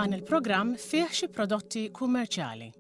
Dan il-programm fih xi prodotti kummerċjali.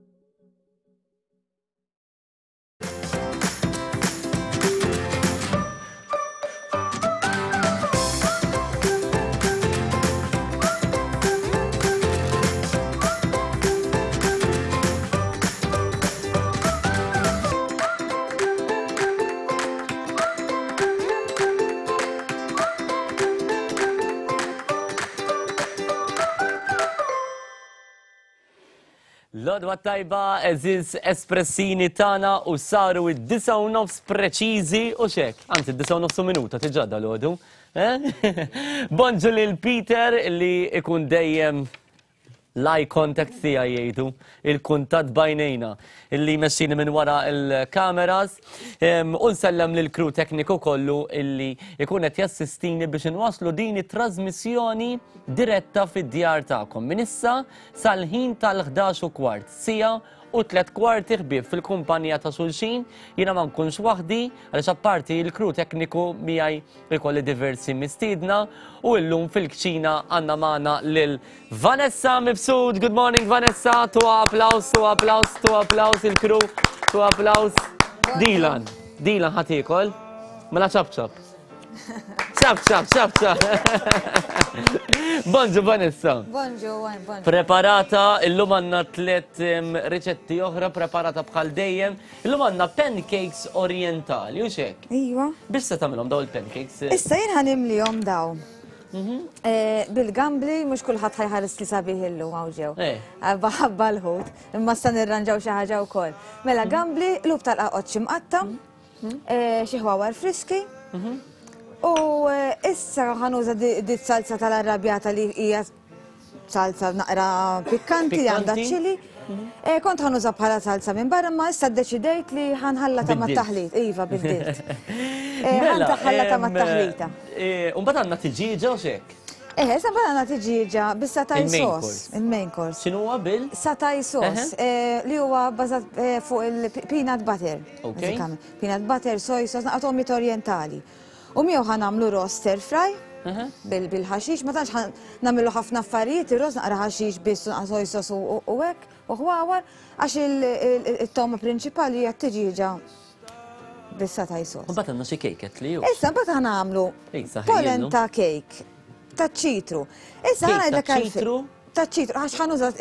L-odwa tajba, eżiz espressini tana u saru id-disa u nofs preċizi u xek. Anzi, id-disa u nofs u minuta tiġa dal-ħodu. Eh? Bonġu lil Peter li ikun dejjem L-eye contact tiegħi jgħidu, il-kuntatt b'għajnejna, illi jmexxini minn wara l-kameras, u nsellem lill-crew tekniku kollu illi jkun qed jassistini biex inwasslu din it-trażmissjoni diretta fid-djar tagħkom. Minn issa sal-ħin tal-11 u kwart, siegħa u tlett kwarti ħbieb fil-kumpanija ta' xulxin, jiena ma nkunx waħdi għaliex apparti l-crew tekniku miegħi Ikolli diversi mistiedna u illum fil-kċina għandna magħna lil Vanessa Mifsud. Good morning Vanessa, tu applaus, tu applaus, tu applaus il-crew, tu applaus. Dilan, Dilan ħadd iekol? Mela ċap ċap. ċap ċap ċap ċap. Bonġu Vanessa. Bonġu, bonġu. Preparata, illum għandna tliet riċetti oħra preparata bħal dejjem. Illum għandna pancakes orientali, u xek? Iva. Biex se tagħmilhom daw il-pancakes? Issa jien ħanimlihom daw. Mhm. Eh, bil-gambli mhux kulħadd ħajħares li sabiħ illum hawn ġew. Eh. Eh, baħabba l-ħut, imma sta nirranġaw xi ħaġa wkoll. Mela mhm. gambli, lub tal-qaqoċ imqatta, mhm. xi ħwawar friski. U issa ħanuża di salsa tal-arrabjata li hija salsa naqra pikkanti li għandha ċili. Mhm. Eh, kont ħanuża bħala salsa minn barra, ma issa ddeċidejt li ħanħallata ma' taħlit. Iva, biddilt. Eh, mela, ħanħallata ma' taħlita. Eh, Umbagħad għandna tiġieġa u xek. Eh, issa mbagħad għandna tiġieġa bis-satay sauce, il-main course. X'inhu huwa bil? Satay sauce, li huwa bbażat fuq il-peanut butter. Peanut butter, soy sauce, naqgħod omit orientali. U miegħu ħa nagħmlu roast stir fry bil-ħaxix, ma tantx ħa nagħmlu ħafna affarijiet, ir-roast naqra ħaxix biss u naqra soy sauce u hekk u ħwawar għax it-togħma prinċipali hija t-tiġieġa bis-satay sauce. Mbagħad għandna xi kejket li hu. Issa mbagħad ħa nagħmlu polenta cake taċ-ċitru. Issa ħa ngħidlek ċitru. Taċ-ċitru għax ħa nuża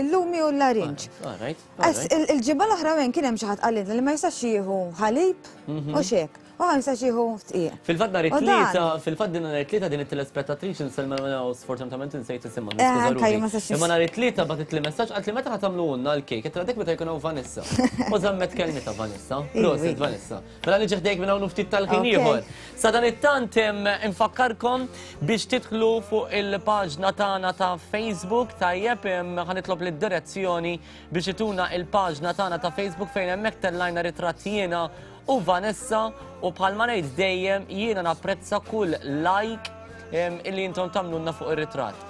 il-lumi u l-larinġ. Il-ġimgħa l-oħra wejn kien hemm xi ħadd qalilna li ma jistax jieħu ħalib u xek. U ma jistax jieħu tqiegħ. Fil-fatt nhar it-tlieta, fil-fatt din nhar it-tlieta din it-telespettatriċi nsellmilha minn hawn sfortunatament insejt isimha, eh, niskuża ruħi. Imma nhar it-tlieta bagħtitli messaġġ qaltli meta ħa tagħmluhulna l-kejk, qed dik meta jkun hawn Vanessa. U żammet kelmitha Vanessa. Prosit Vanessa. Mela niġi ħdejk minn hawn ftit tal-ħin ieħor. Sa dan it-tant infakkarkom biex tidħlu fuq il-paġna tagħna ta' Facebook tajjeb ħa nitlob lid-direzzjoni biex ituna il-paġna tagħna ta' Facebook fejn hemmhekk tellajna ritratt jiena u Vanessa u bħalma ngħid dejjem jiena napprezza kull like illi intom tagħmlulna fuq ir-ritratt.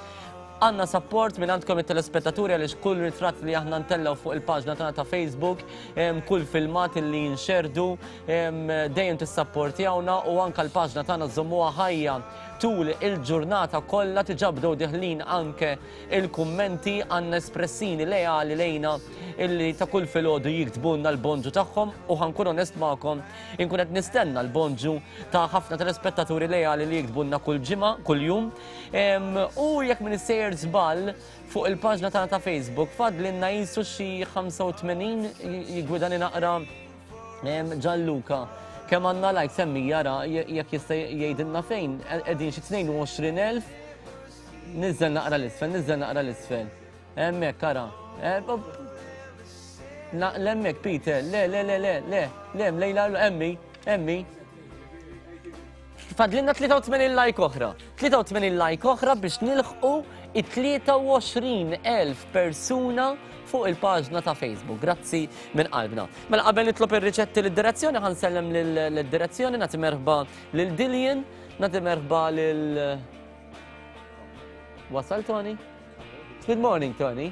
Għandna support minn għandkom it-telespettaturi għaliex kull ritratt li aħna ntellgħu fuq il-paġna tagħna ta' Facebook, kull filmat illi jinxerdu, dejjem tissapportjawna u anka l-paġna tagħna żommuha ħajja tul il-ġurnata kollha diġà bdew deħlin anke il-kummenti għandna espressini leali lejna illi ta' kull filgħodu jiktbulna l-bonġu tagħhom u ħankun onest magħkom inkun qed nistenna l-bonġu ta' ħafna telespettaturi leali li jiktbulna kull ġimgħa, kull jum. U jekk min sejjer żball fuq il-paġna tagħna ta' Facebook fadlinna jisu xi 85 jigwidani naqra Gianluca. Kemm għandna like semmi jara jekk jista' jgħidilna fejn qegħdin xi 22,000 Nizzel naqra l-isfel, nizzel naqra l-isfel. Hemmhekk ara. Eh, L-hemmhekk Peter, le, le, le, le, le, le, lejla, emmi, emmi. Fadlinna 83 like oħra. 83 like oħra biex nilħqu it-23,000 persuna fuq il-paġna ta' Facebook. Grazzi minn qalbna. Mela qabel nitlob ir-riċetti lid-direzzjoni ħansellem lid-direzzjoni nagħti merħba lil Dillian, nagħti merħba lil Wasal Tony? Good morning Tony.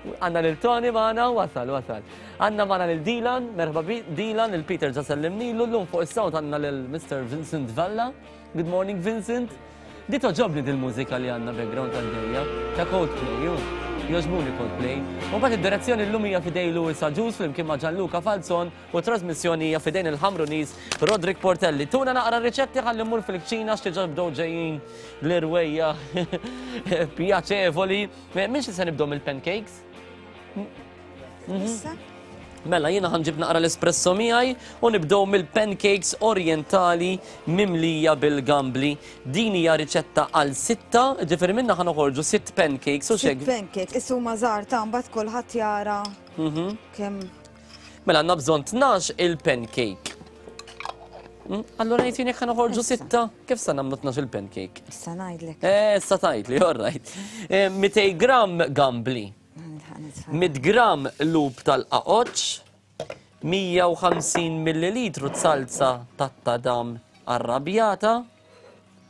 Għanna lil Tony maħna, wasal, wasal. Għanna maħna lil Dylan, merħba bi Dylan, il Peter ġa sellimnilu, l-lum fuq is-sound għanna lil Mr. Vincent Valla. Good morning Vincent. Di togħġobni dil-mużika li għandna background għaddejja ta' Coldplay, hu. Jogħġbuni Coldplay. U mbagħad id-direzzjoni llum hija f'idej Louis Agius flimkien ma' Gianluca Falzon u t-trasmissjoni hija f'idejn il-Ħamruniż Roderick Portelli. Tuna naqra riċetti ħalli mmur fil-kċina x'diġà bdew ġejjin l-irwejja pjaċevoli. Minn xi se nibdew mill-pancakes? Issa? Mela, jiena ħanġib naqra l-espresso miegħi u nibdew mill-pancakes orientali mimlija bil-gambli. Din hija riċetta għal sitta, ġifieri minna ħa noħorġu sitt pancakes u xek. Pancakes, issu ma żgħar ta' mbagħad kulħadd jara mhm. kemm. Mela għandna bżonn 12 il-pancake. Hmm? Allora jgħid jien jekk noħorġu sitta, kif sa nagħmlu 12 il-pancake? Issa ngħidlek. Eh, issa tgħidli, all right. 200 eh, gram gambli. 100 gramm lub tal-qaqoċċ, 150 millilitru salza tat-tadam arrabjata,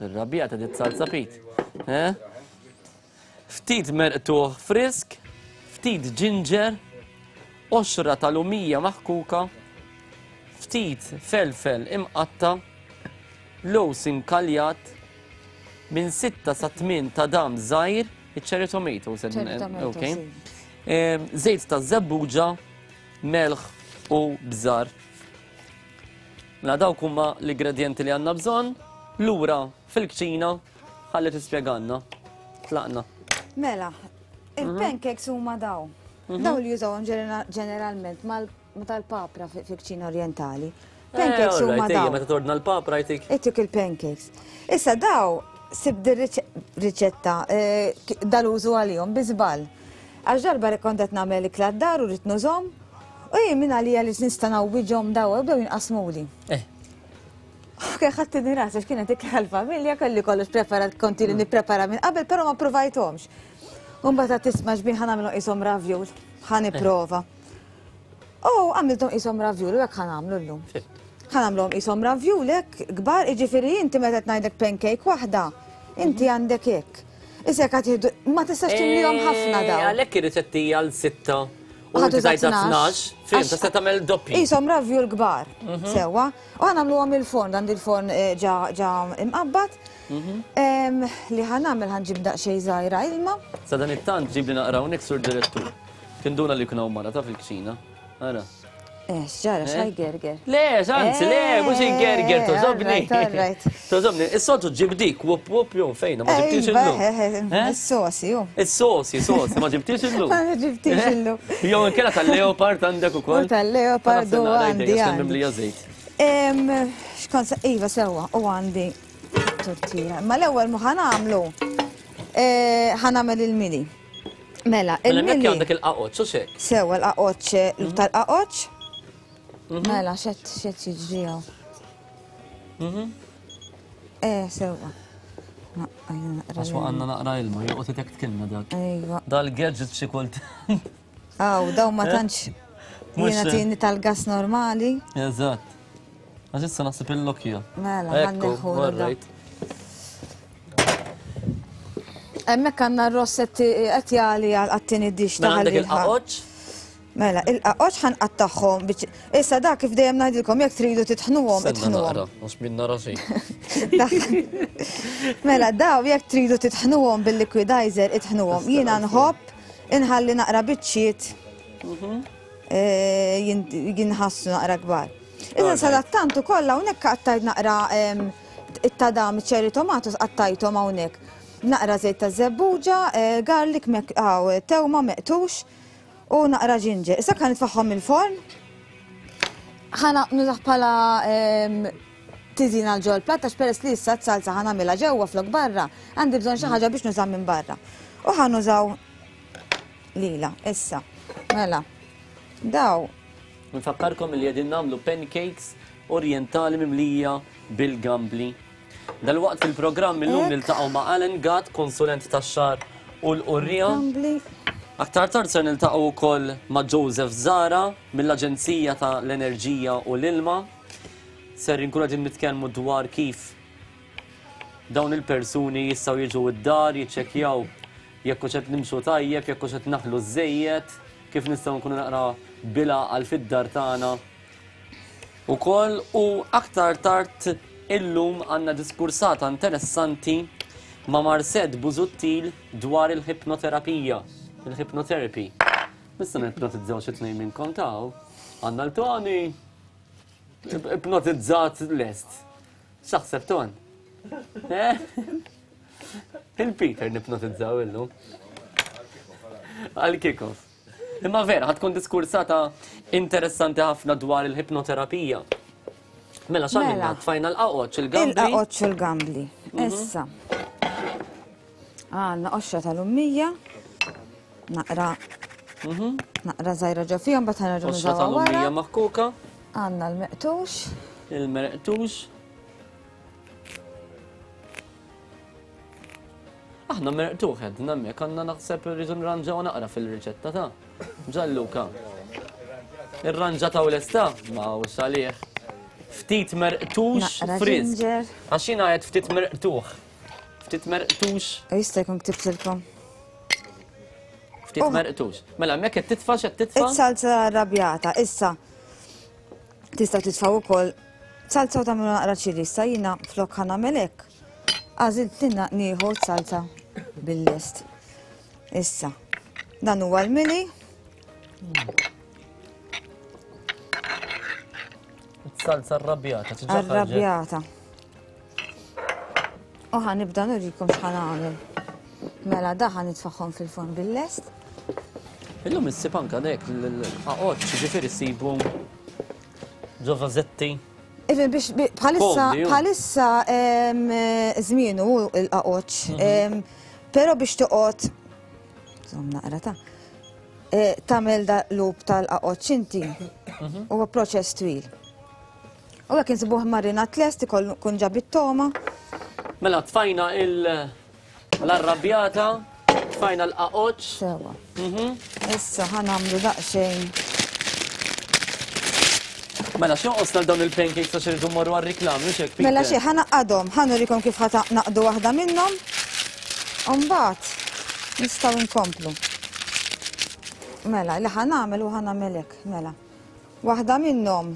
irrabjata dit salza Pete, eh? Ftit merqtuħ frisk, ftit ġinġer, qoxra ta' lumija maħkuka, ftit felfel imqatta', lewż inkaljat, minn sitta sa tmien tadam żgħir, Iċ-cherry tomatoes. Cherry tomatoes. Okay. Żejt ta' żebbuġa, melħ u bżar. Mela dawk huma l-ingredjenti li għandna bżonn. Lura fil-kċina ħalli tispjegalna. Tlaqna. Mela, il-pancakes huma daw. Mhm. Daw li jużawhom ġeneralment mal Ma tal-papra fil-kċina orientali. Eh, Pancakes huma daw. Meta tordna l-papra jtik. Itik il-pancakes. Issa daw sib riċetta eh, dal-użu għalihom bi żball. Għax darba li kont qed nagħmel ikla d-dar u rrid nużhom, u jien minn għalija li nista' ngħawwiġhom daw u bdew jinqasmuli. Eh. Ok, ħadd rasi għax kienet ikla l-familja, kelli kollox preparat, konti li nipprepara minn qabel, però ma provajthomx. U mbagħad tisma' xbin ħa nagħmlu qishom ravjul, ħa nipprova. U għamilthom qishom ravjul u hekk ħa nagħmlu llum. Ħa nagħmluhom qishom ravjul hekk kbar, jiġifieri inti meta qed ngħidlek pancake waħda, inti għandek hekk. Issa jekk qed ma tistax timlihom ħafna eh, dawn. Għalhekk ir-riċetti għal sitta u inti tajta 12, fim, tista' tagħmel doppji. Qishom ravjul kbar, mhm. sewwa. U ħa nagħmluhom il-forn, dan il-forn eh, ġa imqabbad. Mhm. Li ħa nagħmel ħa nġib daqsxejn żgħira ilma. Sa dan it-tant ġibli naqra hawnhekk sur direttur. Tinduna li jkun hawn mara ta' fil-kċina. Ara. Eh, x'ġara, eh? x'ħaj gerger. Le, x'anzi, le, mhux ingerger, eh, tożobni. Tożobni, is-soltu ġib dik, wup wup jew fejna, ma ġibtix illum. Eh, is-sosi, ju. Is-sosi, sosi, ma ġibtix illum. Ma ġibtix illum. Jew inkella tal-leopard għandek ukoll. Tal-leopard u għandi. Mimlija żejt. Xkont, iva sewwa, u għandi tortira. Ma l-ewwel mu ħanamlu, ħanamel il-mili. Mela, il-mili. għandek il-qaqoċ, u xek? Sewa, l-qaqoċ, eh, tal-qaqoċ. Mhm. Mela, xed xed jiġri għaw. Mhm. Eh, sewa. Għax għanna naqra ilma, joqgħod itek tkilna dak. Ejwa. Dal-gadget xi kult. Aw, daw ma eh? tantx jiena eh? tieni tal-gas normali. Eżatt. Għax issa naħseb il-lokja. Mela, ħanneħu. Hemmhekk għandna r-ross qed jagħli għat-tieni dix ta' Għandek il-qaqoċ? Mela, il-qaqoċ ħanqattagħhom biex issa dak kif dejjem ngħidilkom jekk tridu titħnuhom itħnuhom. Mhux min nara xejn. Mela, daw jekk tridu titħnuhom bil-liquidizer itħnuhom. Jiena nħobb inħalli naqra biċċiet mhm. eh, jinħassu naqra kbar. Iżda sadattant ukoll hawnhekk qattajt naqra it-tadam, cherry tomatoes qattajthom hawnhekk. Naqra żejt ta' żebbuġa, eh, garlic, tewma meqtux u naqra ġinġer. Issa kan nitfaħħom il-forn. Ħana nużah bħala tiżina l-ġol plat għax peress li issa t-salsa ħana mela ġewwa flok barra, għandi bżonn xi ħaġa biex nuża minn barra. U ħa nużaw lila, issa. Mela, daw Nfakkarkom li qegħdin nagħmlu pancakes orjentali mimlija bil-gambli. Dalwaqt fil-programm illum niltaqgħu ma' Alan Gatt, konsulent tax-xagħar u l-qurriegħa. Aktar tard ser niltaqgħu wkoll ma' Joseph Zara mill-Aġenzija ta' l-Enerġija u l-Ilma. Ser inkunu qegħdin nitkellmu dwar kif dawn il-persuni jistgħu jiġu d-dar jiċċekkjaw jekk hux qed nimxu tajjeb, jekk hux qed naħlu żejjed, kif nistgħu nkunu naqra bil-għaqal fid-dar tagħna ukoll u aktar tard illum għandna diskursata interessanti. ma' Marset Busuttil dwar il-ħipnoterapija, il-hypnotherapy. Nista' nipnotizzaw xi tnejn minnkom taw. Għandna l-Tony ipnotizzat lest. X'taħseb Ton? Eh? Il-Peter nipnotizzaw illum. Għal kick-off. Imma vera, ħatkun diskursata interessanti ħafna dwar il-ħipnoterapija. Mela, x'għamilna? Mela. Tfajna l-qaqoċ, il-gambli. Il-qaqoċ u l-gambli. Mhm. Issa. Għandna qoxra tal-ummija. Naqra. Mhm. Naqra żgħira ġo fihom, bat ħanerġgħu Qoxra tal-ummija maħkuka. Għandna l-meqtux. Il-meqtux. Aħna merqtuħ għedna hemmhekk għandna naħseb irridu nranġaw naqra fil-riċetta ta' Ġalluka. Irranġa ta' u lesta? Ma u għalih. Ftit merqtux frisk. Għax jiena qed ftit merqtuħ. Ftit merqtux. Jista' jkun ktibtilkom. Ftit oh. merqtux. Mela hemmhekk qed titfa' x'qed titfa'? Is-salza arrabjata, issa. Tistgħu titfgħu ukoll salza u tagħmlu naqra ċili, issa jiena flok ħa nagħmel hekk. Għażilt li nieħu salza bil-lest. Issa, dan huwa l-mili. Salza arrabjata, Arrabjata. U ħa nibda nurikom x'ħa nagħmel. Mela da ħa nitfaħħom fil-forn bil-lest. Illum issib anka dek l-qaqoċ, ġifieri ssibu ġo vażetti. Even biex bħalissa bħalissa żmienu l-qaqoċ, mhm. però biex toqgħod żomm naqra ta' e, tagħmel da lub tal-qaqoċ inti mhm. huwa proċess twil. U hekk insibuh marinat lest ikun ġab it-toma. Mela tfajna il l-arrabjata, tfajna l-qaqoċ. Sewa. Mhm. Issa ħa nagħmlu daqsxejn. Mela x'jonqosna dawn il-pancakes għax irridu mmorru għar-riklami mhux hekk Mela xi ħa naqadhom, ħa nurikom kif ħa naqdu waħda minnhom. U mbagħad nistgħu nkomplu. Mela, li ħa nagħmel u ħa nagħmel hekk, mela. Waħda minnhom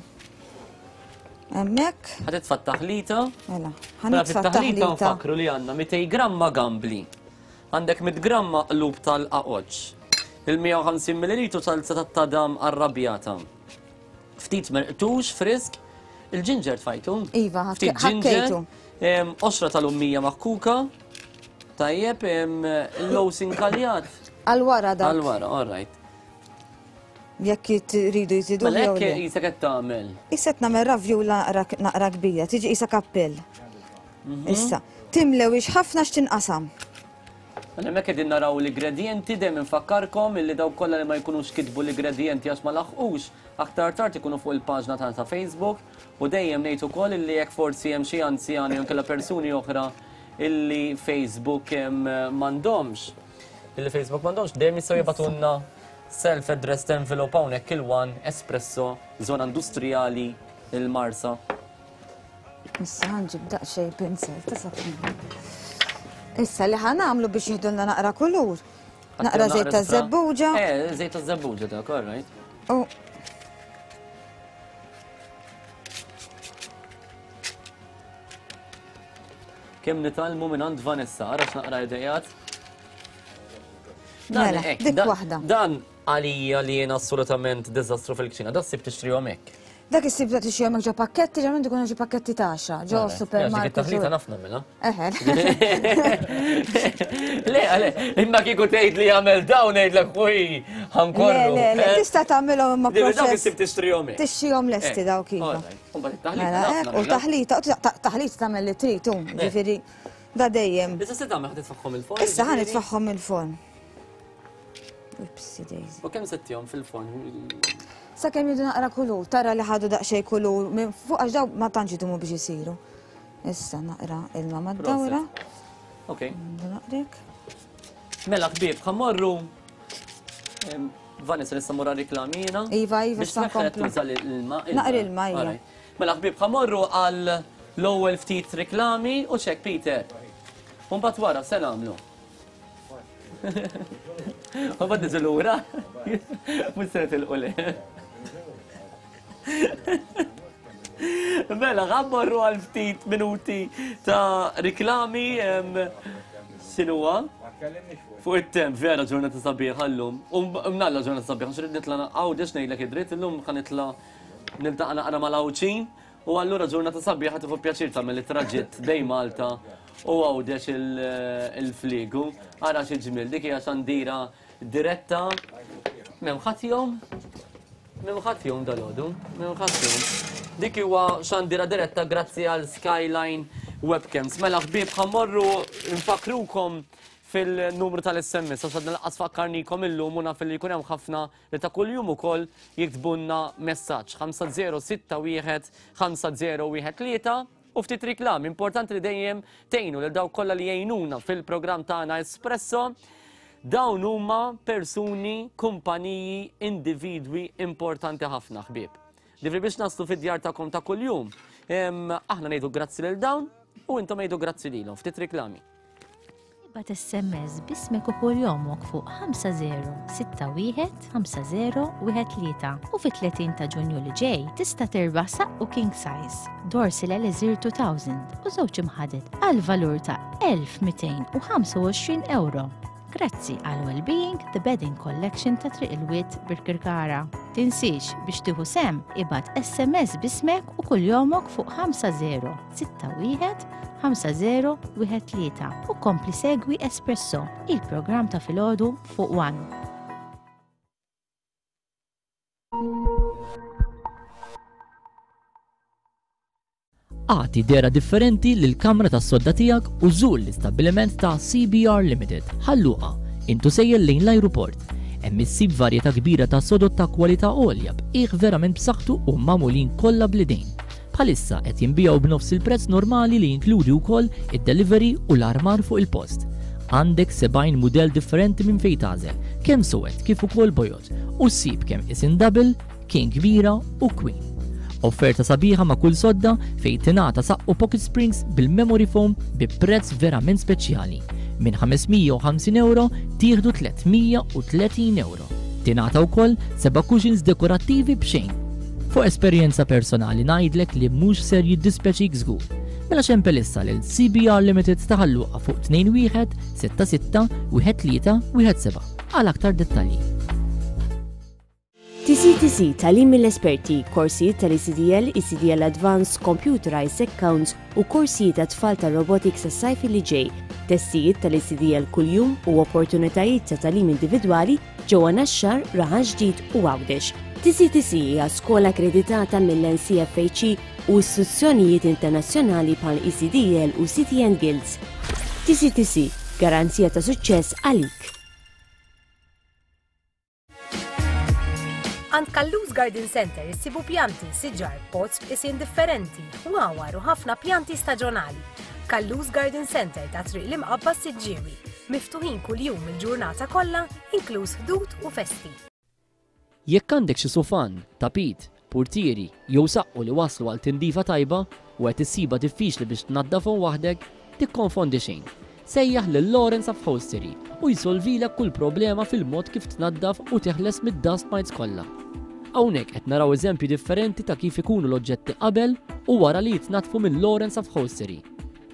hemmhekk. Ħa titfa' t-taħlita. Mela, ħa mela, nitfa' t-taħlita nfakru li għandna 200 gramma gambli. Għandek 100 gramma qlub tal-qaqoċ. Il-150 ml salsa tat-tadam arrabjata. Ftit merqtux frisk, il-ġinġer tfajtu. Iva, ftit ġinġer. Oxra tal-ummija maħkuka. Tajjeb, il-lows inkaljat. Għal-wara dak. Għal-wara, all right. Jekk jridu jżidu. Mela hekk qisek qed tagħmel. Issa qed nagħmel ravjula naqra kbira, tiġi qisha kappell. Mhm. Issa, timlewix ħafna x'tinqasam. Mela hemmhekk qegħdin naraw l-ingredjenti dejjem infakkarkom illi dawk kollha li ma jkunux kitbu l-ingredjenti għax ma laħqux, aktar tard ikunu fuq il-paġna tagħna ta' Facebook u dejjem ngħid ukoll illi jekk forsi hemm xi anzjani jew inkella persuni oħra illi Facebook m'għandhomx, illi Facebook m'għandhomx, dejjem jistgħu jibgħatulna Self-addressed envelope hawnhekk il-One Espresso, Zona Industrijali, il-Marsa. Issa ħanġib daqsxejn pinsel ta' sapun. Issa li ħanamlu biex jihdulna naqra kulur. Naqra żejt ta' żebbuġa. Eh, żejt ta' żebbuġa dak, all right. U Kemm nitgħallmu minn għand Vanessa, ara x'naqra idejat. Mela, dik waħda. Dan għalija li jien assolutament diżastru fil-kċina, da ssib tixtrihom hekk. Dak issib ta' tixtrihom hekk ġo pakketti, ġo ikunu ġo pakketti ta' għaxra, ġo supermarket. Dik it-taħlita naf nagħmilha. Eħe. Le, le, imma kieku tgħid li jagħmel dawn ngħidlek ħuj ħankorru. Le, le, eh? tista' tagħmilhom imma proċess. Dawk issib tixtrihom hekk. Tixtrihom lesti dawk iva. Mela, u taħlita, taħlita tagħmel li trid, ġifieri. Da dejjem. Issa se tagħmel ħa titfaħħom il-forn? Issa ħa nitfaħħom il-forn. Upsi daisy. U kemm settihom fil-forn? Sakemm jidu naqra kulur, tara li ħadu daqsxejn kulur minn fuq għax daw ma tantx idumu biex isiru. Issa naqra ilma mad-dawra. Ok. Naqrek. Mela ħbieb, ħammorru Vanessa nista' morra reklamina. Iva, iva, biex tuża l-ilma. Naqra ilma, iva. Mela ħbieb ħa morru għal l-ewwel ftit riklami u x'hekk Peter. U mbagħad wara se nagħmlu. U mbagħad niġu lura. Mhux se nitilqu le. Mela, ħa mmorru għal ftit minuti ta' riklami. X'inhuwa? Fuq it-temp, vera ġurnata sabiħa llum. U mnalla ġurnata sabiħa, x'rid nitla' Għawdex ngħidlek id-dritt, illum ħa nitla' niltaqa' naqra mal-Għawdxin. U allura ġurnata sabiħa tieħu pjaċir tagħmel it-traġitt bejn Malta u Għawdex il-fliegu. Ara xi ġmiel, dik hija xandira diretta. M'hemm ħadd jgħum? M'hemm ħadd jgħum dalgħodu, m'hemm ħadd jgħum. Dik huwa xandira diretta grazzi għal Skyline Webcams. Mela ħbieb ħa mmorru nfakkrukom fil-numru tal-SMS għax għadna lanqas fakkarnikom illum u naf li jkun hemm ħafna li ta' kuljum ukoll jiktbulna messaġġ 5061 5013 u ftit riklami. Importanti li dejjem tgħinu lil dawk kollha li jgħinuna fil-programm tagħna Espresso. Dawn huma persuni, kumpaniji, individwi importanti ħafna ħbieb. Ġifieri biex naslu fid-djar tagħkom ta' kuljum, aħna ngħidu grazzi lil dawn u intom għidu grazzi lilhom. Ftit riklami. Ibgħat SMS b'ismek u kuljomok fuq 5061 5013 u fit-30 ta' Ġunju li ġej tista' tirbaħ saqqu king size, Dorsil Elixir 2000 u żewġ imħaded għal valur ta' 1225 ewro. Grazzi għal Wellbeing The Bedding Collection ta' Triq il-Wied Birkirkara. Tinsiex biex tieħu sehem ibgħat SMS b'ismek u kuljomok fuq 50 61 5013 u kompli segwi Espresso, il-programm ta' filgħodu fuq One. Agħti dehra differenti lill-kamra tas-sodda tiegħek u żur l-istabbiliment ta' CBR Limited, Ħal Luqa, int u sejjer lejn l-ajruport. Hemm issib varjetà kbira ta' sodod ta' kwalità għolja b'qiegħ verament b'saħħtu u magħmulin kollha bl-idejn. Bħalissa qed jinbiegħu b'nofs il-prezz normali li jinkludi wkoll id-delivery u l-armar fuq il-post. Għandek 70 mudell differenti minn fejn tagħżel, kemm suwed kif ukoll bojod, u ssib kemm isin double, king kbira u queen. Offerta sabiħa ma' kull sodda fejn tingħata saqqu pocket springs bil-memory foam bi prezz verament speċjali. Minn 550 ewro tieħdu 330 ewro. Tingħata wkoll seba' cushions dekorattivi b'xejn. Fuq esperjenza personali ngħidlek li mhux ser jiddispjaċik żgur. Mela xempel issa lil CBR Limited ta' Ħal Luqa fuq 21 66 13 17 għal aktar dettalji. TCTC, Tagħlim mill-Esperti, korsijiet tal-ECDL, ECDL Advanced, Computerized Accounts u korsijiet għat-tfal tar-robotics għas-sajf li ġej, testijiet tal-ECDL kuljum u opportunitajiet ta' tagħlim individwali ġewwa Naxxar, Raħal Ġdid u Għawdex. TCTC hija skola akkreditata mill-NCFHE u istituzzjonijiet internazzjonali bħal ECDL u City and Guilds. TCTC, garanzija ta' suċċess għalik. Għand Callus Garden Center issibu pjanti, siġar, pots b'qisien differenti, ħwawar u ħafna pjanti staġonali. Callus Garden Center ta' Triq l-Imqabba Siġġiewi, miftuħin kuljum il-ġurnata kollha, inkluż Ħdud u festi. Jekk għandek xi sufan, tapit, purtieri jew saqqu li waslu għal tindifa tajba u qed issibha diffiċli biex tnaddafhom waħdek, tikkonfondi xejn. Sejjaħ lil Lawrence Upholstery u jsolvilek kull problema fil-mod kif tnaddaf u teħles mid-dust mites kollha. Hawnhekk qed naraw eżempji differenti ta' kif ikunu l-oġġetti qabel u wara li jitnaddfu minn Lawrence Upholstery.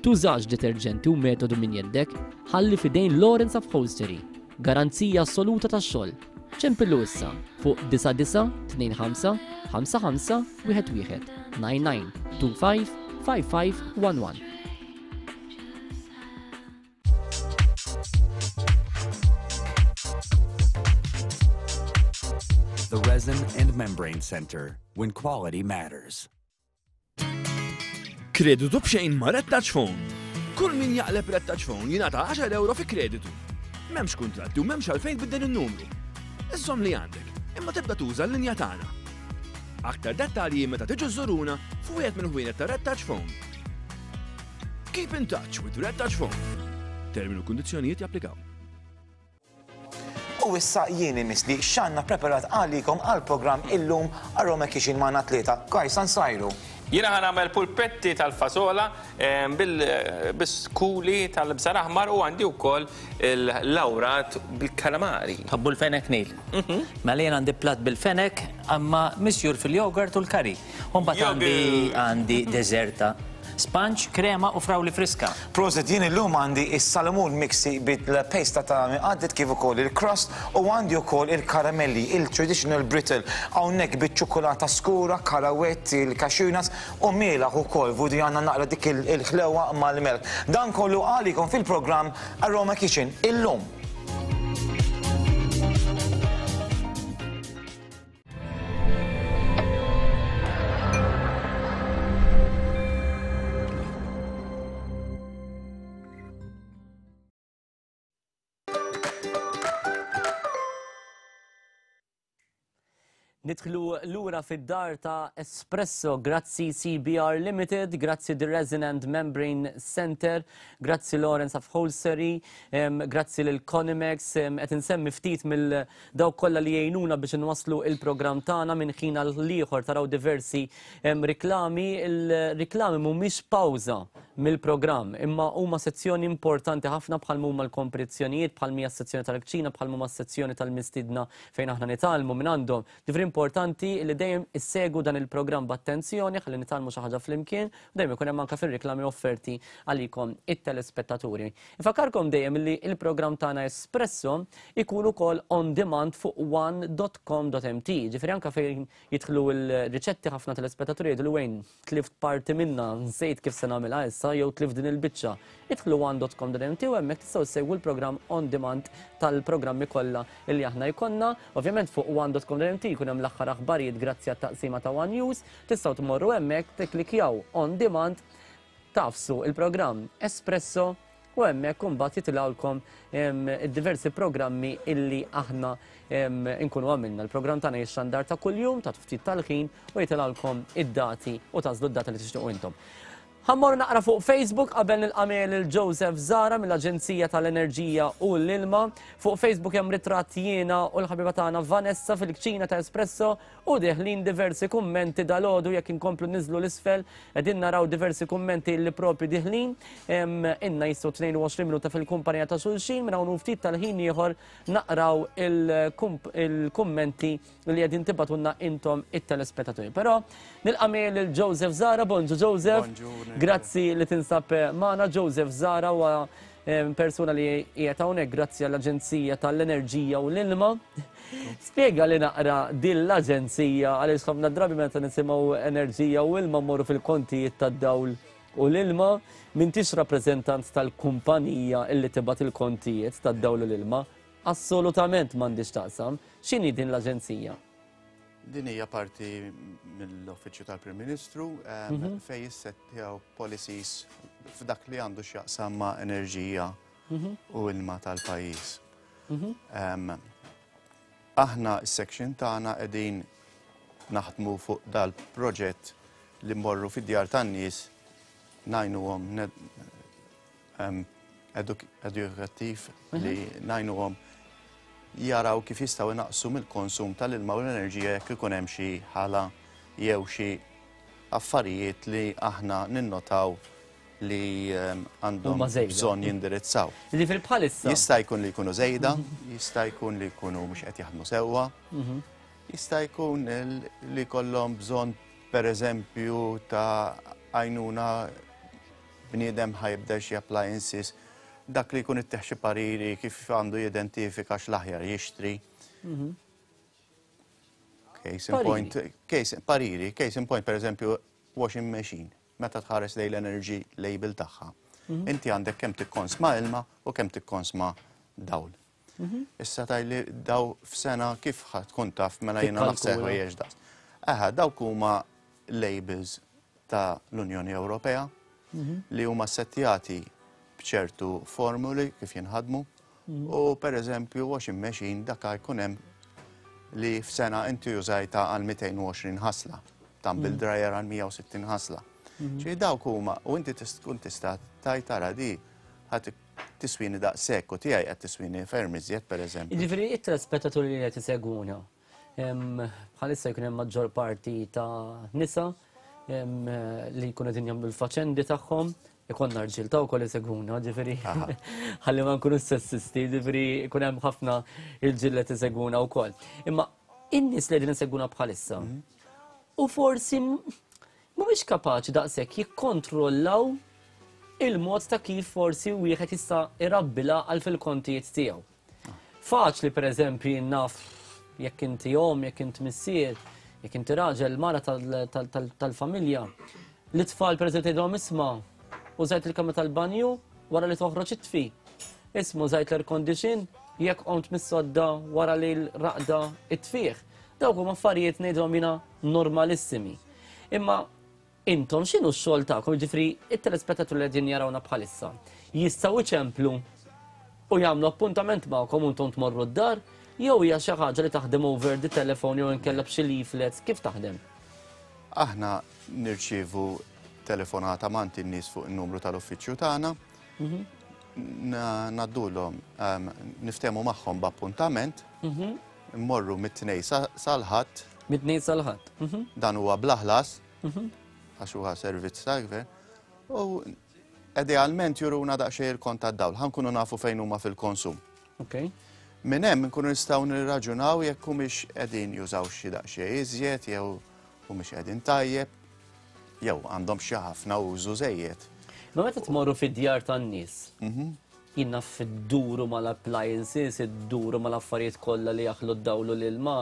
Tużax deterġenti u metodu minn jeddek, ħalli f'idejn Lawrence Upholstery. Garanzija assoluta tax-xogħol. Ċempillu issa fuq 9925 55 11 99 25 55 11. The Resin and Membrane Center, when quality matters. Kreditu b'xejn ma' Red Touch Phone. Kull min jaqleb Red Touch Phone jingħata 10 euro fi kreditu. M'hemmx kuntratti u m'hemmx għalfejn tbiddel in-numru. Iżżomm li għandek, imma tibda tuża l-linja tagħna. Aktar dettalji meta tiġu żżuruna f'wieħed mill-ħwienet ta' Red Touch Phone. Keep in touch with Red Touch Phone. Termini u kundizzjonijiet japplikaw. U issa jien imissli x'għandna preparat għalikom għall-programm illum Aroma Kitchen magħna tlieta. Guys, sa nsajru. Jiena ħa nagħmel pulpetti tal-fasola bil-skuli tal-bżar aħmar u għandi wkoll il-lawrat bil-kalamari. Tħobbu l-fenek Neil? Mela jien għandi platt bil-fenek imma misjur fil-yogurt u l-curry. U mbagħad għandi għandi deżerta. Sponge, krema u frawli friska. Prosit, jien illum għandi s-salamun miksi bil-pejsta ta' għaddit kif ukoll il-crust u għandi wkoll il-karamelli, il-traditional brittle, hawnhekk biċ-ċukkulata skura, karawett, il-cashew nuts u mielaħ ukoll, vudi għandna naqra dik il-ħlewa mal-melħ. Dan kollu għalikom fil-programm Aroma Kitchen illum. Nidħlu lura fid-dar ta' Espresso, grazzi CBR Limited, grazzi The Resin and Membrane Center, grazzi Lawrence Upholstery, grazzi lil Conimex, qed insemmi ftit mill Dawk kollha li jgħinuna biex inwasslu il-programm tagħna minn ħin għal ieħor taraw diversi riklami. Il-riklami mhumiex pawża mill-programm, imma huma sezzjoni importanti ħafna bħal huma l-kompetizzjonijiet, bħal hija s-sezzjoni tal-kċina, bħal huma s-sezzjoni tal-mistiedna fejn aħna nitgħallmu minn għandhom. Ġifieri importanti li dejjem issegwu dan il-programm b'attenzjoni ħalli nitgħallmu xi ħaġa flimkien u dejjem ikun hemm anke fir-riklami offerti għalikom it-telespettaturi. Infakkarkom dejjem li l-programm tagħna Espresso ikun ukoll on demand fuq one.com.mt. Ġifieri anke fejn jidħlu l-riċetti ħafna telespettaturi jgħidu li wejn tlift parti minna, nsejt kif se nagħmilha issa jew tlift din il-biċċa. Idħlu one.com.mt u hemmhekk tistgħu ssegwu l-programm on demand tal-programmi kollha li aħna jkollna. Ovvjament fuq one.com.mt jkun hemm l-aħħar aħbarijiet grazzi għat-taqsima ta' One News. Tistgħu tmorru hemmhekk tikklikjaw on demand Tagħfsu il-programm Espresso u hemmhekk imbagħad jitilgħulkom id-diversi programmi illi aħna nkunu għamilna. Il-programm tagħna jixxandar ta' kuljum ta' ftit tal-ħin u jitilgħulkom id-dati u tagħżlu d-data li tixtiequ intom. Ħa mmorru naqra fuq Facebook qabel nilqa' miegħi lil Joseph Zara mill-Aġenzija tal-Enerġija u l-Ilma. Fuq Facebook hemm ritratt jiena u l-ħabiba tagħna Vanessa fil-kċina ta' Espresso U deħlin diversi kummenti dalgħodu jekk inkomplu niżlu l-isfel qegħdin naraw diversi kummenti li propju diħlin. Inna jissu 22 minuta fil-kumpanija ta' xulxin minn hawn ftit tal-ħin ieħor naqraw il-kummenti li qegħdin tibatunna intom it-telespettaturi. Però nilqa' lil Joseph Zara, bonġu Joseph. Grazzi li tinsab magħna Joseph Zara huwa persuna li qiegħed hawnhekk grazzi għall-Aġenzija tal-Enerġija u l-Ilma. Spjega li naqra din l-aġenzija għaliex ħafna drabi meta nisimgħu enerġija u ilma mmorru fil-kontijiet tad-dawl u l-ilma, m'intix rappreżentant tal-kumpanija illi tibgħat il-kontijiet tad-dawl u l-ilma. Assolutament m'għandix taqsam. X'inhi din l-aġenzija? Din hija parti mill-Uffiċċju tal-Prim Ministru fejn jissettjaw policies f'dak li għandu x'jaqsam ma' enerġija u ilma tal-pajjiż. Aħna s-section tagħna qegħdin naħdmu fuq dal-proġett li mmorru fid-djar tan-nies ngħinuhom edukattiv li ngħinuhom jaraw kif jistgħu jnaqqsu mill-konsum tal-ilma u l-enerġija jekk ikun hemm xi ħala jew xi affarijiet li aħna ninnotaw li għandhom bżonn jindirizzaw. Jiġifieri bħalissa. Jista' jkun li jkunu żejda, jista' jkun li jkunu mhux qed jaħdmu sewwa, jista' jkun li jkollhom bżonn pereżempju ta' għajnuna bniedem ħa jibdel xi appliances, dak li jkun ittih xi pariri kif għandu jidentifika x'l-aħjar jixtri. Case in point, case, pariri, case in point, per eżempju, washing machine, meta tħares lejn l-energy label tagħha. Inti għandek kemm tikkonsma ilma u kemm tikkonsma dawl. Issa tgħidli daw f'sena kif ħa tkun taf mela jiena naħseb ħwejjeġ daqs. Aha, dawk huma labels ta' l-Unjoni Ewropea li huma settjati b'ċertu formuli kif jinħadmu u per eżempju washing machine dak jkun hemm li f'sena inti użajta għal 220 ħasla, tumble dryer għal 160 ħasla. Ġifieri dawk huma u inti tkun tista' tgħid tara di ħa tiswini daqshekk u tiegħi qed tiswini ferm iżjed pereżempju. Jiġifieri it-telespettaturi li qed isegwuna bħalissa jkun hemm maġġor parti ta' nisa li jkunu qegħdin jagħmlu l-faċendi tagħhom, ikollna rġiel ta' wkoll isegwuna, ġifieri ħalli ma nkunu sessisti, ġifieri jkun hemm ħafna irġiel li qed isegwuna wkoll. Imma in-nies li qegħdin isegwuna bħalissa u forsi mhumiex kapaċi daqshekk jikkontrollaw il-mod ta' kif forsi wieħed jista' irabbi l-għaqal fil-kontijiet tiegħu. Faċli pereżempju naf jekk inti omm, jekk inti missier, jekk inti raġel, mara tal-familja, li tfal pereżempju tgħidhom isma' użajt il-kamra tal-banju wara li toħroġ itfi. Isma' użajt l-air condition jekk qomt mis-sodda wara li l-raqda itfih. Dawk huma affarijiet ngħidhom jiena normalissimi. Imma Intom x'inhu x-xogħol tagħkom, jiġifieri it-telespettaturi li qegħdin jarawna bħalissa, jistgħu jċemplu u jagħmlu appuntament magħkom u intom tmorru d-dar jew hija xi ħaġa li taħdem over the telephone jew inkella b'xi leaflets, kif taħdem? Aħna nirċievu telefonata m'għand in-nies fuq in-numru tal-uffiċċju tagħna. Ngħaddulhom niftehmu magħhom b'appuntament. Immorru mit-Tnejn sal-Ħadd. Mit-Tnejn sal-Ħadd. Dan huwa bla ħlas. Għax huwa servizz tal-gvern. U idealment juruna daqsxejn il-kont tad-dawl, ħa nkunu nafu fejn huma fil-konsum. Okay. Minn hemm nkunu nistgħu nirraġunaw jekk humiex qegħdin jużaw xi daqsxejn iżjed jew humiex qegħdin tajjeb jew għandhom xi ħafna użu żejjed. Ma meta tmorru fid-djar tan-nies, Jien naf idduru mal-appliances, idduru mal-affarijiet kollha li jaħlu d-dawl u l-ilma.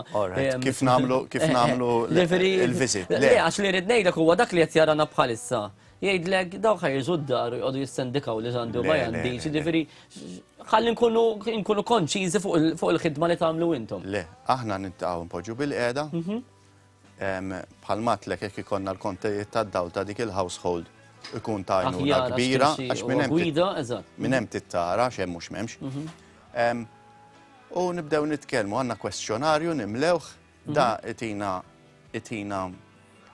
Kif nagħmlu kif nagħmlu il-visit. Le, għax li rrid ngħidlek huwa dak li qed jarana bħalissa. Jgħidlek dawk ħa jiġu d-dar u jqogħdu jissendikaw li x'għandi u ma għandix, jiġifieri ħalli nkunu nkunu konċiżi fuq il-ħidma li tagħmlu intom. Le, aħna niltaqgħu npoġġu bil-qiegħda. Bħal m'għedtlek jekk ikollna l-kontijiet tad-dawl ta' dik il-household ikun ta' għajnuna kbira għax minn hemm gwida, eżatt. Minn hemm tittara x'hemm u x'm'hemmx. Mhm. U nibdew nitkellmu għandna kwestjonarju nimlewh da mhm. itina itina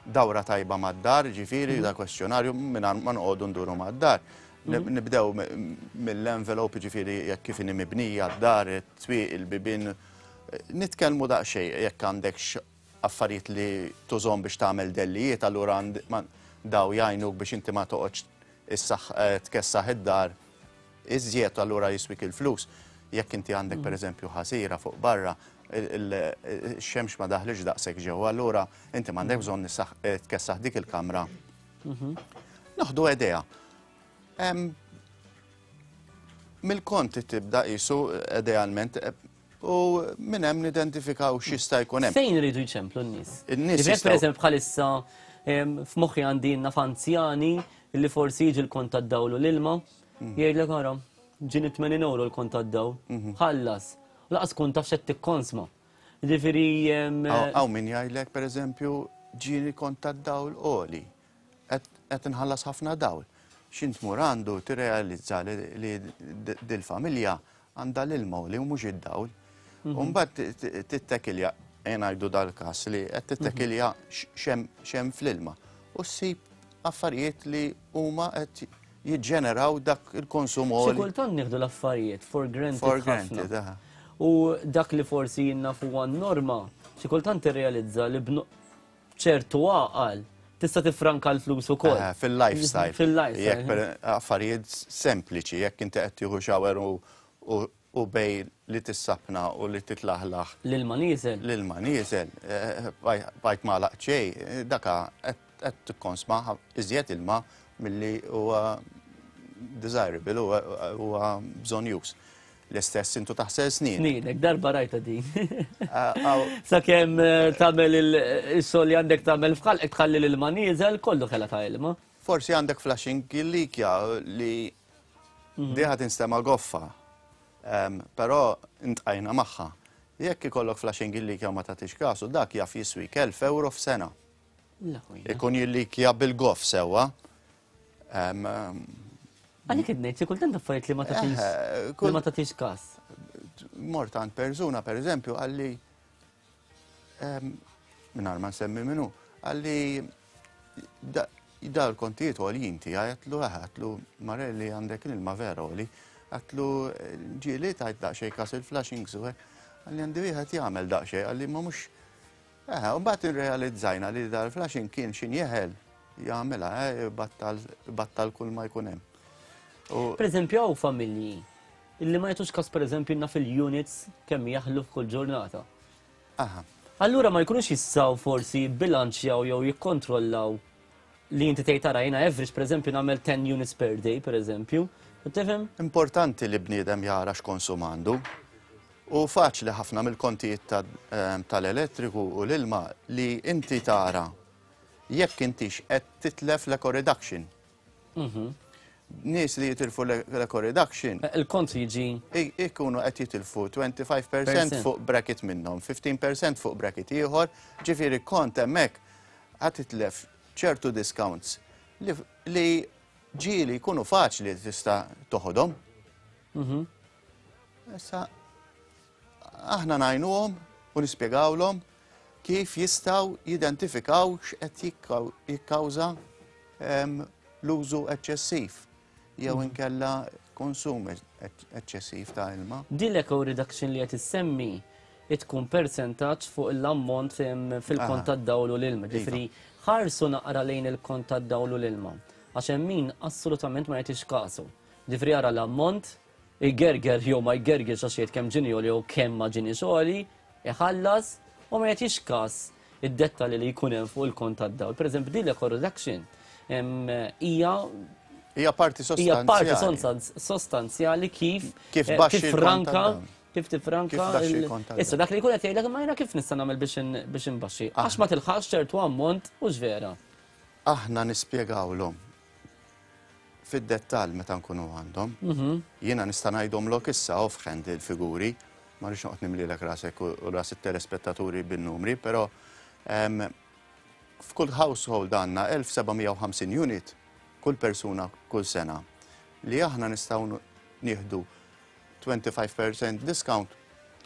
dawra tajba mad-dar, ġifieri mhm. da kwestjonarju mingħajr ma noqogħdu nduru mad-dar. Nibdew mill-envelope ġifieri jekk kif inhi mibnija d-dar, it-twieq, il-bibien, nitkellmu daqsxejn jekk għandek affarijiet li tużhom biex tagħmel dellijiet, allura daw jgħinuk biex inti ma toqgħodx eh, tkessaħ id-dar iżjed allura jiswik il-flus. Jekk inti għandek mm. pereżempju ħasira fuq barra, il-xemx ma daħlix daqshekk ġewwa, allura inti m'għandek mm. bżonn eh, tkessaħ dik il-kamra. Mhm. Naħdu idea. Mill-kont tibda qisu idealment eh, U minn hemm nidentifikaw x'jista' jkun hemm. Fejn iridu jċemplu n-nies? In-nies. Jekk pereżempju bħalissa f'moħħi għandi naf anzjani li forsi jiġi l-kont tad-dawl u l-ilma, mhm. jgħidlek ara, ġieni 80 euro l-kont tad-dawl, mhm. ħallas. Laqas kun taf x'qed tikkonsma. Ġifieri. Hawn min jgħidlek pereżempju ġieni kont tad-dawl għoli. Qed inħallas ħafna dawl. X'int tmur għandu tirrealizza li dil-familja għandha l-ilma u li mhux id-dawl. Mhm. U mbagħad tittekilja, ngħidu dal-każ li qed tittekilja mhm. xem fl-ilma u ssib affarijiet li huma qed jiġġeneraw dak il-konsum Xi kultant nieħdu l-affarijiet for granted. For granted, U dak li forsi jinna fuq norma, xi kultant tirrealizza li ċertu għaqal tista' tiffranka l-flus ukoll. Eh, fil-lifestyle. Fil-lifestyle. Jekk affarijiet sempliċi, jekk inti qed tieħu shower u bej li tissapna u li titlaħlaħ. L-ilma nieżel. L-ilma nieżel, eh, bajt ma laqċej, eh, daka qed tikkonsma iżjed ilma milli huwa desirable, huwa bżonjuż. L-istess intu taħsel snin. Snienek, darba rajta din. Sakemm eh, tagħmel il-xogħol li għandek tagħmel f'ħalqek tħalli l-ilma nieżel, kollu ħela ta' ilma. Forsi għandek flashing likja li mhm. diħa tinstema goffa, però intqajna magħha. Jekk ikollok flashing likja ma tagħtix kasu, dak jaf jiswik 1000 euro f'sena. Ikun jillikja bil-goff sewwa. Għalik id ngħid, kultant affarijiet li ma tagħtix eh, li ma tagħtix każ. Mort għand persuna pereżempju għalli mingħajr ma nsemmi minnu, għalli da l-kontijiet għoljin tiegħi għatlu eh, għatlu Marelli għandek l-ilma vera għoli, għatlu ġieli tajt daqsxejn kas il-flashing u għalli għandi wieħed jagħmel daqsxejn għalli ma mhux Eħe, u mbagħad irrealizzajna li dal-flashing kien x'in jeħel jagħmilha, eh, battal, battal kull ma jkun hemm. Per eżempju, hawn familji illi ma jagħtux każ pereżempju naf il-units kemm jaħlu f'kull ġurnata. Aha. Allura ma jkunux jistgħu forsi jibbilanċjaw jew jikkontrollaw. li inti tgħid tara jiena average pereżempju nagħmel 10 units per day pereżempju. Tifhem? Importanti li bniedem jara x'konsum għandu. U faċli ħafna mill-kontijiet tal-elettriku u l-ilma li inti tara jekk intix qed titlef l-eco reduction. Nies li jitilfu l-eco reduction. Il-kont jiġi. Ikunu qed jitilfu 25% fuq bracket minnhom, 15% fuq bracket ieħor, ġifieri kont hemmhekk ħa titlef ċertu discounts li ġieli jkunu faċli li tista' toħodhom. Issa aħna ngħinuhom u nispjegawlhom kif jistgħu jidentifikaw x'qed jikkawża l-użu eċċessiv jew inkella konsum eċċessiv ta' ilma. Din l-eco reduction li qed issemmi tkun persentaġġ fuq l-ammont fil-kont tad-dawl u l-ilma. Ġifieri ħarsu naqra lejn il-kont tad-dawl u l-ilma. Għax hemm min assolutament ma jagħtix kasu. Ġifieri jara l-ammont, igerger jew ma jgergirx għax jgħid kemm ġieni għoli jew kemm ma ġiniex għoli, iħallas u ma jagħtix każ id-dettalji li jkun hemm fuq il-kont tad-dawl. Pereżempju din l-eco reduction hija Hija parti hija parti sostanzjali kif Kif baxxi l-kont tifranka tad-dawl. kif tifranka Kif tbaxxi l-kont tad-dawl. Issa dak li jkun qed jgħidlek imma jiena kif nista' nagħmel biex inbaxxi? Għax ma tilħaqx ċertu ammont hux vera. Aħna nispjegawlhom fid-dettall meta nkunu għandhom. Jiena nista' ngħidhomlok issa offhand il-figuri, ma rridx noqgħod nimlilek rasek u ras it-telespettaturi bin-numri, però f'kull household għandna 1750 unit kull persuna kull sena li aħna nistgħu nieħdu 25% discount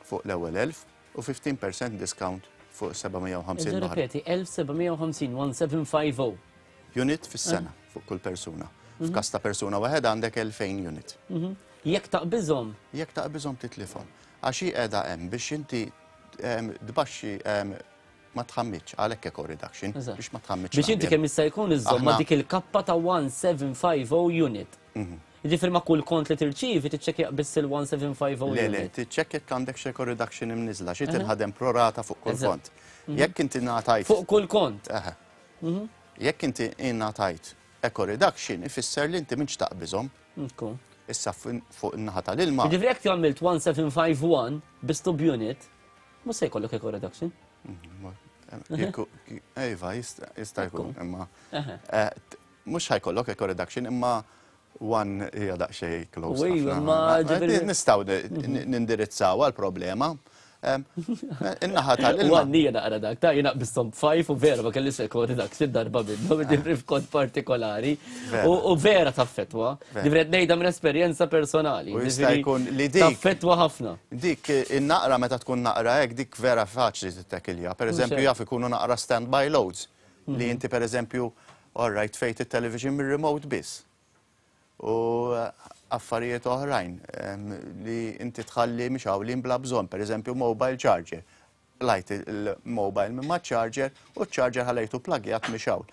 fuq l-ewwel 1000 u 15% discount fuq 750 l-oħra. Ripeti, 1750, 1750. Unit fis-sena fuq kull persuna. F'każ ta' persuna waħedha għandek 2000 unit. Jekk taqbiżhom? Jekk taqbiżhom titlifhom. Għax hi qiegħda hemm biex inti tbaxxi ma tħammitx, għalhekk eco reduction, biex ma tħammitx. Biex inti kemm jista' jkun iżżomm ma' dik il-kappa ta' 1750 unit. Jiġifieri ma' kull kont li tirċievi tiċċekkja biss il-1750 unit. Le, le, tiċċekkja jekk għandek xi eco reduction imniżżla, xi tinħadem pro rata fuq kull kont. Jekk inti ngħatajt. Fuq kull kont. Eħe. Jekk inti ingħatajt eco reduction ifisser li inti m'intx taqbiżhom. Issa fuq in-naħa tal-ilma. Jiġifieri jekk għamilt 1751 biss tub unit, mhux se jkollok eco reduction. Iva, jista' jkun, imma mhux ħajkollok eco reduction, imma one hija daqsxejn close. Nistgħu nindirizzaw għall-problema. In-naħa tal-ilma. One hija naqra dak, ta' jiena qbisthom b'five u vera ma kellix eco reduction darba minnhom, jiġifieri f'kont partikolari. U vera taffettwa. Jiġifieri qed ngħidha minn esperjenza personali. U jista' jkun li dik. Taffettwa ħafna. Dik in-naqra meta tkun naqra hekk dik vera faċli tittekilja. Pereżempju jaf ikunu naqra standby loads li inti pereżempju all right tfejt it-television mir-remote biss. U affarijiet oħrajn li inti tħalli mixgħulin bla bżonn, pereżempju mobile charger. Lajt il-mobile minn ma' charger u ċ-charger ħallejtu pluggjat mixgħul.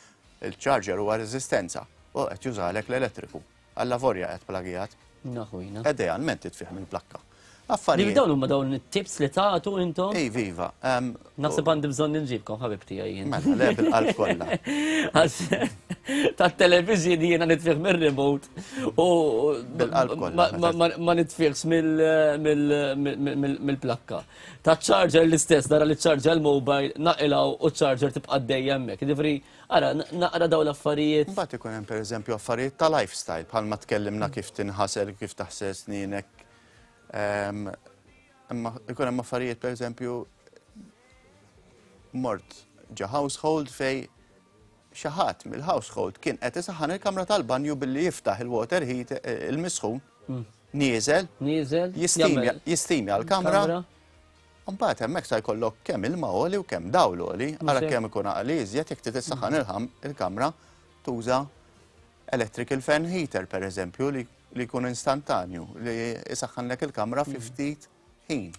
Il-charger huwa reżistenza u qed jużalek l-elettriku. Allavolja qed pluggjat. Naħujna. Idealment titfih mill-plakka. Affarijiet. Dawn huma dawn it-tips li tagħtu intom? Iva, iva. Naħseb għandi bżonn inġibkom ħabib tiegħi jien. Mela, le bil-qalb kollha. Għax tat-television jiena nitfih mir-remote u bil-qalb kollha. Ma nitfihx mill-plakka. Ta' charger l-istess, nara li ċarġa l-mobile, naqilgħu u ċarġer tibqa' dejjem hemmhekk. Jiġifieri, ara, naqra dawn l-affarijiet. Mbagħad ikun hemm pereżempju affarijiet ta' lifestyle bħalma tkellimna kif tinħasel, kif taħsel snienek. Imma ikun hemm affarijiet pereżempju mort ġa household fej xi ħadd mill-household kien qed isaħħan il-kamra tal-banju billi jiftaħ il-water heat il-misħun nieżel Nieżel, jistimja l-kamra. Mbagħad hemmhekk sa jkollok kemm ilma għoli u kemm dawl għoli, ara kemm ikun għaqli iżjed jekk trid issaħħan il-kamra tuża electrical fan heater pereżempju li jkun instantanju li isaħħanlek il-kamra fi ftit ħin.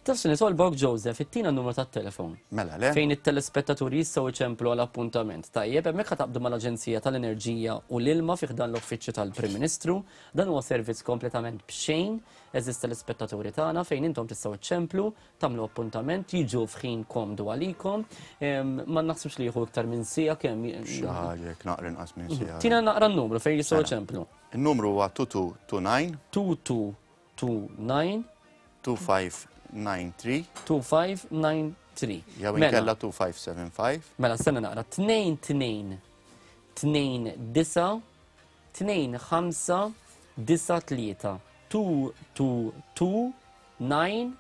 Taf xi nitolbok Joseph, ittina n-numru tat-telefon. Mela le. Fejn it-telespettaturi jistgħu jċemplu għal appuntament. Tajjeb, hemmhekk ħa taqbdu mal-Aġenzija tal-Enerġija u l-Ilma fi ħdan l-Uffiċċju tal-Prim Ministru. Dan huwa servizz kompletament b'xejn, għeżież telespettaturi tagħna, fejn intom tistgħu ċċemplu, tagħmlu appuntament, jiġu f'ħin komdu għalikom. Ma naħsibx li jieħu iktar minn siegħa kemm. Xi ħaġa jekk naqra inqas minn siegħa. Tina naqra n-numru fejn jistgħu jċemplu. In-numru huwa 2229. 2229. 2593. 2593. Jew mela. inkella 2575. Mela stenna naqra 2 2 2 9 2 5 9 3 2 2 2 9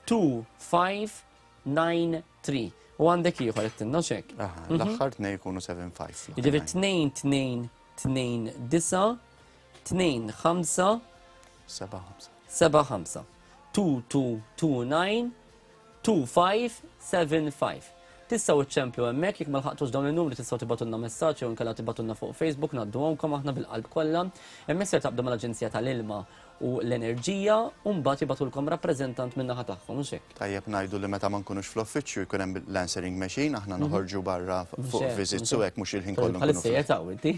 2 5 9 3. U għandek ieħor qed tinna xek. L-aħħar tnej jkunu 7 5. Jiġifieri 2 2 2 9 2 5 7 5. 7 5. 2 2 2 9 2 5 7 5. Tistgħu iċċemplu hemmhekk jekk ma lħaqtux dawn in-numri tistgħu tibgħatulna messaġġ jew inkella tibgħatulna fuq Facebook ngħadduhomkom aħna bil-qalb kollha. Hemmhekk ser taqbdu mal-Aġenzija tal-Ilma u l-Enerġija u mbagħad jibgħatulkom rappreżentant min-naħa tagħhom, mhux hekk? Tajjeb ngħidu li meta ma nkunux fl-uffiċċju jkun hemm l-answering machine, aħna noħorġu barra fuq visits u hekk mhux il-ħin kollu. Bħalissa qiegħed hawn inti.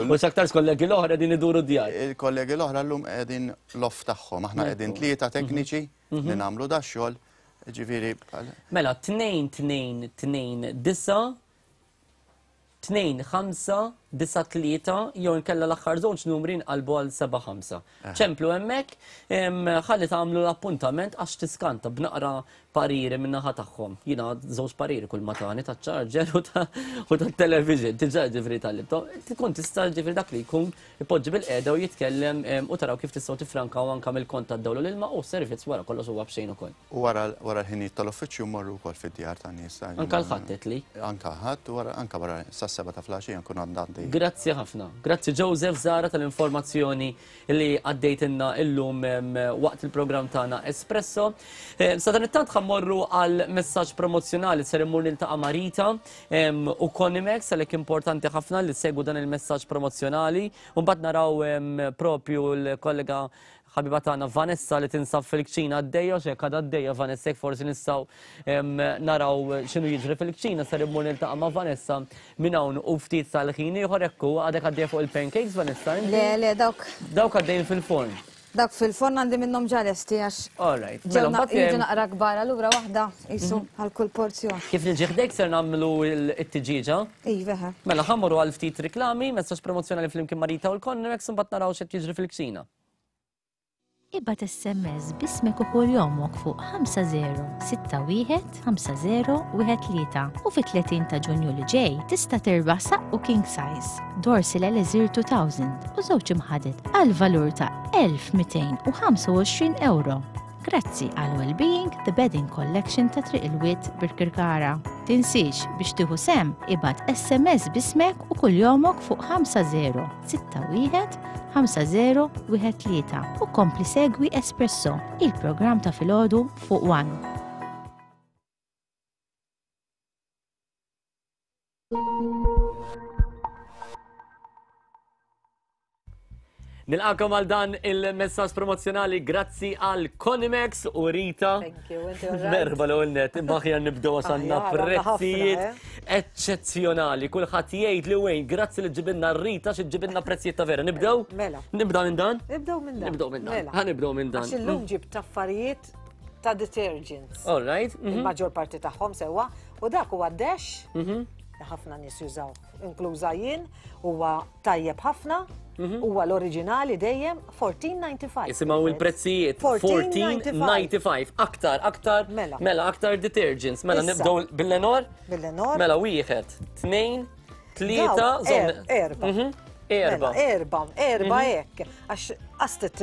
U x'aktarx kollegi l-oħra qegħdin iduru d-djar. Il-kollegi l-oħra llum qegħdin l-off tagħhom, aħna qegħdin tlieta tekniċi li nagħmlu dax-xogħol, ġifieri. Mela 2 2 2 9 2 5 9 3 jew inkella l-aħħar żewġ numri nqalbu għal 7 5. Ċemplu hemmhekk ħalli tagħmlu l-appuntament għax tiskanta b'naqra pariri min-naħa tagħhom. Jiena żewġ pariri kull ma tani taċ-charger u tat-television, diġà ġifieri tal-libto. Tkun tista' ġifieri dak li jkun ipoġġi bil-qiegħda u jitkellem u taraw kif tistgħu tiffrankaw anke mill-kont tad-dawl u l-ilma u s-servizz wara kollox huwa b'xejn ukoll. U wara l-ħinijiet tal-uffiċċju mmorru wkoll fid-djar tan-nies. Anke l-Ħadd għedtli. Anke Ħadd u anke wara sas-sebgħa ta' filgħaxija nkun għadna għaddejjin. Grazzi ħafna. Grazzi Joseph Zahra tal-informazzjoni li għaddejtilna illum waqt il-programm tagħna Espresso. Sadanittant ħa mmorru għal messaġġ promozzjonali ser immur niltaqa' ma' Rita u Conimex għalhekk importanti ħafna li ssegwu dan il-messaġġ promozzjonali u mbagħad naraw propju l-kollega Ħabiba tagħna Vanessa li tinsab fil-kċina għaddejja, x'hekk għadha għaddejja Vanessa jekk forsi nistgħu naraw x'inhu jiġri fil-kċina ser immur niltaqa' ma' Vanessa minn hawn u ftit tal-ħin ieħor hekk hu għadek għaddejja fuq il-pancakes Vanessa inti? Le, le, dawk. Dawk għaddejjin fil-forn. Dawk fil-forn għandi minnhom ġa lesti għax. All right. Mela mbagħad jiġu naqra kbar allura waħda qisu mhm. għal kull porzjon. Kif niġi ħdejk ser nagħmlu t-tiġieġa? Iva. Mela ħammorru għal ftit riklami, messaġġ promozzjonali flimkien Marita u l-Connex imbagħad naraw x'qed jiġri fil-kċina. Ibgħat SMS b'ismek u kuljomok fuq 5061 5013 u fit-30 ta' Ġunju li ġej tista' tirbaħ saqqu king size, Dorsil Elixir 2000 u żewġ imħaded għal valur ta' 1225 ewro. Grazzi għal Wellbeing The Bedding Collection ta' Triq il-Wied Birkirkara. Tinsiex biex tieħu sehem ibgħat SMS b'ismek u kuljomok fuq 5061 5013 u kompli segwi Espresso, il-programm ta' filgħodu fuq One. Nilqakom għal dan il-messaġġ promozzjonali grazzi għal Conimex u Rita. Thank you, inti all right? Merħba l-ewwel net, imma aħjar nibdew għax għandna Aħjar, għandna ħafna, prezzijiet eh? eċċezzjonali. Kulħadd jgħid li wejn, grazzi li ġibilna Rita xi ġibilna prezzijiet ta' vera. Nibdew? Mela. Nibda minn dan? Nibdew minn dan. Nibdew minn dan. Mela. Ħa nibdew minn dan. Għax illum ġibt affarijiet ta' detergents. All right. Il-maġġor parti tagħhom sewwa u dak huwa dash li ħafna nies jużaw, inkluża jien, huwa tajjeb ħafna, huwa l-oriġinali dejjem 14.95. Isimgħu il-prezzijiet 14.95. Aktar, aktar. Mela. Mela, aktar detergents. Mela Issa. nibdew bil-Lenor. Bil-Lenor. Mela wieħed, tnejn, tlieta, Daw, żomm- erba. Erba. Mela, erba, erba hekk. Għax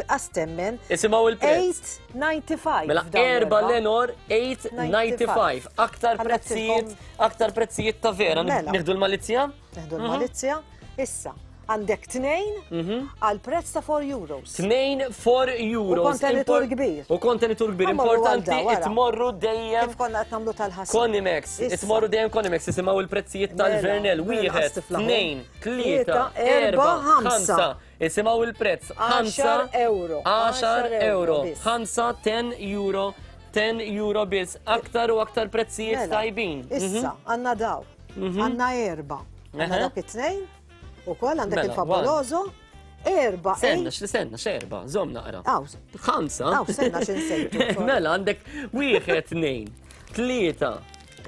għastemmen. Isimgħu il-prezz. 8.95. Mela f'dawn erba l-erba. Lenor 8.95. Aktar Ħallat prezzijiet, ilkom. aktar prezzijiet ta' vera. Mela. Nieħdu l-malizzja? Neħdu l-malizzja. Issa, għandek tnejn għal prezz ta' 4 euros. Tnejn 4 euros. U kontenitur kbir. U kontenitur kbir. Ħa mmorru għal Importanti da, wara. itmorru dejjem. Kif konna qed nagħmlu tal-ħasil. Conimex, Issa. itmorru dejjem Conimex, isimgħu il-prezzijiet tal-Vernel. Mela, Wieħed, qas tiflaħu. tnejn, tlieta, Tlieta, erba, erba, ħamsa. ħamsa. Isimgħu il-prezz. Ħamsa, 10 euro. 10 10 euro. biss. 5, 10 euro. 10 euro biss, aktar u aktar prezzijiet Mela, tajbin. Issa, għandna daw. Għandna erba. Għandna dawk it-tnejn, ukoll għandek Mela, il-Favoloso. Erba. Senna, x'senna, x'erba, żomm naqra. Aw. Ħamsa. Aw, senna x'insejtu. sorry. Mela, għandek wieħed, tnejn, tlieta,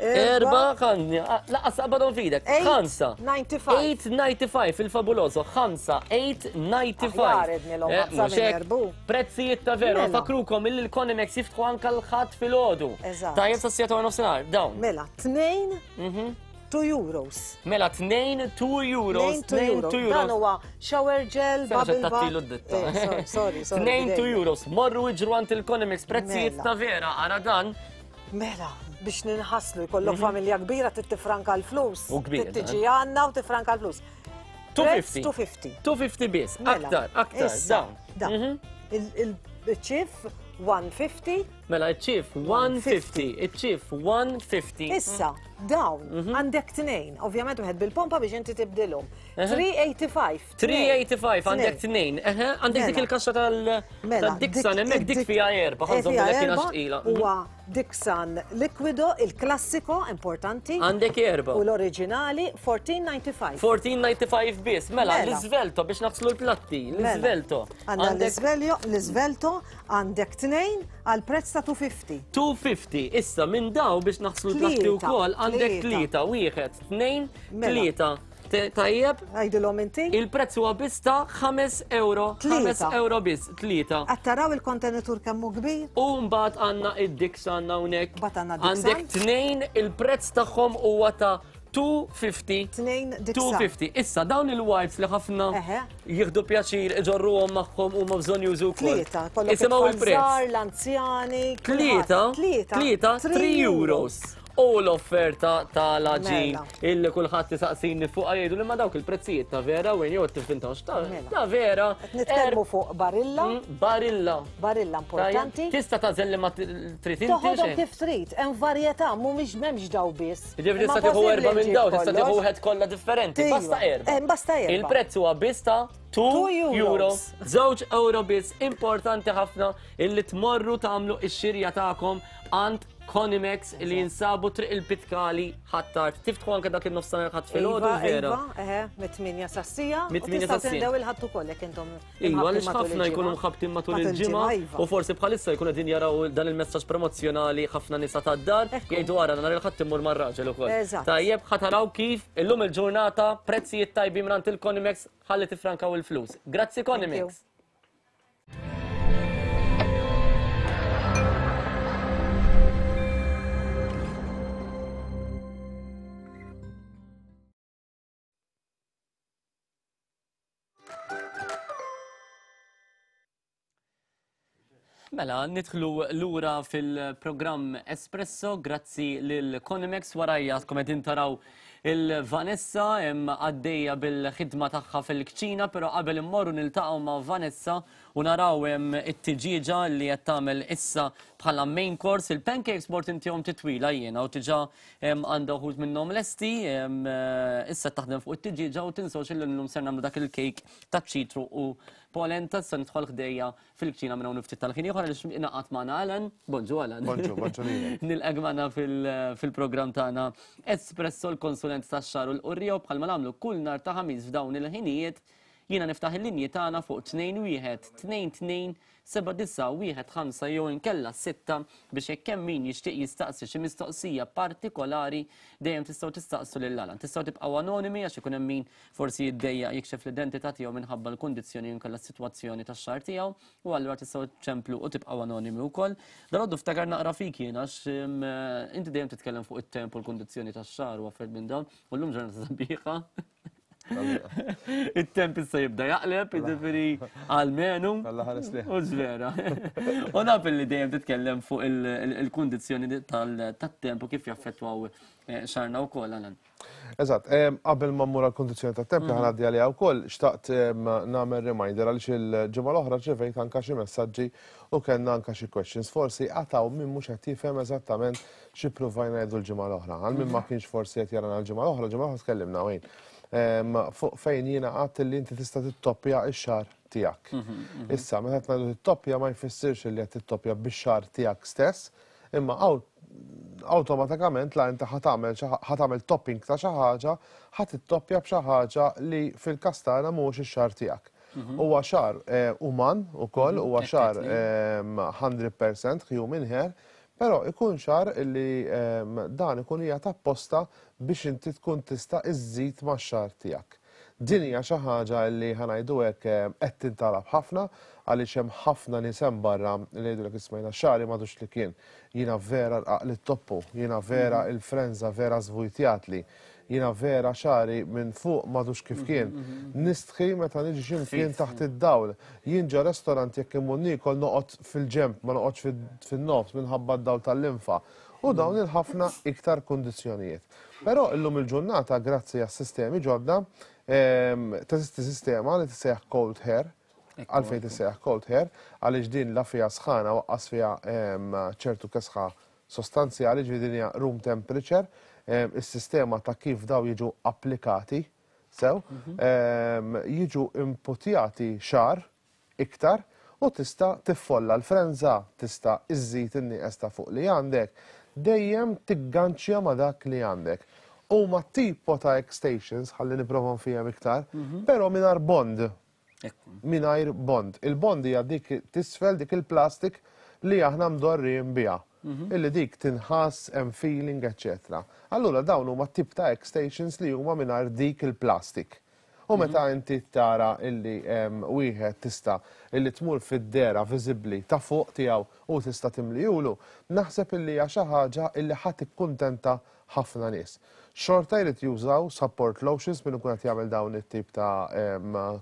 erba, ħanni, laqas qabadhom f'idek. Eight, Ħamsa. 95. 8.95 il-fabuloso, 5, 8.95. Aħjar ednilhom Eh, ħamsa mhux minn hekk. erbu. Prezzijiet ta' veru, Mela. fakrukom illi l-Conimex jiftħu anka l-ħadd filgħodu. Eżatt. Tajjeb sa' siegħa ta' nofsinhar, dawn. Mela, tnejn, 2 euros. Mela, 2 2 euros, 2 2 euro. 2 Dan euros. huwa shower gel, Sena bubble xed tattilu bath. d-ditta. Eh, sorry, sorry, sorry. 2 2 bidejna. euros, morru iġru għand il-Conimex, prezzijiet Mela. ta' vera, ara dan. Mela, biex ninħaslu, jkollok familja kbira trid tifranka l-flus. Mhm. U kbir, Trid tiġi għandna u tifranka l-flus. Prezz 250. 250. 250 biss, Mela, aktar, aktar, issa, dawn. Da. Mhm. Il-ċif 150. Mela, iċ-ċif 150, iċ-ċif 150. Issa, dawn, Mhm. għandek tnejn. Ovvjament wieħed bil-pompa biex inti tibdilhom. 385. 385 għandek tnejn. Eħe, għandek dik Mela. il-kaxxa Mela, tal-Dixon, hemmhekk dik fiha erba, Eh, ħanżom fiha bil kiena erba, xtqila. Huwa Dixon Liquido, il-klassiko, importanti. Għandek erba. U l-oriġinali 1495. 1495 biss, mela, Mela. l-iżvelto biex naħslu l-platti, Mela. l-iżvelto. Għandna l-Isveljo, l-Isvelto, għandek tnejn għal prezz ta' 250. 250, issa minn daw biex naħslu l-platti Tlieta, wkoll għandek tlieta. tlieta, wieħed, tnejn, Mela. tlieta. Te- Tajjeb? Għajdilhom inti? Il-prezz huwa biss ta' 5 euro, 5 Tlieta. euro biss, tlieta. Qed taraw il-kontenitur kemm hu kbir? U mbagħad għandna id-Dixon hawnhekk. Mbagħad għandna Dixon. Għandek tnejn il-prezz tagħhom huwa ta' 250. Tnejn Dixon. 250. Issa dawn il-wipes li ħafna Eħe. jieħdu pjaċir iġorruhom magħhom huma bżonn jużu wkoll. Tlieta, kollok Isimgħu it-tfal il-prezz. żgħar, l-anzjani. Tlieta, kulħadd. Tlieta, tlieta, 3 euros. U l-offerta tal-aġin Mela. illi kulħadd isaqsini fuq jgħidu li ma dawk il-prezzijiet ta' vera wejn jew tifintawx ta' Mela. ta' vera. Qed nitkellmu fuq barilla, Barilla. barilla importanti. Tista' tagħżel li ma trid inti Toħodhom xejn. kif trid, hemm varjetà, mhumiex m'hemmx daw biss. Ġifieri Imma tista' tieħu possibbli erba' minn ġġib daw, tista' tieħu kollox. wieħed kollha differenti. Iva. Basta erba'. Eh, basta erba'. Il-prezz huwa biss ta' 2 Two euro. euros. Żewġ euro biss importanti ħafna illi tmorru tagħmlu x-xirja tagħkom għand Conimex li jinsabu triq il-Pitkali ħattart. Tiftħu anke dak il-nofsinhar ħadd filgħodu Iva, vera. Iva, eħe, mit-8 sassija. Mit-tmienja Tista' sas-sija. tindew il-ħadd ukoll jekk intom. Iva, imħabbtin għaliex matul ħafna jkunu il-ġimgħa. mħabtin matul Matul il-ġimgħa iva. u forsi bħalissa jkunu qegħdin jaraw dan il-messaġġ promozzjonali ħafna nisa tad-dar jgħidu ara nhar il-ħadd immur mar-raġel ukoll. Eżatt. Tajjeb ħa taraw kif illum il-ġurnata prezzijiet tajbin mingħand il-Conimex ħalli tifrankaw il-flus. Grazzi Conimex. Mela, nidħlu lura fil-programm Espresso, grazzi lil Conimex warajja tkun qegħdin taraw il-Vanessa hemm għaddejja bil-ħidma tagħha fil-kċina, però qabel immorru niltaqgħu ma' Vanessa u naraw hemm it-tiġieġa li qed tagħmel issa bħala main course il-pancakes mort intihom titwila jiena u diġà hemm għandha wħud minnhom lesti, hemm, eh, issa taħdem fuq it-tiġieġa u tinsewx illi llum ser nagħmlu dak il-cake taċ-ċitru u polenta se nidħol ħdejja fil-kċina minn hawn ftit tal-ħin ieħor għaliex ingħaqad magħna Alan. Bonġu Alan. Bonġu, bonġu lilek. Nilqek magħna fil-programm tagħna Espresso l-konsulent tax-xagħar u l-qurrija u bħalma nagħmlu kull nhar ta' ħamis f'dawn il-ħinijiet jiena niftaħ il-linji tagħna fuq 21 22 7915 jew inkella 6 biex jekk hemm min jixtieq jistaqsi xi mistoqsija partikolari dejjem tistgħu tistaqsu lil Alan. Tistgħu tibqgħu anonimi għax ikun hemm min forsi jiddejjaq jikxef l-identità tiegħu minħabba l-kundizzjoni jew inkella s-sitwazzjoni tax-xagħar tiegħu u allura tistgħu ċemplu u tibqgħu anonimi wkoll. Dalgħodu ftakar naqra fik jien għax inti dejjem titkellem fuq it-temp u l-kundizzjoni tax-xagħar u affarijiet minn dawn u llum ġurnata sabiħa. It-temp issa jibda jaqleb, jiġifieri għalmenu. U vera. U naf li dejjem titkellem fuq il-kundizzjoni tat-temp u kif jaffettwaw eh, xarna wkoll Alan. Eżatt, qabel ma mmur għall-kundizzjoni tat-temp li ħanaddi għaliha wkoll, xtaqt nagħmel reminder għaliex il-ġimgħa l-oħra rċevejt anka xi messaġġi u kellna anka xi questions. Forsi għataw min mhux qed jifhem eżattament xi ppruvajna ngħidu l-ġimgħa l-oħra. Għal min ma kienx forsi qed jarana l-ġimgħa l-oħra, l-ġimgħa l-oħra tkellimna wejn fuq fejn jiena għadt li inti tista' tittoppja x-xagħar tiegħek. Issa, meta qed ngħidu tittoppja ma jfissirx li qed tittoppja bix-xagħar tiegħek stess. Imma awtomatikament la inti ħa tagħmel ħa tagħmel topping ta' xi ħaġa, ħa tittoppja b'xi ħaġa li fil-każ tagħna mhuwiex ix-xagħar tiegħek. Huwa xagħar uman ukoll, huwa xagħar 100% human hair, però ikun xagħar li dan ikun qiegħed apposta biex inti tkun tista' iżżid max-xagħar tiegħek. Din hija xi ħaġa li ħa ngħidu hekk qed tintalab ħafna għaliex hemm ħafna nies hemm barra li jgħidulek isma' jiena xagħri m'għadux li kien, jiena vera rqaq lit-toppu, jiena vera il-frenża vera żvujtjatli, jiena vera xagħri minn fuq m'għadux kif kien, nistħi meta niġi xi mkien taħt id-dawl, jien ġo restorant jekk immur niekol noqgħod fil-ġenb ma noqgħodx fin-nofs minħabba d-dawl tal-linfa u dawn il-ħafna iktar kundizzjonijiet. Però illum il-ġurnata grazzi għas-sistemi ġodda teżisti sistema li tissejjaħ cold hair. Għalfejn tissejjaħ cold hair? Għaliex din la fiha sħana u aqqas fiha ċertu kesħa sostanzjali, ġifieri din hija room temperature, is-sistema ta' kif daw jiġu applikati sew, jiġu imputjati xagħar iktar u tista' tiffolla l-frenża, tista' iżżid in-nieqes ta' fuq li għandek, dejjem tigganċja ma' dak li għandek. Huma tipo ta' extensions, ħalli nipprova nfiehem iktar, però mingħajr bond. Mingħajr bond. Il-bond hija dik t'isfel, dik il-plastic li aħna mdorrijin biha. Illi dik tinħass, hemm feeling, eċċetera. Allura dawn huma tip ta' extensions li huma mingħajr dik il-plastic. U meta inti tara illi wieħed tista' illi tmur fid-dehra viżibbli ta' fuq tiegħu u tista' timlijulu, naħseb illi hija xi ħaġa illi ħa tikkuntenta ħafna nies. Xorta jrid jużaw support lotions min ikun qed jagħmel dawn it-tip ta'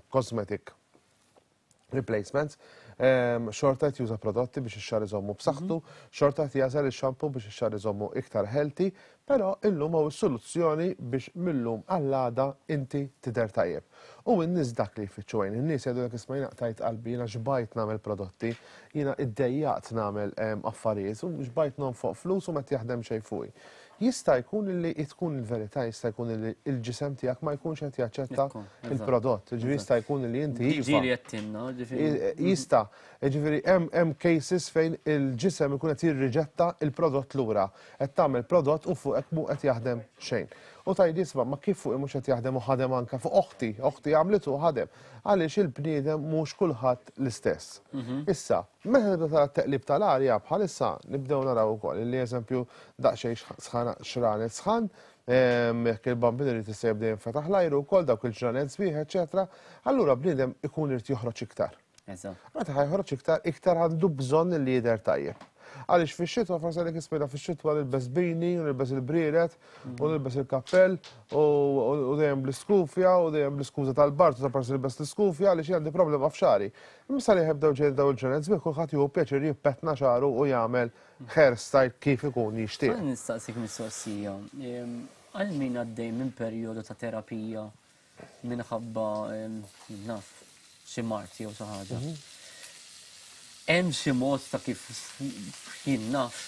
cosmetic replacements, xorta qed juża prodotti biex ix-xagħar iżommu b'saħħtu, xorta qed jagħżel ix-shampoo biex ix-xagħar iżommu iktar healthy, però illum hawn is-soluzzjoni biex mil-lum għall-għada inti tidher tajjeb. U n-nies dak li jfittxu għajn, in-nies jgħidulek isma' jiena qtajt qalbi, jiena xbajt nagħmel prodotti, jiena iddejjaqt nagħmel affarijiet u xbajt nonfoq flus u m'qed jaħdem xejn fuqi. Jista' jkun li tkun il-verità, jista' jkun li l-ġisem tiegħek ma jkunx qed jaċċetta il-prodott. Ġifieri jista' jkun li inti iva. Ġieli qed tinna, ġifieri. Jista', ġifieri hemm cases fejn il-ġisem ikun qed jirriġetta il-prodott lura. Qed tagħmel prodott u fuqek mhu qed jaħdem xejn. U tgħid isma' ma kif fuqi mhux qed jaħdem u ħadem anke fuq oħti, oħti għamlitu u ħadem. Għaliex il-bniedem mhux kulħadd l-istess. Issa, Meta tibda tara t-teqlib tal-arja bħalissa nibdew naraw ukoll li eżempju daqsxejn sħana xranet sħan, jekk il-bambin irid issa jibda jinfetaħ l-ajru wkoll dawk il-ġranet sbieħ, eċċetera, allura bniedem ikun irid joħroġ iktar. Meta ħa joħroġ iktar, iktar għandu bżonn li jidher tajjeb. Għaliex fix-xitwa forsi għalhekk ismejna fix-xitwa nilbes bini, u nilbes il-brieret, u nilbes il-kappell, u dejjem bl-iskufja, u dejjem bl-iskuża tal-bard, u ta' parsi nilbes l-iskufja għaliex għandi problema f'xagħri. Imma sa li jibdew ġejjin dawn il-ġranet sbieħ kulħadd jieħu pjaċir jippettna xagħru u jagħmel hairstyle kif ikun jixtieq. Ħa nistaqsik mistoqsija. Għal min għaddej minn perjodu ta' terapija minħabba naf xi mard jew xi ħaġa. Hemm xi mod ta' kif jien naf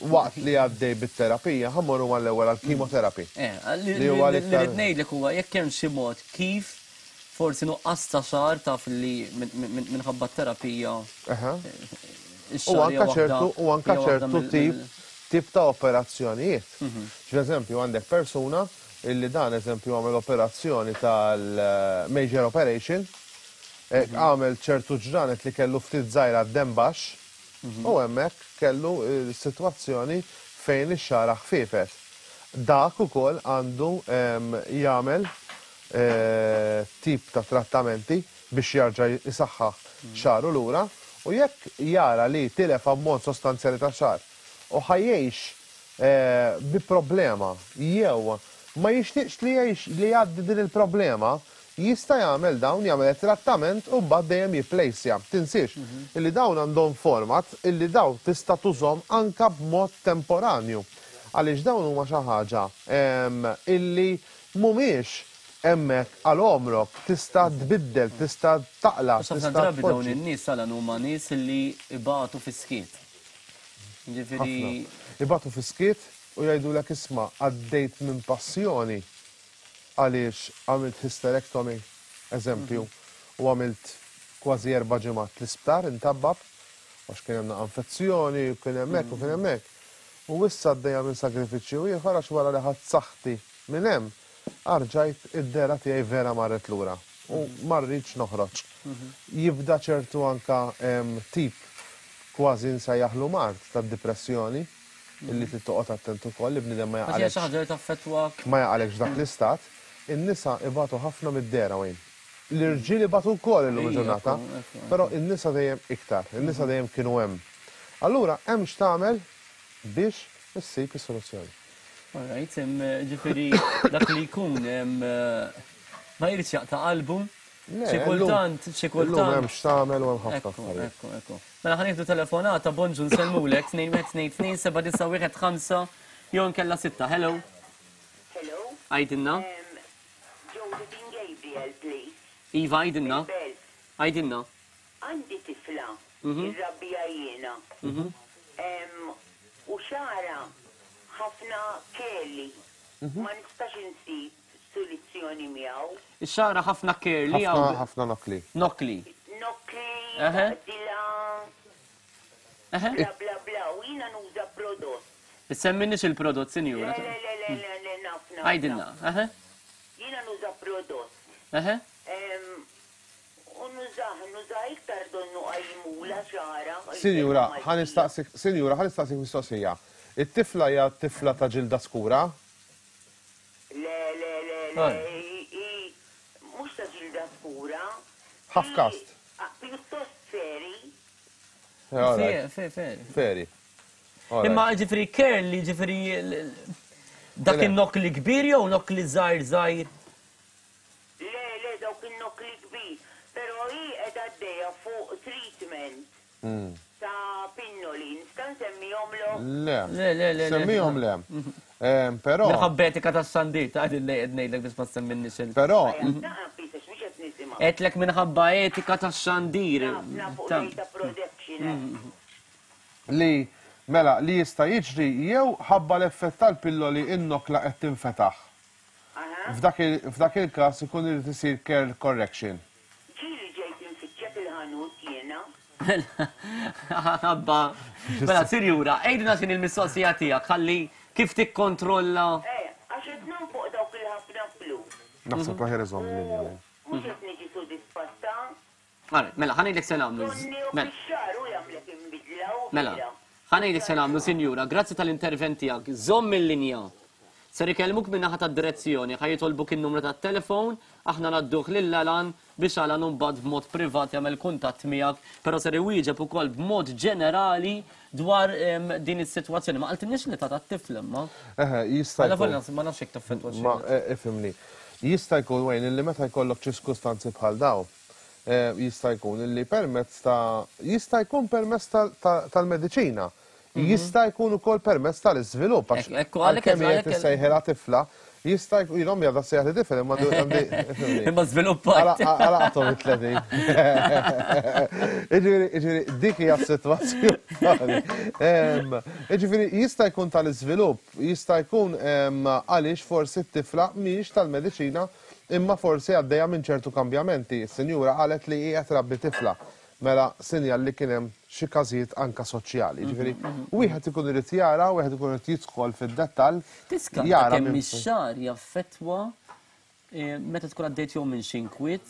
Waqt li għaddej bit-terapija, ħa mmorru mal-ewwel għall-chemotherapy. Li huwa l-iktar. Li ngħidlek huwa jekk hemm xi mod kif Forsi nuqqas ta' xagħar taf li minħabba t-terapija. U anka ċertu u anka ċertu tip tip ta' operazzjonijiet. Ġeżempju għandek persuna illi dan eżempju għamel operazzjoni tal-major operation, għamel ċertu ġranet li kellu ftit żgħira d-demm baxx, U hemmhekk kellu sitwazzjoni fejn ix-xagħra ħfiefet. Dak ukoll għandu jagħmel tip ta' trattamenti biex jarġa' jsaħħaħ xagħru lura u jekk jara li tilef ammont sostanzjali ta' xagħar u ħa jgħix bi problema jew ma jixtieqx li jgħix li jgħaddi din il-problema, jista' jagħmel dawn, jagħmel it-trattament u mbagħad dejjem jipplejsja. Tinsiex illi dawn għandhom format illi dawn tista' tużhom anke b'mod temporanju. Għaliex dawn huma xi ħaġa illi mhumiex hemmhekk għal għomrok, tista' tbiddel, tista' taqla', Għax ħafna tista' drabi dawn tpoġġi. in-nies Alan huma nies illi ibatu fis-skiet. Jiġifieri. Ħafna. Ibatu fis-skiet u jgħidulek isma' għaddejt minn passjoni għaliex għamilt hysterectomy, eżempju, u għamilt kważi erba' ġimgħat l-isptar intabbab għax kien hemm naqa' infezzjoni u kien hemm hekk u kien hemm hekk. U issa għaddejja minn sagrifiċċju ieħor għax wara li ħadt saħħti minn hemm, arġajt id-dehra tiegħi vera marret lura u ma rridx noħroġ. Jibda ċertu anka tip kważi nsejjaħlu mard tad-dipressjoni illi trid toqgħod attent ukoll li bniedem ma Għax hija xi jaqalekx ħaġa li taffettwak. ma jaqalekx dak l-istat. In-nisa ibatu ħafna mid-dehra Wayne. L-irġiel ibatu wkoll illum il-ġurnata, però in-nisa dejjem iktar, in-nisa dejjem kienu hemm. Allura hemm x'tagħmel biex issib is-soluzzjoni. All right, ġifieri dak li jkun ma jridx jaqta' qalbu. Xi kultant, xi kultant. Illum hemm x'tagħmel u hemm ħafna affarijiet. Ekku, ekku. Mela ħa nieħdu telefonata, bonġu nsellmulek 2122 7915 jew inkella sitta. Hello. Hello. Għidilna. Josephine Gabriel, please. Iva, għidilna. Mill-Belt. Għidilna. Għandi tifla, irrabbija jiena. U xagħarha ħafna curly. Ma nistax insib soluzzjoni miegħu. Xagħarha ħafna curly jew. Ħafna ħafna nokkli. Nokkli. Nokkli, taqdilha. Bla bla bla u jiena nuża prodott. Issemminix il-prodott, sinjura. Le, le, le, le, le, naf, naf. Għidilna, eħe. Jiena nuża prodott. Eħe. U nużah, nużah iktar donnu qajmula xagħarha. Sinjura, ħa nistaqsik, sinjura, ħa nistaqsik mistoqsija. It-tifla hija tifla ta' ġilda skura? Le, le, le, le, hi mhux ta' ġilda skura. Half caste. Pjuttost feri. Feri. Feri. Imma ġifri curly, ġifri dak in-nokli kbir jew nokli żgħir żgħir? Le, le, dawk in-nokli kbir. Però hi qiegħda għaddejja fuq treatment ta' pinnoli. Nista' nsemmihomlok? Le. Le, le, le. Semmihom le. Però. Minħabba etika tax-xandir, ta' qegħdin ngħidlek biex ma ssemminniex il. Però. Għedtlek minħabba etika tax-xandir. Naf, naf fuq data protection. Li, mela, li jista' jiġri jew ħabba l-effett tal-pilloli in-nokla qed tinfetaħ. F'dak f'dak il-każ ikun irid isir curl correction. Ġieli ġejt infittxek il-ħanut jiena. Mela, ħabba. Mela, sinjura, għidilna x'inhi l-mistoqsija tiegħek ħalli kif tikkontrolla. Eh, għax qed nonfoq dawk il-ħafna flus. Naħseb l-aħjar iżomm linja. U mhux qed niġi sodisfatta. Alright, mela, ħa ngħidlek se nagħmlu. Mela. Mela, ħa ngħidlek se nagħmlu, sinjura, grazzi tal-intervent tiegħek. Żomm il-linja. Ser ikellmuk minn naħa tad-direzzjoni, ħa jitolbuk in-numru tat-telefon, aħna ngħadduh lil Alan biex Alan imbagħad b'mod privat jagħmel kuntatt miegħek, però ser iwieġeb ukoll b'mod ġenerali dwar din is-sitwazzjoni. Ma qaltilniex l-età tat-tifel imma. Eħe, jista' jkun. Ma nafx jekk taffettwa xi. Ma ifhimni. Jista' jkun Wayne illi meta jkollok ċirkustanzi bħal dawn, Jista' jkun illi permezz ta' jista' jkun permezz tal-mediċina. Jista' jkun ukoll permezz tal-iżvilupp għax għalkemm hija tissejħilha tifla, jista' jkun jien ommi għadha ssejjaħli tifel imma għandi Imma żviluppat. Għalaqthom it-30. Jiġifieri jiġifieri dik hija s-sitwazzjoni. Jiġifieri jista' jkun tal-iżvilupp, jista' jkun għaliex forsi t-tifla mhijiex tal-mediċina Imma forsi għaddejja minn ċertu kambjamenti. Is-sinjura qalet li hi qed trabbi tifla. Mela sinjal li kien hemm xi każijiet anke soċjali. Jiġifieri wieħed ikun irid jara, wieħed ikun irid jidħol fid-dettall, Tiskanta jara kemm minn ix-xagħar jaffettwa meta tkun għaddejt jew minn xi inkwiet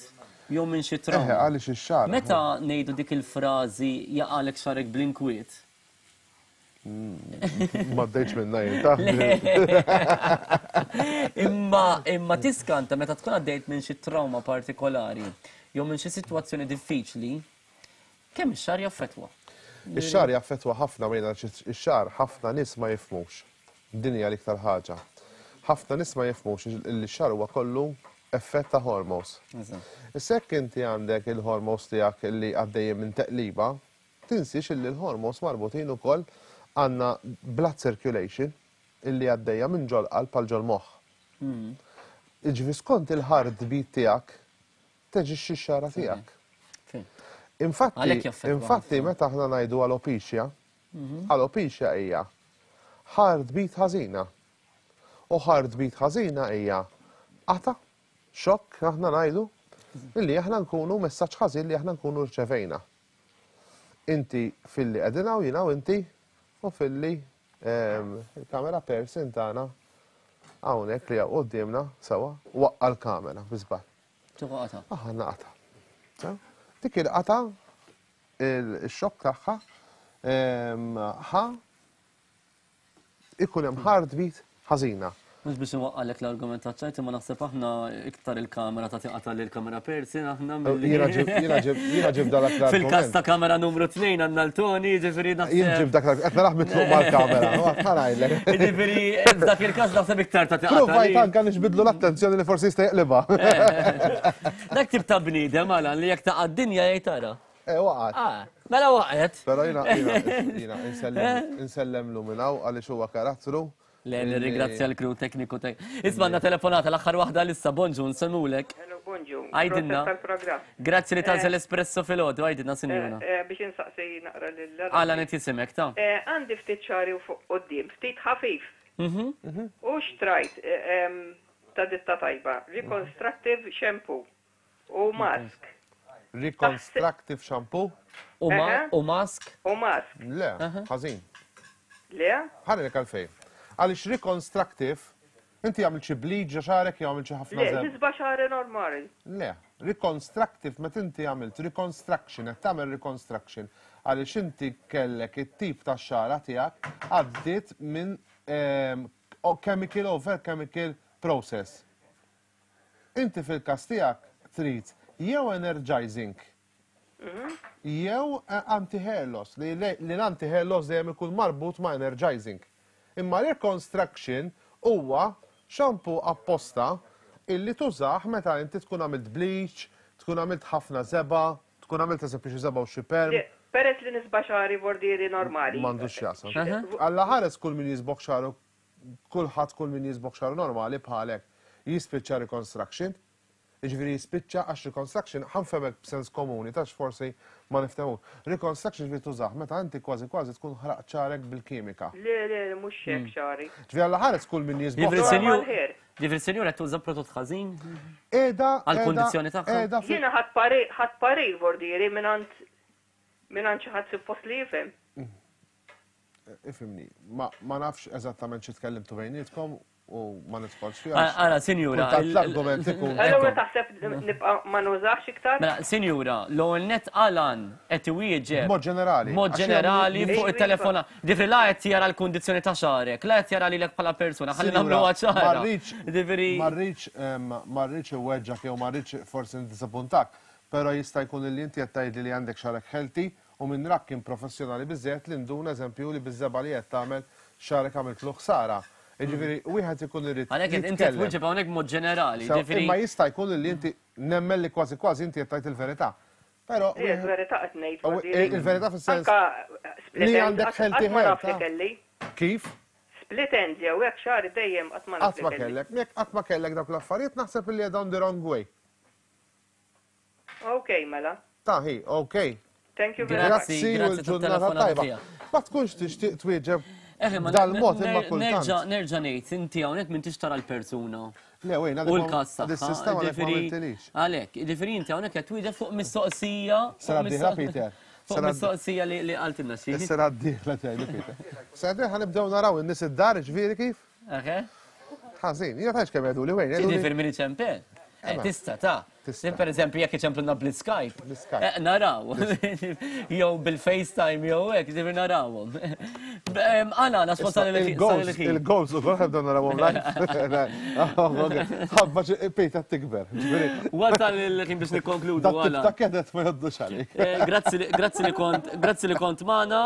jew minn xi trawma. Eħe, għaliex ix-xagħar. Meta ngħidu dik il-frażi jaqagħlek xagħrek bl-inkwiet, Ma ddejtx minna jien ta' Imma imma tiskanta meta tkun għaddejt minn xi trauma partikolari jew minn xi sitwazzjoni diffiċli, kemm ix-xagħar jaffettwa. Ix-xagħar jaffettwa ħafna mejna ix-xagħar ħafna nies ma jifhmux. Din hija l-iktar ħaġa. Ħafna nies ma jifhmux li x-xagħar huwa kollu effett ta' hormones. Issa jekk inti għandek il-hormones tiegħek li għaddejjin minn teqliba, Tinsiex illi l-hormones marbutin ukoll għandna blood circulation illi għaddejja minn ġol-qalb għal ġol-moħħ. Jiġifieri skont il-heartbeat tiegħek teġixxi x-xagħra tiegħek. Infatti, infatti meta aħna ngħidu alopecia, alopecia hija heartbeat ħażina. U heartbeat ħażina hija qata, xokk aħna ngħidu, illi aħna nkunu messaġġ ħażin li aħna nkunu rċevejna. Inti filli qegħdin hawn jiena u inti u filli. Il-kamera person tagħna hawnhekk li hawn quddiemna sewwa waqqa' l-kamera bi żball. Tieħu qata'. Aħna qata'. Dik il-qata' il-xokk tagħha ħa ikun hemm heartbeat ħażina. Mhux biex inwaqqalek l-argument taċ-ċajt imma naħseb aħna iktar il-kamera tagħti qata' lil kamera person aħna milli. Jiena ġib jiena ġib jiena ġib dak l-argument. Fil-każ ta' kamera numru 2 għandna l-Tony, jiġifieri naħseb. Jien ġib dak l-argument, qed narah mitluq mal-kamera, ħa ngħidlek. Jiġifieri f'dak il-każ naħseb iktar tagħti qata'. Provajt anke nixbidlu l-attenzjoni li forsi jista' jaqlibha. Dak tip ta' bniedem Alan li jekk taqa' d-dinja jgħid ara. Eh, waqgħet. Ah, mela waqgħet. Però jiena jiena jiena insellemlu minn hawn għaliex huwa karattru. Le, nirringrazzja l-crew tekniku tek. Isma' għandna telefonata l-aħħar waħda lissa, bonġu, nsellmulek. Hello, bonġu. Għidilna. Proset tal-programm. Grazzi li tagħżel Espresso filgħodu, għidilna sinjura. Eh, biex insaqsi naqra lil. Għala qed jisimek ta'. Eh, għandi ftit xagħri u fuq quddiem, ftit ħafif. U xtrajt ta' ditta tajba, Reconstructive Shampoo. U mask. Reconstructive shampoo? U mask? U mask. Le, ħażin. Le? Ħalli għalfejn. Għaliex reconstructive, inti għamilt xi bleach ġo xagħrek jew għamilt xi ħafna Le, nisba xagħri normali. Le, reconstructive meta inti għamilt reconstruction, qed tagħmel reconstruction għaliex inti kellek it-tip ta' xagħra tiegħek għaddiet minn ehm, chemical over chemical process. Inti fil-każ tiegħek trid jew energizing jew anti-hair loss, li l-anti-hair loss dejjem ikun marbut ma' energizing. Imma reconstruction huwa shampoo apposta illi tużah meta inti tkun għamilt bleach, tkun għamilt ħafna żebgħa, tkun għamilt eżempju xi żebgħa u xi perm. Peress li nisba' xagħri vordieri normali. M'għandux x'jaqsam. Alla ħares kull min jisbogħ xagħru kulħadd kull min jiżbogħ xagħru normali bħalek jispiċċa reconstruction. Jiġifieri jispiċċa għax reconstruction ħa nfehmek b'sens komuni tax forsi ma niftehmux. Reconstruction jiġifieri tużah meta inti kważi kważi tkun ħraqt xagħrek bil-kimika. Le le mhux hekk xagħri. Ġifieri Alla ħares kull min jiżbogħ Jiġifieri xagħru. sinjur Jiġifieri sinjur qed tuża prodott ħażin? Qiegħda Għall-kundizzjoni tagħha? Qiegħda Jiena ħadt parir ħadt parir vordieri mingħand mingħand xi ħadd suppost li jifhem. Ifhimni, ma nafx eżattament xi tkellimtu bejnietkom u ma nidħolx fiha. Ara, sinjura. Kultant l-argument ikun. Allura taħseb nibqa' ma nużax iktar? Mela, sinjura, l-ewwel nett Alan qed iwieġeb. B'mod ġenerali. B'mod ġenerali fuq it-telefona. Ġifieri la qed jara l-kundizzjoni ta' xagħrek, la qed jara lilek bħala persuna, ħalli nagħmluha ċara. Ġifieri. Ma rridx ma rridx iweġġgħek jew ma rridx forsi niddiżappuntak, però jista' jkun li inti qed tgħidli li għandek xagħrek healthy U min rak kien professjonali biżżejjed li nduna eżempju li biż-żebgħa li qed tagħmel xagħrek għamiltlu ħsara. Jiġifieri wieħed ikun irid Għalhekk qed inti jitkellem. twieġeb hawnhekk b'mod ġenerali, Sew, jiġifieri. Imma jista' jkun li inti nemmen li kważi kważi inti qed tgħid il-verità. Però Le, il-verità qed ngħid U, Fadili. il-verità fis-sens Anka split li ends, għandek qatt healthy qatt ma hair, naf li ta' kelli. Kif? Split ends jew hekk xagħri dejjem qatt ma naf Qatt li ma kelli. kellek. Jekk qatt ma kellek dawk l-affarijiet naħseb li qiegħda on the wrong way. Ok, mela. Ta' hi, ok. Thank you very much. Grazzi u l-ġurnata tajba. Ma tkunx tixtieq twieġeb dal-mod imma kultant. Nerġa' ngħid, inti hawnhekk m'intix tara l-persuna. Le, wejn, U l-każ tagħha. Dis-sistema għalhekk ma għamiltilix. Għalhekk, jiġifieri inti hawnhekk qed twieġeb fuq mistoqsija. Sena d-dieħla, Peter. Fuq mistoqsija li qaltilna xi. Is-sena d-dieħla tgħidli, Peter. Sena d-dieħla nibdew naraw in-nies id-dar, ġifieri kif? Eħe. Ħażin, jiena tgħidx kemm jgħiduli wejn. Jiġifieri min iċempel. Eh, tista ta' Tista. Per eżempju, jekk iċempluna bl-Skype. Bl-Skype. Eh, naraw. Jew bil-FaceTime, jew hekk, ġifieri narawhom. Għala, għala, spontan il-goals. Il-goals ukoll ħabda narawhom live. Ħabba Peter tikber. Wasal il-ħin biex nikkonkludu. Għala. Ta' kedet ma jgħoddux għalik. Eh, grazzi li kont, grazzi li kont magħna.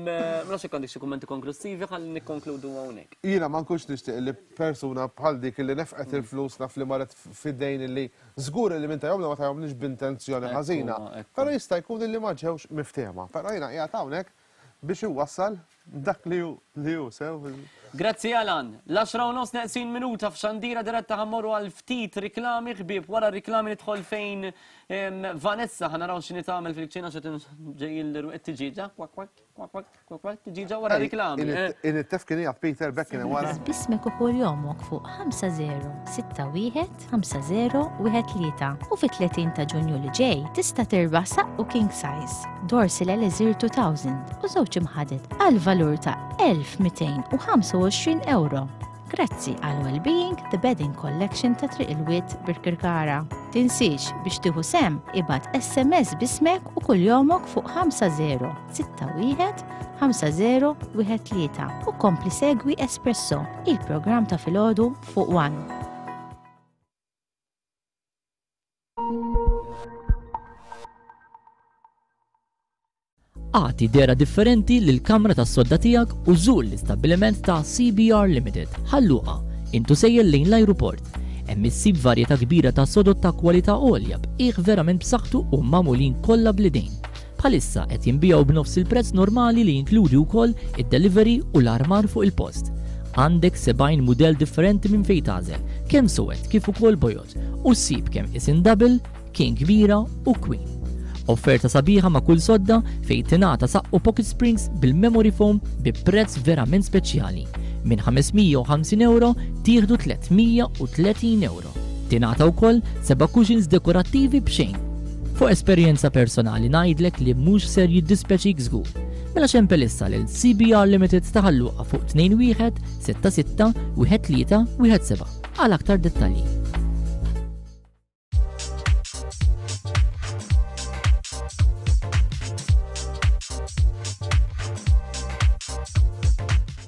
Ma nafx jekk għandek xi kummenti konklusivi ħalli nikkonkludu hawnhekk. Jiena ma nkunx nixtieq li persuna bħal dik li nefqet il-flus naf li marret f'idejn illi żgur li min tajhomlna ma tajhomlniex b'intenzjoni ħażina. Però jista' jkun illi ma ġewx miftehma. Però jiena qiegħed hawnhekk biex inwassal dak li hu li hu sew. Grazzi Alan. L-għaxra u nofs neqsin minuta f'Xandira Diretta ħa mmorru għal ftit riklami ħbieb. Wara r-riklami nidħol fejn Vanessa ħa naraw x'inhi tagħmel fil-kċina x'qed ġej il-tiġieġa. Kwak kwak. Kwak, kwak, kwak, kwak, tiġiġa wara riklami. Eh. In it-tef kien jgħat Peter Beck kien wara. Bismek u jomok fuq 5061 5013 u fit-30 ta' Ġunju li ġej tista' tirbaħ saqqu king size, Dorsil Elixir 2000 u żewġ imħaded għal. bil-valur ta' 1225 ewro. Grazzi għal Wellbeing The Bedding Collection ta' Triq il-Wied Birkirkara. Tinsiex biex tieħu sehem ibgħat SMS b'ismek u kuljomok fuq 5061 5013 u kompli segwi Espresso, il-programm ta' filgħodu fuq One. Agħti dehra differenti lill-kamra tas-sodda tiegħek u żur l-istabbiliment ta' CBR Limited, Ħal Luqa, int u sejjer lejn l-ajruport. Hemm issib varjetà kbira ta' sodod ta' kwalità għolja b'qiegħ verament b'saħħtu u magħmulin kollha bl-idejn. Bħalissa qed jinbiegħu b'nofs il-prezz normali li jinkludi wkoll id-delivery u l-armar fuq il-post. Għandek 70 mudell differenti minn fejn tagħżel, kemm suwed kif ukoll bojod, u ssib kemm qisien double, King kbira u Queen. Offerta sabiħa ma' kull sodda fejn tingħata saqqu pocket springs bil-memory foam bi prezz verament speċjali. Minn 550 ewro tieħdu 330 ewro. Tingħata wkoll seba' cushions dekorattivi b'xejn. Fuq esperjenza personali ngħidlek li mhux ser jiddispjaċik żgur. Mela ċempel issa lil CBR Limited ta' Ħal Luqa fuq 21 66 13 17 għal aktar dettalji.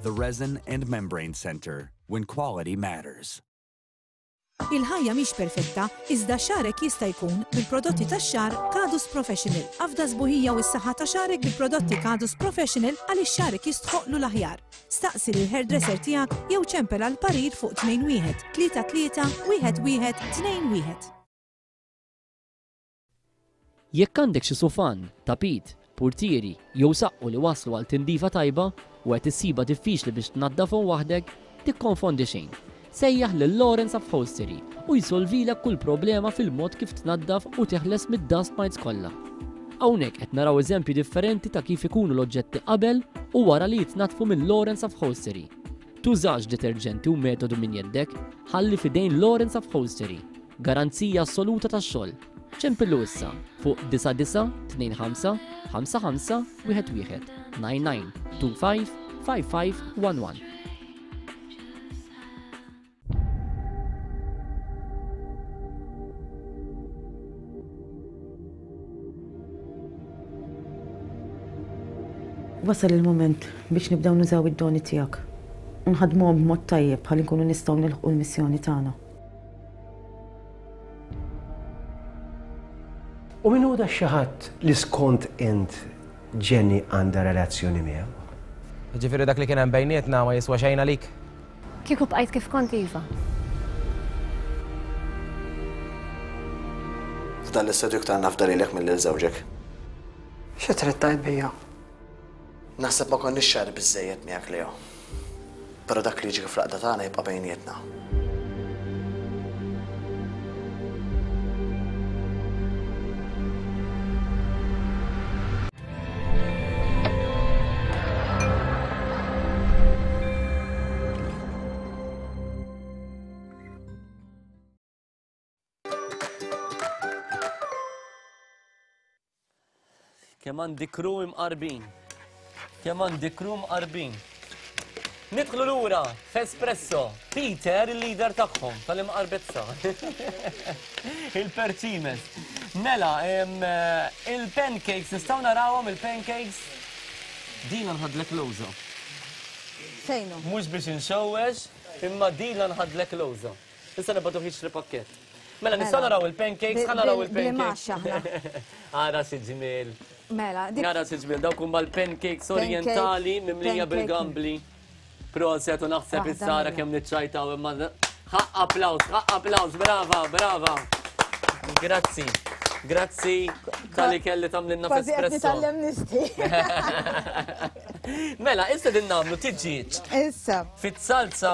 The Resin and Membrane Center, when quality matters. Il-ħajja mhix perfetta, iżda xagħrek jista' jkun bil-prodotti tax-xagħar Kadus Professional. Afda s-sbuħija u s-saħħa ta' xagħrek bil-prodotti Kadus Professional għaliex xagħrek jistħoqqlu l-aħjar. Staqsi lill-hairdresser tiegħek jew ċempel għal parir fuq 21 33 1 1 2 1. Jekk għandek xi sufan, tapit, purtieri jew saqqu li waslu għal tindifa tajba u qed issibha diffiċli biex tnaddafhom waħdek, tikkonfondi xejn. Sejjaħ lil Lawrence Upholstery u jsolvilek kull problema fil-mod kif tnaddaf u teħles mid-dust mites kollha. Hawnhekk qed naraw eżempji differenti ta' kif ikunu l-oġġetti qabel u wara li jitnaddfu minn Lawrence Upholstery. Tużax deterġenti u metodu minn jeddek, ħalli f'idejn Lawrence Upholstery. Garanzija assoluta tax-xogħol. Ċempillu issa fuq 9925 55 11 99 25 55 11. Wasal il-mument biex nibdew nużaw id-doni tiegħek u nħaddmuhom b'mod tajjeb ħalli nkunu nistgħu nilħqu l-missjoni tagħna. U min hu da xi ħadd li skont int Jenny għandha relazzjoni miegħu? Jiġifieri dak li kien hemm bejnietna ma jiswa xejn għalik? Kieku bqajt kif kont iva. F'dan l-istadju iktar nafda lilek milli lil żewġek. Xi trid tgħid bija? Naħseb ma konniex ċari biżżejjed miegħek Leo. Però dak li jiġri fl-għaqda tagħna jibqa' bejnietna. Kemm għandi kru imqarbin. Kemm għandi kru mqarbin. Nidħlu lura f'Espresso. Peter, il-leader tagħhom tal-imqarbezza. Il-perċimes. Mela, il-pancakes, nistgħu narawhom il-pancakes? Dina nħadlek lowża. Fejnu? Mhux biex inxewwex, imma dina nħadlek lowża. Issa nibgħatu jixtri pakkett. Mela, nistgħu naraw il-pancakes, ħa naraw il-pancakes. Ara xi ġmiel. Mela, Ara xi ġmiel, dawk huma l-pancakes orientali mimlija bil-gambli. Proset u naħseb issa ara kemm niċċajtaw imma ħaqq applaws, ħaqq applaws, brava, brava. Grazzi. Grazzi tal-li kelli tamlinna f'espresso. Kważi nisti. Mela, issa din namlu tiġġieġ. Issa. Fit-salza.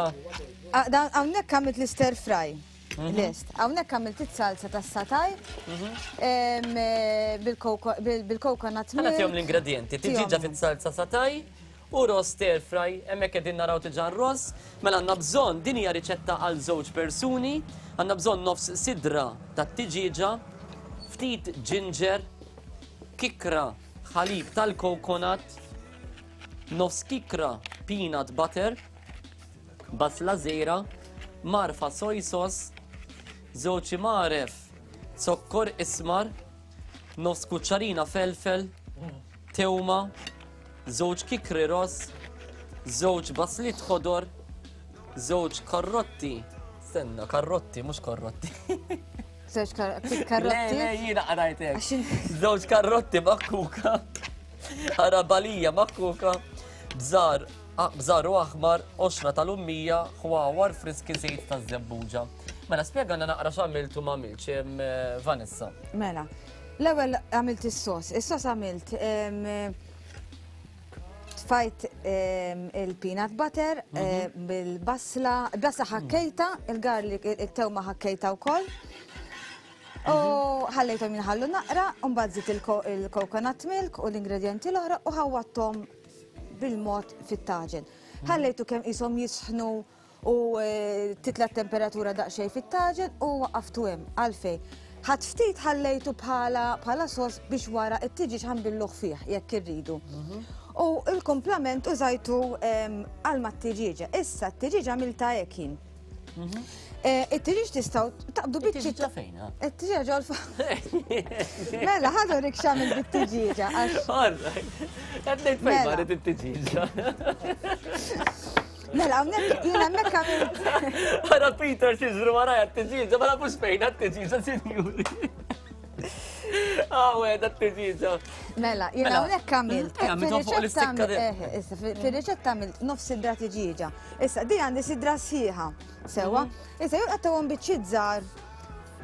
Ah, hawnhekk għamilt l-stir fry. Mhm. Lest. Hawnhekk għamilt it-salza tas-sataj mhm. eh, bil-coconut milk. Ħa l-ingredienti. Tiġġieġa fit-salza sataj U ross stir fry, hemmhekk qegħdin naraw diġà r-ross. Mela għandna bżonn, din hija riċetta għal żewġ persuni, għandna bżonn nofs sidra tat-tiġieġa, ftit ginger, kikra ħalib tal-coconut, Nofs kikra peanut butter, basla żgħira, mgħarfa soy sauce, żewġ imgħaref zokkor ismar, nofs kuċċarina felfel, tewma, żewġ kikri ross, żewġ basliet ħodor, żewġ karrotti, stenna, karrotti, mhux korrotti. Żewġ karrotti. Le, le, jiena qrajt hekk. Żewġ karrotti makkuka, arabalija makkuka, bżar, bżar u aħmar, qoxra tal-ummija, ħwawar friski żejt taż-żebbuġa. Mela, spjegana naqra x'għamilt u m'għamiltx, eh, Vanessa. Mela, l-ewwel għamilt is-sos. Is-sos għamilt tfajt il-peanut butter eh, bil-basla, basla ħakkejta, il-garlic, il-tewma ħakkejta wkoll. U ħallejthom jinħallu naqra, u mbagħad żidt il-coconut milk u l-ingredienti l-oħra u ħawwadthom bil-mod fit-taġen. Ħallejtu kemm qishom jisħnu u titla' t-temperatura daqsxejn fit-taġen u waqqaftu hemm. Għalfejn? Ħadt ftit ħallejtu bħala bħala sos biex wara t-tiġieġ ħanbilluh fih jekk irridu. U l-kumplament użajtu għal mat-tiġieġa. Issa t-tiġieġa għamiltha hekk jien. Eh, it-tiġiġ tistaw taqbdu biċċi. It-tiġiġa fejn? It-tiġiġa ġol Mela, ħadu rik xamil bit-tiġiġa. All right. Qed ngħid fejn Mela. marret it-tiġiġa. Mela, hawnhekk jiena hemmhekk għamilt. Ara Peter xiżru warajja t-tiġiġa, ma nafux fejn t-tiġiġa, sinjuri. Għawe, da t-tiġiġa. Mela, jiena Mela. hawnhekk għamilt. Eh, għamilthom fuq l-istikka di- Eh, issa, fir-riċetta għamilt nofs sidra tiġiġa. Issa, di għandi sidra sħiħa, sewwa. Mhm. Issa, jew qattawhom biċċiet żgħar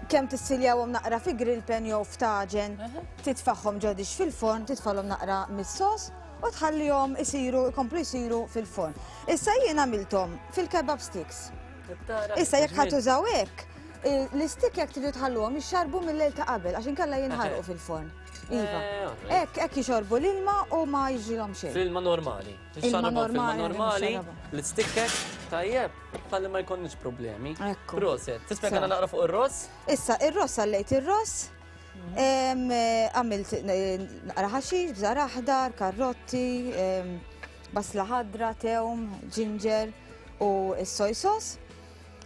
kemm tissiljawhom naqra fi grill pan jew f'taġen, titfagħhom ġo dix fil-forn, titfalhom naqra mis-sos u tħallihom isiru, ikomplu jsiru fil-forn. Issa jien għamilthom fil-kebab sticks. Issa jekk ħa tużaw hekk, l-istik jekk tridu tħalluhom jixxarbu mill-lejl ta' qabel għax inkella jinħarqu fil-forn. Iva. Eh, Hekk hekk jixorbu l-ilma u ma jiġrilhom xejn. Fil-ilma normali. Ilma normali, normali, l-istikkek, tajjeb, ħalli ma jkollniex problemi. Proset, tispjegana naqra fuq ir-ross? Issa, ir-ross għallejt ir-ross, għamilt eh, naqra ħaxix, bżar aħdar, karrotti, basla ħadra, tewm, ġinġer u s-soy sauce.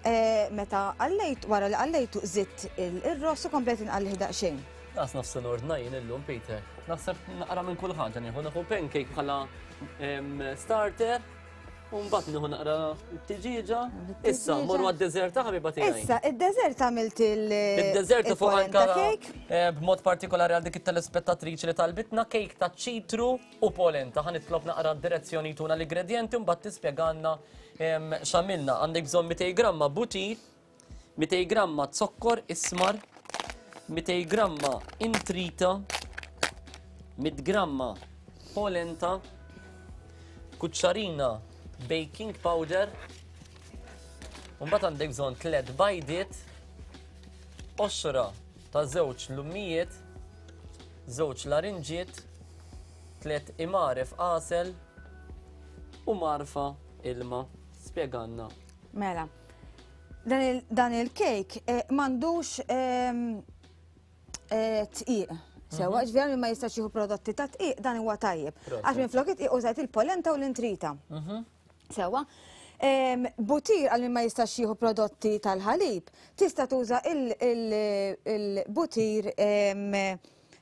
Eh, meta għallejt, wara li għallejtu zitt il-ross u komplet inqallih daqsxejn. Naqs nafs nordna jien illum, Peter. Naħseb naqra minn kull ħaġa nieħu nieħu pancake bħala starter, u mbagħad nieħu naqra tiġieġa. Issa, morru għad-deżert ħabiba tiegħi. Issa, id-deżert għamilt il- Id-deżert fuq anka cake. Eh, b'mod partikolari għal dik it-telespettatriċi li talbitna cake ta' ċitru u polenta. Ħa nitlob naqra d-direzzjoni tuna l-ingredienti u mbagħad tispjegalna x'għamilna. Għandek bżonn 200 gramma butir, 200 gramma zokkor ismar, 200 gramma intrita, 100 gramma polenta, kuċċarina baking powder, u mbagħad għandek bżonn tliet bajdiet, qoxra ta' żewġ lummijiet, żewġ larinġiet, tliet imgħaref għasel u mgħarfa ilma. Spjegalna. Mela, dan il-kejk eh, m'għandux ehm, eh, tqiq. Sewa, mhm. ġveri ma jistax jieħu prodotti ta' tqiq dan huwa tajjeb. Għax minn flok it-tqiq użajt il-polenta u l-intrita. Mhm. Sewa. Butir għal min ma jistax jieħu prodotti tal-ħalib, tista' tuża il-butir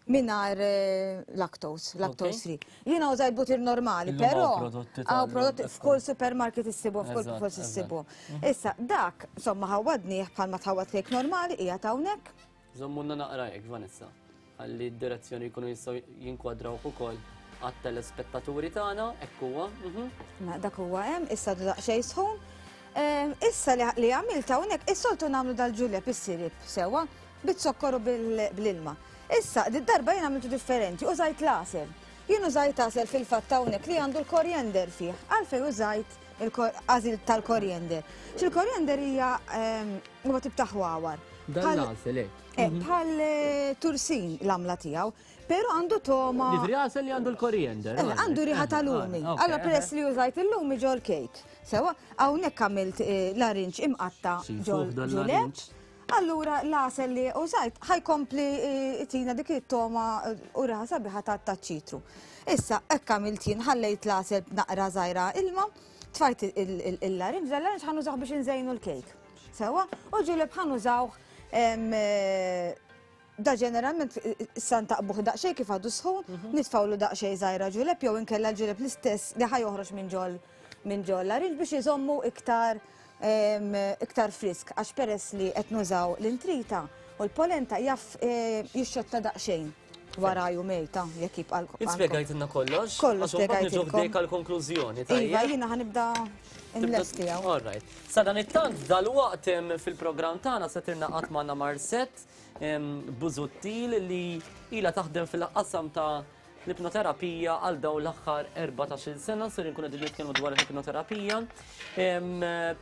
mingħajr eh, lactose, lactose free. Jiena użajt butir normali, però hawn prodotti f'kull supermarket issibu, f'kull post issibu. Mhm. Issa dak, insomma ħawadnih bħalma tħawad kejk normali qiegħed hawnhekk. Żommulna naqra hekk, Vanessa, ħalli d-direzzjoni jkunu jistgħu jinkwadrawh ukoll għat-telespettaturi tagħna, hekk huwa. Mhm. Ma dak huwa hemm, issa daqsxejn sħun. Ehm, issa li għamilt hawnhekk, is-soltu nagħmlu dal-ġuleb is-sirip sewwa, biz-zokkor u bl-ilma. Issa, did-darba jien għamiltu differenti, użajt l-għasel. Jien użajt għasel fil-fatt hawnhekk li għandu l-korjender fih. Għalfejn użajt il-għażil tal-korjender? X'il-korjender hija ehm, huwa tip ta' ħwawar. Dan l-għasel hekk. Eh, mhm. Bħal eh, tursin l-għamla tiegħu, però għandu toma. Ġifieri għasel li għandu l-korjender. Eh, għandu riħa ta' lumi. Allora peress li użajt il-lumi ġol kejk. Sewa, hawnhekk għamilt larinġ imqatta ġol ġuleb. Allura l-għasel li użajt ħa jkompli jtina dik it-togħma u riħa sabiħa taċ-ċitru. Issa hekk għamilt jien, ħallejt l-għasel b'naqra żgħira ilma, tfajt il-larinġ, l-larinġ ħa nużawh biex inżejnu l-kejk. Sewwa, u ġuleb ħa nużawh da ġeneralment issa ntaqbuh daqsxejn kif għadu sħun, mhm. nitfawlu daqsxejn żgħira ġuleb jew inkella l-ġuleb l-istess li ħa joħroġ minn ġol minn ġol larinġ biex iżommu iktar iktar frisk għax peress li qed nużaw l-intrita u l-polenta jaf eh, jixxotta daqsxejn wara jumej ta' jekk jibqa' l Ispjegajtilna kollox? Kollox spjegajtilkom. Għax għal-konklużjoni. Iva, jiena ħanibda nlesti hawn. All right. Sa dan it-tant dal-waqt fil-programm tagħna se tirnaqat magħna Marset Busuttil li ilha taħdem fil-qasam ta' l-ipnoterapija għal dawn l-aħħar 14-il sena, ser inkunu qegħdin nitkellmu dwar l-ipnoterapija.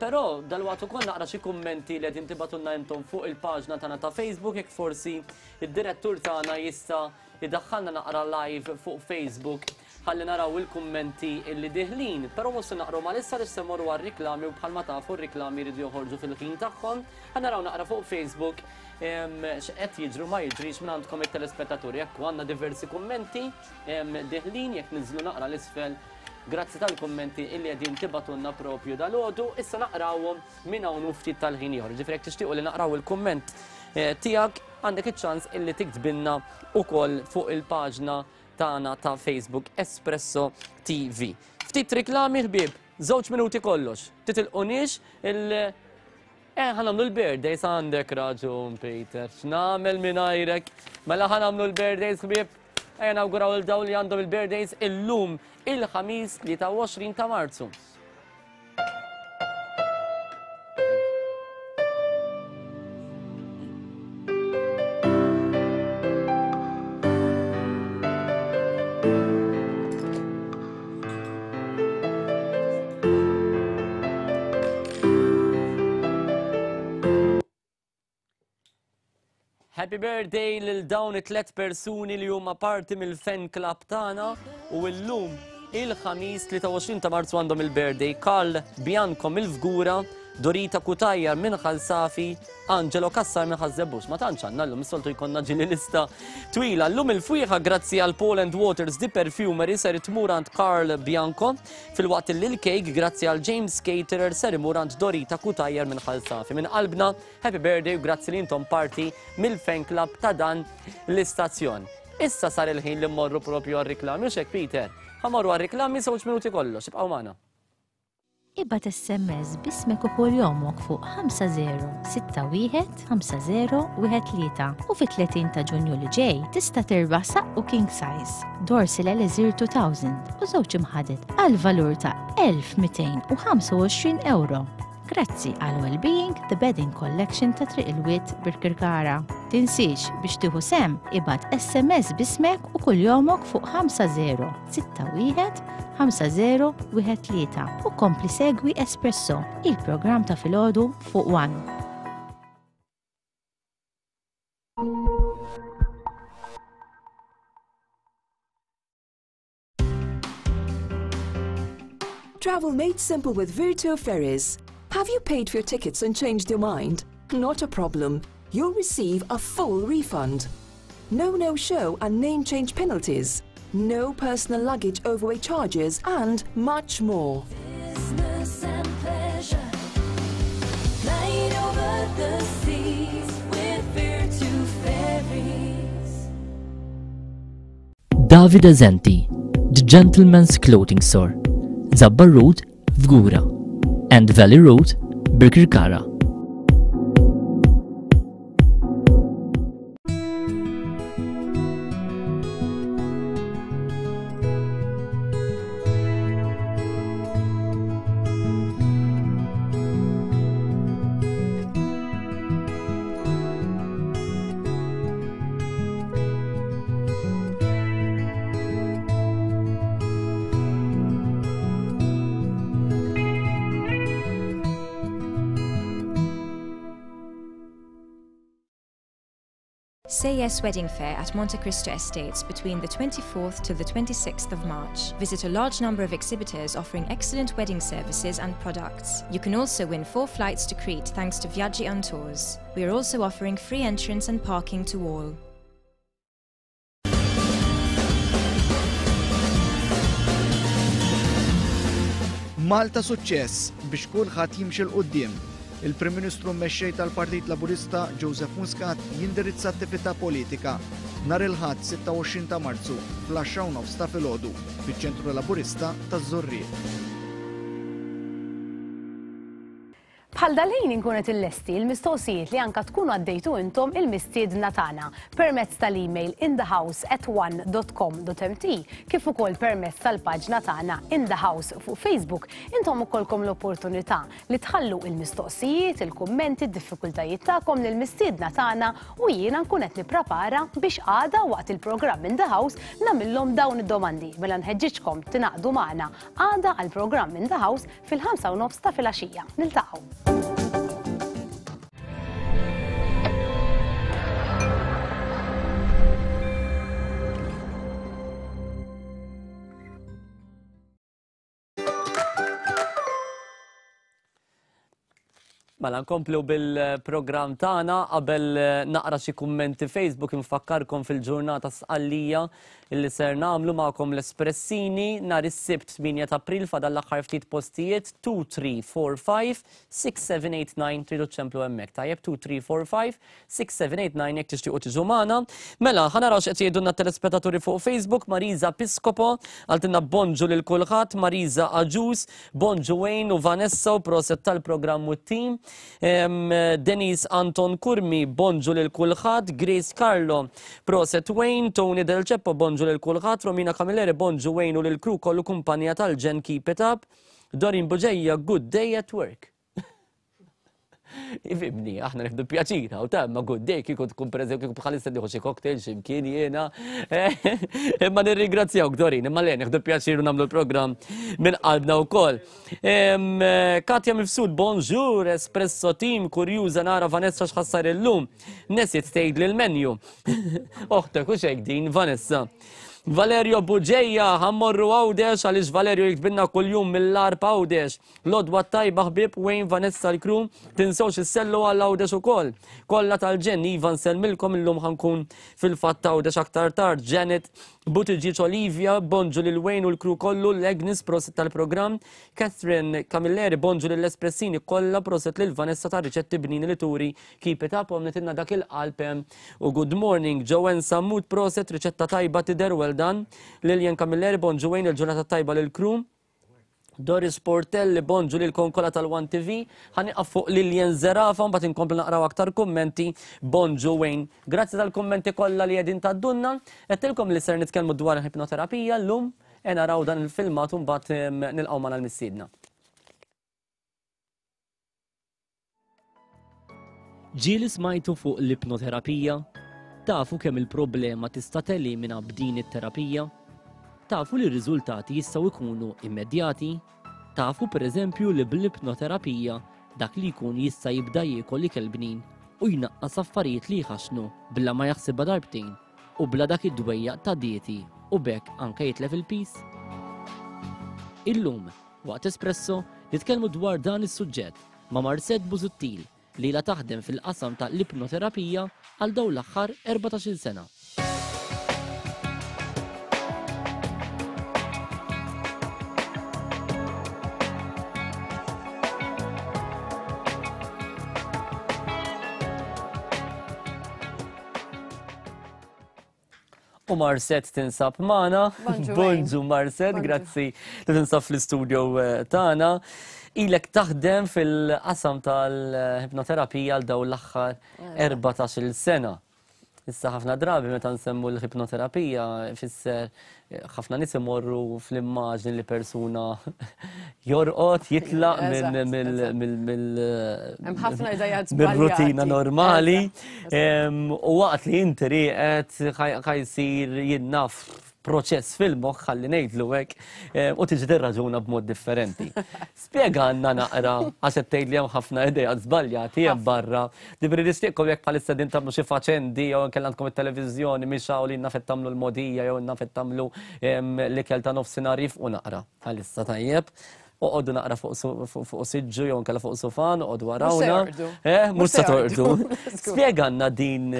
Però dalwaqt ukoll naqra xi kummenti li qegħdin tibgħatulna intom fuq il-paġna tagħna ta' Facebook jekk forsi id-direttur tagħna jista' idaħħalna naqra live fuq Facebook ħalli naraw il-kummenti illi diħlin. Però mhux se naqru mal-issa li se morru għar-riklami u bħalma tafu r-riklami jridu joħorġu fil-ħin tagħhom. Ħa naraw naqra fuq Facebook x'qed jiġru ma jiġrix minn għandkom it-telespettaturi. Jekk għandna diversi kummenti diħlin jekk niżlu naqra l-isfel. Grazzi tal-kummenti illi qegħdin tibatunna propju dal-għodu. Issa naqrawhom minn hawn u ftit tal-ħin ieħor. Ġifieri jekk tixtiequ li naqraw il-kumment eh, tiegħek għandek iċ-ċans illi tiktbilna ukoll fuq il-paġna tagħna ta' Facebook Espresso TV. Ftit riklami ħbieb, żewġ minuti kollox. Titilquniex il- Eh, ħanamlu l-birthdays għandek raġun, Peter. X'nagħmel mingħajrek? Mela ħanamlu l-birthdays ħbieb. Ejja nawguraw il dawn li għandhom il-birthdays illum il-ħamis 23 ta' Marzu. Happy birthday lil dawn it-tlet persuni li huma parti mill-fan club tagħna u llum il-ħamis 23 ta' Marzu għandhom il-birthday Karl Bianco mill-Fgura, Dorita Kutajjar minn Ħal Safi, Angelo Cassar minn Ħaż-Żebbuġ. Ma tantx għandna llum, is-soltu jkollna ġieli lista twila. Llum il-fwieħa grazzi għal Paul and Waters The Perfumery ser tmur għand Karl Bianco, filwaqt li l-kejk grazzi għal James Caterer ser imur għand Dorita Cutajar minn Ħal Safi. Minn qalbna, happy birthday u grazzi li intom parti mill-fan club ta' dan l-istazzjon. Issa sar il-ħin li mmorru propju għar-riklami, hux hekk Peter? Ħa mmorru għar-riklami żewġ minuti kollox, ibqgħu magħna. Ibgħat SMS b'ismek u kuljomok fuq 5061 5013 u fit-30 ta' Ġunju li ġej tista' tirbaħ saqqu king size, Dorsil Elixir 2000 u żewġ imħaded għal valur ta' 1225 ewro. Grazzi għal Wellbeing The Bedding Collection ta' Triq il-Wied Birkirkara. Tinsiex biex tieħu sehem ibgħat SMS b'ismek u kuljomok fuq 5061 5013 u kompli segwi Espresso, il-programm ta' filgħodu fuq One. Travel made simple with Virtu Ferries. Have you paid for your tickets and changed your mind? Not a problem. You'll receive a full refund. No no-show and name change penalties. No personal luggage overweight charges and much more. Business and pleasure. Flying over the seas with Virtu Ferries. Davide Zenti, The Gentleman's Clothing Store, Zabbar Road, Fgura, and Valley Road, Birkirkara. Say Yes Wedding Fair at Monte Cristo Estates between the 24th to the 26th of March. Visit a large number of exhibitors offering excellent wedding services and products. You can also win four flights to Crete thanks to Viaggi on Tours. We are also offering free entrance and parking to all. Malta suċċess biex kulħadd jimxi 'l quddiem. Il-Prim Ministru Mexxej tal-Partit Laburista Joseph Muscat jindirizza attività politika nhar il-Ħadd 26 ta' Marzu fl-għaxra u nofs ta' filgħodu fiċ-Ċentru Laburista taż-Żurrieq. Bħal dal-ħin inkun qed illesti l-mistoqsijiet li anka tkunu għaddejtu intom il-mistiedna tagħna permezz tal-email inthehouse@one.com.mt kif ukoll permezz tal-paġna tagħna In The House fuq Facebook. Intom ukollkom l-opportunità li tħallu il-mistoqsijiet, il-kummenti, d-diffikultajiet tagħkom lill-mistiedna tagħna u jiena nkun qed nipprepara biex għada waqt il-programm In The House nagħmilhom dawn id-domandi. Mela nħeġġiġkom tingħaqdu magħna għada għall-programm In The House fil-5 u nofs ta' filgħaxija. Niltaqgħu. Mela nkomplu bil-programm tagħna qabel eh, naqra xi kummenti Facebook infakkarkom fil-ġurnata sqallija illi ser nagħmlu magħkom l-Espressini nhar is-Sibt 8 ta' April fadal l-aħħar ftit postijiet 2 3 4 5 6 7 8 9 tridu ċemplu hemmhekk. Tajjeb 2 3 4 5 6 7 8 9 jekk tixtiequ tiġu magħna. Mela, ħa naraw x'qed jgħidulna t-telespettaturi fuq Facebook, Marisa Piscopo, qaltilna bonġu lil kulħadd, Marisa Agius, Bonġu Wayne u Vanessa u proset tal-programm u t-team. Denise Anton Curmi, bonġu lil kulħadd. Grace Carlo, proset Wayne. Tony Del Ceppo, bonġu lil kulħadd. Romina Camilleri, bonġu Wayne u lil crew kollu kumpanija tal-ġenn keep it up. Dorin Buġeja, good day at work. Ifimni, aħna nieħdu pjaċir hawn ta' imma good day kieku tkun pereżempju kieku bħalissa nieħu xi cocktail xi mkien jiena. Imma nirringrazzjawk Dorin, imma le nieħdu pjaċir u nagħmlu l-programm minn qalbna wkoll. Katja Mifsud, bonjour, Espresso Team, kurjuża nara Vanessa x'ħassar illum. Nesiet tgħidli l-menu. Oħtek u xejk din Vanessa. Valerio Buġeja, ħammorru Għawdex għaliex Valerio jiktbilna kuljum mill-Għarb Għawdex. L-għodwa t-tajba ħbieb Wayne Vanessa l-crew, tinsewx issellu għal Għawdex ukoll. Kollha tal-ġenn iva nsellmilkom illum ħa nkun fil-fatt Għawdex aktar tard. Janet Buttigieg Olivia, bonġu lil Wayne u l-crew kollu, l-Agnes prosit tal-programm, Catherine Camilleri bonġu lill-Espressini kollha proset lil Vanessa tar-riċetti bnini li turi keep it up u għamlitilna dak il-qalb hemm u good morning. Joanne Sammut proset riċetta tajba tidher well done. Lilian Camilleri bonġu Wayne il-ġurnata t-tajba lill-crew. Doris Portelli, bonġu lilkom kollha tal-One TV. Ħa nieqaf fuq Lilian Zerafa, mbagħad inkomplu naqraw aktar kummenti. Bonġu Wayne. Grazzi tal-kummenti kollha li qegħdin tgħaddulna. Għedtilkom li ser nitkellmu dwar il-ipnoterapija llum. E naraw dan il-filmat u mbagħad nilqgħu magħna l-missiedna. Ġieli smajtu fuq l-ipnoterapija? Tafu kemm il-problema tista' telimina b'din it-terapija? Tafu li r-riżultati jistgħu jkunu immedjati? Tafu pereżempju li bl-ipnoterapija dak li jkun jista' jibda jiekol ikel bnin u jnaqqas affarijiet li jħaxxnu bla ma jaħsibha darbtejn u bla dak id-dwejjaq ta' dieti u b'hekk anke jitlef il-piż? Illum, waqt Espresso, nitkellmu dwar dan is-suġġett ma' Marcette Busuttil li ilha taħdem fil-qasam ta' l-ipnoterapija għal dawn l-aħħar 14-il sena. U Marset tinsab magħna. Bonġu Marset, grazzi li tinsab fl-istudio eh, tagħna. Ilek taħdem fil-qasam tal-ipnoterapija għal dawn l-aħħar 14-il sena. Issa ħafna drabi meta nsemmu l-ipnoterapija fisser eh, ħafna nies imorru fl-immaġni li persuna jorqod, jitlaq mill-rutina normali. U waqt li inti rieqed ħajsir jinnaf proċess fil-moħħ ħalli ngħidlu hekk eh, u tiġi tirraġuna b'mod differenti. Spjegalna naqra għax qed tgħid li hemm ħafna ideat żbaljati hemm barra. Ġifieri nixtieqkom jekk bħalissa din tagħmlu xi faċendi jew inkella għandkom it-televiżjoni mhix hawn li naf qed tagħmlu l-mogħdija jew naf qed tagħmlu l-ikel ta' nofsinhar jifqu naqra bħalissa tajjeb. Oqogħdu naqra fuq siġġu jew inkella fuq sufan, oqogħdu warawna. Eh, mhux se torqdu. Spjegalna din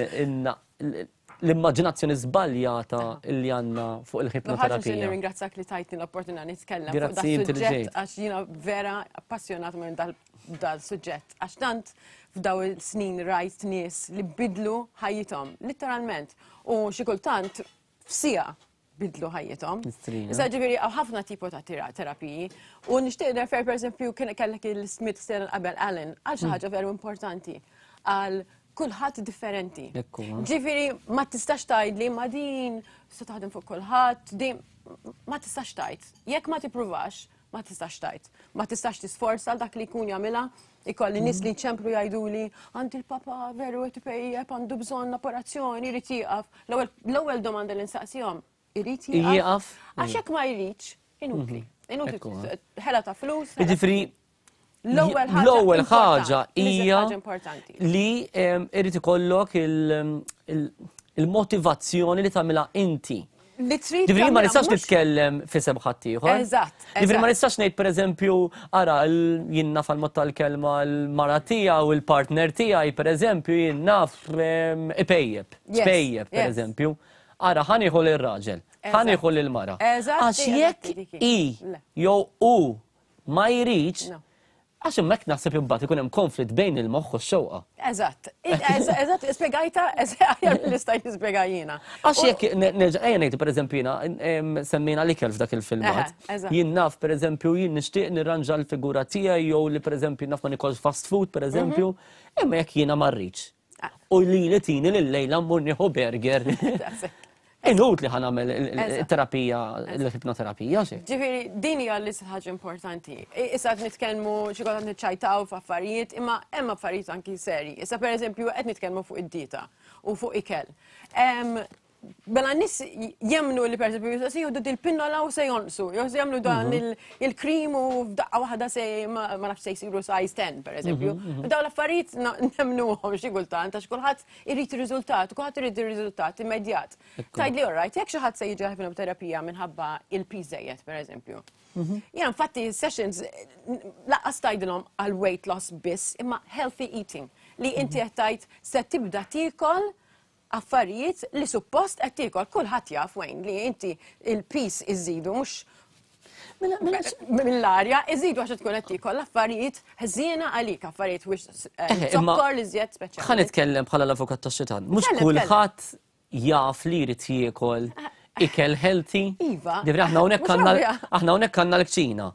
l-immaġinazzjoni żbaljata li għandna fuq il-ħipnoterapija. Nħaġa nirringrazzjak li tajtni l-opportunità nitkellem fuq dan suġġett għax jiena vera appassionat minn dal-suġġett. Għax tant f'daw il-snin rajt nies li bidlu ħajjithom, literalment. U xi kultant f'sija bidlu ħajjithom. Issa ġifieri hawn ħafna tipo ta' terapiji u nixtieq refer pereżempju kien kellek il-Smith Stellen qabel Allen għal xi mm. ħaġa veru importanti għal kulħadd differenti. Ġifieri ma tistax tgħidli ma din se taħdem fuq kulħadd, din ma tistax tgħid. Jekk ma tippruvax, ma tistax tgħid. Ma tistax tisforza dak li jkun jagħmilha, ikolli nies li jċemplu jgħiduli għandi l-papa veru qed ipejjep għandu bżonn operazzjoni jrid jieqaf. L-ewwel domanda li nsaqsihom irid jieqaf? Għax jekk ma jridx, inutli. Mhm. Inutli ħela ta' flus. Jiġifieri l-ewwel ħaġa hija li irid ikollok il-motivazzjoni li tagħmilha inti. Li trid. Ġifieri ma nistax nitkellem f'isem ħaddieħor. Eżatt. Ġifieri ma nistax ngħid pereżempju ara jien naf għall-mod tal-kelma l-mara tiegħu u l-partner tiegħi pereżempju jien naf ipejjep, tpejjep pereżempju. Ara ħa nieħu lir-raġel, ħa nieħu lill-mara. Għax jekk hi jew hu ma jridx, għax hemmhekk naħseb imbagħad ikun hemm konflitt bejn il-moħħ u x-xewqa. Eżatt, eżatt, spjegajta, aħjar milli stajt nispjega jiena. Għax jekk nerġa' ejja ngħidu pereżempju jiena semmejna l-ikel f'dak il-filmat. Jien naf pereżempju jien nixtieq nirranġa l-figura tiegħi jew li pereżempju naf ma nikolx fast food pereżempju, imma jekk jiena ma rridx. U li li tini lil lejla mmur nieħu burger. Inutli ħa nagħmel terapija, l-ipnoterapija xi. Ġifieri din hija l ħaġa importanti. Issa qed nitkellmu xi kultant niċċajtaw f'affarijiet, imma hemm affarijiet anki seri. Issa pereżempju qed nitkellmu fuq id-dieta u fuq ikel. Mela n-nies jemmnu li pereżempju se jieħdu dil-pinnola u se jonqsu, jew se jagħmlu dan mhm. il-krim u f'daqqa waħda se ma nafx se jsiru size 10 pereżempju. Mhm, mhm. Dawn l-affarijiet nemnuhom xi kultant għax kulħadd irid ir-riżultat, kulħadd irid ir-riżultat immedjat. Tgħidli all right, jekk xi ħadd se jiġi ħipnoterapija minħabba il-piż żejjed pereżempju. Jiena infatti sessions laqqas tgħidilhom għal weight loss biss, imma healthy eating li inti qed tgħid se tibda tiekol affarijiet li suppost qed tiekol. Kulħadd jaf Wayne li inti il-piż iżidu mhux mela, mela, mill-arja iżidu għax tkun qed tiekol affarijiet ħżiena għalik, affarijiet wix eh, eh, zokkor li żjed speċjali. Ħa nitkellem bħala l-avukat tax-xitan. Mhux kulħadd jaf li jrid jiekol eh, ikel healthy. Iva. Ġifieri aħna hawnhekk għandna aħna hawnhekk għandna l-kċina.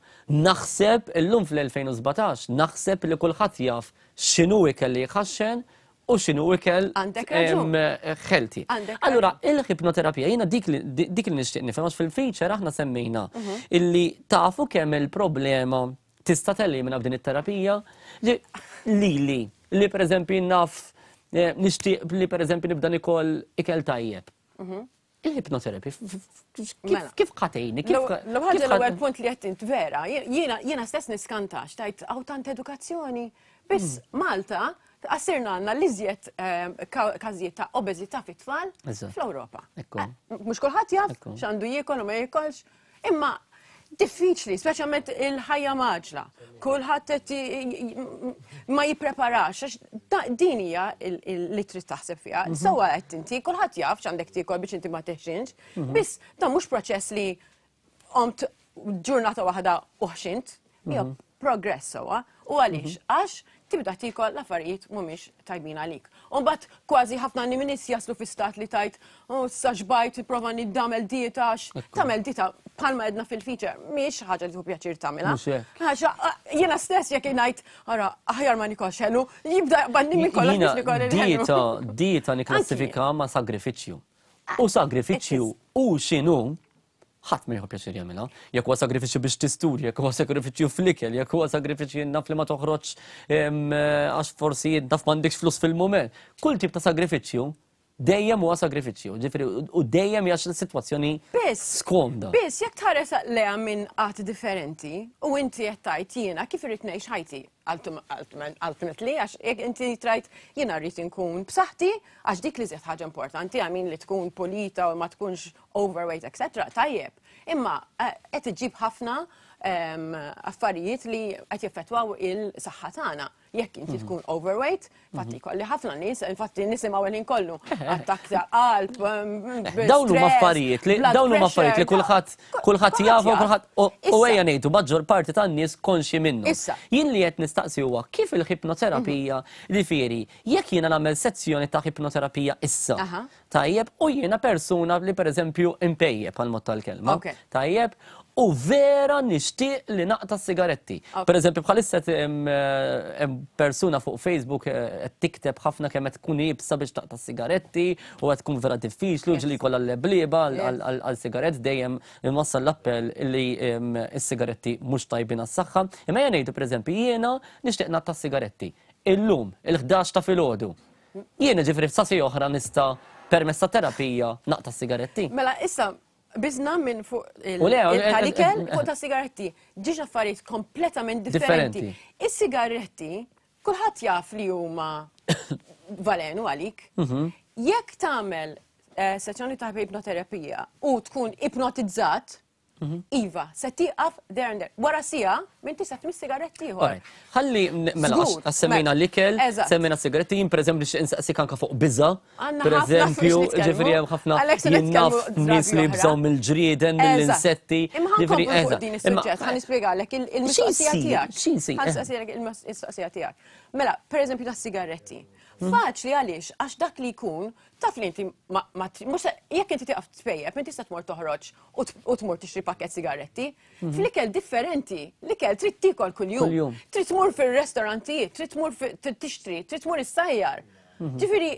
Naħseb illum fl-2017 naħseb li kulħadd jaf x'inhu ikel li jħaxxen u x'inhu ikel healthy. Allura, il-ħipnoterapija, jiena dik li nixtieq nifhem għax fil-feature aħna semmejna mhm. illi tafu kemm il-problema tista' telimina b'din it-terapija li li li pereżempju naf eh, nixtieq li pereżempju nibda nikol ikel tajjeb. Mhm. Il-hypnotherapy, mela. kif ħatejni? L-ħaġa l-ewwel punt li qed int vera, jiena stess niskantax tajt hawn tant edukazzjoni. Biss hmm. Malta għasirna għandna l-iżjed ehm, każijiet ta' obeżità fit-tfal fl-Ewropa. Eh, mhux kulħadd jaf x'għandu jiekol u ma jiekolx, Imma diffiċli, speċjalment il-ħajja maġla. Kulħadd qed ma jippreparax, għax din hija li trid taħseb fiha. Mhm. Sewwa qed inti, kulħadd jaf x'għandek tiekol biex inti ma teħxinx, mhm. biss dan mhux proċess li qomt ġurnata waħda u ħxint, hija mhm. progress sewwa. U għaliex? Mhm. Għax tibda tiekol l-affarijiet mhumiex tajbin għalik. U mbagħad kważi ħafna nies jaslu fi stat li tajt, oh, sa xbajt, prova niddamel dieta, għax tagħmel dieta bħalma edna fil-feature, mhix ħaġa li tieħu pjaċir tagħmilha. Għax jiena stess jekk ngħid, ara, aħjar ma nikolx ħelu, jibda jaqbadni minn kollox biex nikol il-ħelu. Dieta, dieta nikklassifika ma' sagrifiċċju. U sagrifiċċju u x'inhu Ħadd ma jieħu pjaċir jagħmilha. Jekk huwa sagrifiċċju biex tistudja, jekk huwa sagrifiċċju fl-ikel, jekk huwa sagrifiċċju naf li ma toħroġx għax forsi naf m'għandekx flus fil-mument. Kull tip ta' sagrifiċċju, Dejjem huwa sagrifiċċju, ġifieri u dejjem hija sitwazzjoni skomda. Biss jekk tħares lejha minn qatt differenti u inti qed tgħid jiena kif irrid ngħix ħajti ultimately għax jekk inti trajt jiena rrid inkun b'saħħti għax dik li żied ħaġa importanti għamin li tkun pulita u ma tkunx overweight etc. Tajjeb. Imma eh, qed iġib ħafna ehm, affarijiet li qed jeffettwaw il-saħħa tagħna. Jekk inti mhm. tkun overweight, infatti mhm. kolli ħafna nies, infatti nisimgħu il kollu, attakk ta' qalb, mm, eh, Dawn huma affarijiet li dawn huma affarijiet li kulħadd kulħadd jafu kulħadd u ejja ngħidu maġġor parti tan-nies konxi minnu. Jien li qed nistaqsi huwa kif il-ħipnoterapija mhm. li fieri jekk jiena nagħmel sezzjoni ta' ħipnoterapija issa. Tajjeb, u jiena persuna li pereżempju impejjep għal mod tal-kelma. Tajjeb, u vera nixtieq li naqta' sigaretti. Per eżempju, bħalissa hemm persuna fuq Facebook eh, qed tikteb ħafna kemm qed tkun iebsa biex taqta' sigaretti u qed tkun vera diffiċli u ġili jkollha l-leblieba għal sigarett dejjem inwassal l-appell li s-sigaretti mhux tajbin għas-saħħa. Imma jien ngħidu pereżempju jiena nixtieq naqta' sigaretti. Illum, il-11 ta' filgħodu, Jien ġifri f'sasi oħra nista' permezz ta' terapija naqta' sigaretti. Mela issa biżna minn fuq il-talikel fuq ta' sigaretti. Ġiex affarijiet kompletament differenti. Is-sigaretti kulħadd jaf li huma valenu għalik. Mhm. Jekk tagħmel eh, sessjoni ta' ipnoterapija u tkun ipnotizzat, Mhm. Iva, se tieqaf there and there. Wara sija, minn tista' tmiss sigaretti ieħor. Ħalli mela għax semmejna l-ikel, semmejna sigaretti, jien pereżempju biex insaqsik anke fuq biża. Pereżempju, ġifieri hemm ħafna jien naf nies li jibżgħu mill-ġrieden, mill-insetti. Imma ħankomplu fuq din is-suġġett, ħa nispjegalek il-mistoqsija tiegħek. X'insi? Ħa nistaqsilek il-mistoqsija tiegħek. Mela, pereżempju tas-sigaretti. Mhm. Faċli għaliex għax dak li jkun taf li inti ma mhux jekk inti tieqaf tpejjep, inti tista' tmur toħroġ u tmur tixtri pakket sigaretti. Mhm. Fl-ikel differenti, l-ikel trid tiekol kuljum. Trid tmur fir-restorantijiet, trid tmur tixtri, trid tmur issajjar. Mhm. Ġifieri,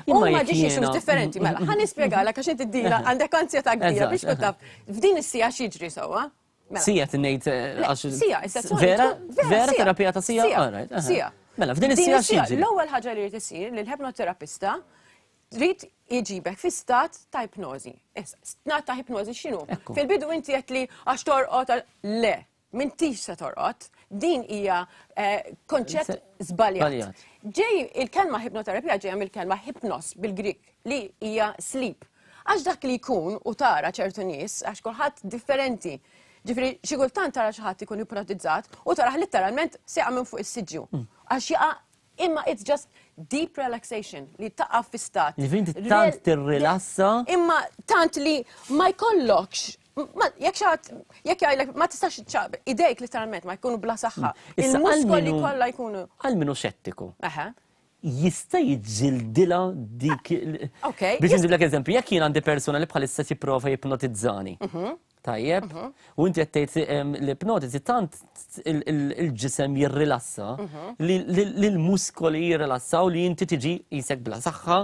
Huma ġiex issues differenti, mela, ħa nispjegalek għax inti dila għandek ansjetà kbira biex tkun taf f'din is-sija x'jiġri sewwa. Mela. Sija tinejt eh, għax. Sija, Vera, vera terapija ta' sija? Sija. Mela, f'din is-sija x'jiġri? L-ewwel ħaġa li jrid isir li l-ħepnoterapista trid iġibek fi stat ta' ipnożi. Stat ta' ipnożi x'inhu? Fil-bidu inti qed li għax torqod le, m'intix se torqod. Din hija eh, konċett żbaljat. Ġej il-kelma ipnoterapija ġejja mill-kelma hypnos bil-Grik li hija sleep. Għax dak li jkun u tara ċertu nies, għax kulħadd differenti. Ġifieri xi kultant tara xi ħadd ikun ipnotizzat u taraħ letteralment seqa' minn fuq is-siġġu. Mm. Għax jaqa' Imma it's just deep relaxation li taqa' fi stat. Ġifieri inti tant tirrilassa. Imma tant li ma jkollokx jekk xaħat, jekk jgħidlek ma tistax ċab, idejk literalment ma jkunu bla saħħa. Mm. Il-muskoli kollha jkunu. Għal minu xettiku. Jista' jiġġildilha dik. Ok. Biex nġiblek eżempju, jekk jien għandi persuna li bħalissa jipprova jipnotizzani. Mhm. Tajjeb, mhm. u inti qed tgħid l-ipnotiżi tant il-ġisem jirrilassa mhm. li l-muskoli jirrilassaw li inti tiġi jisek bla saħħa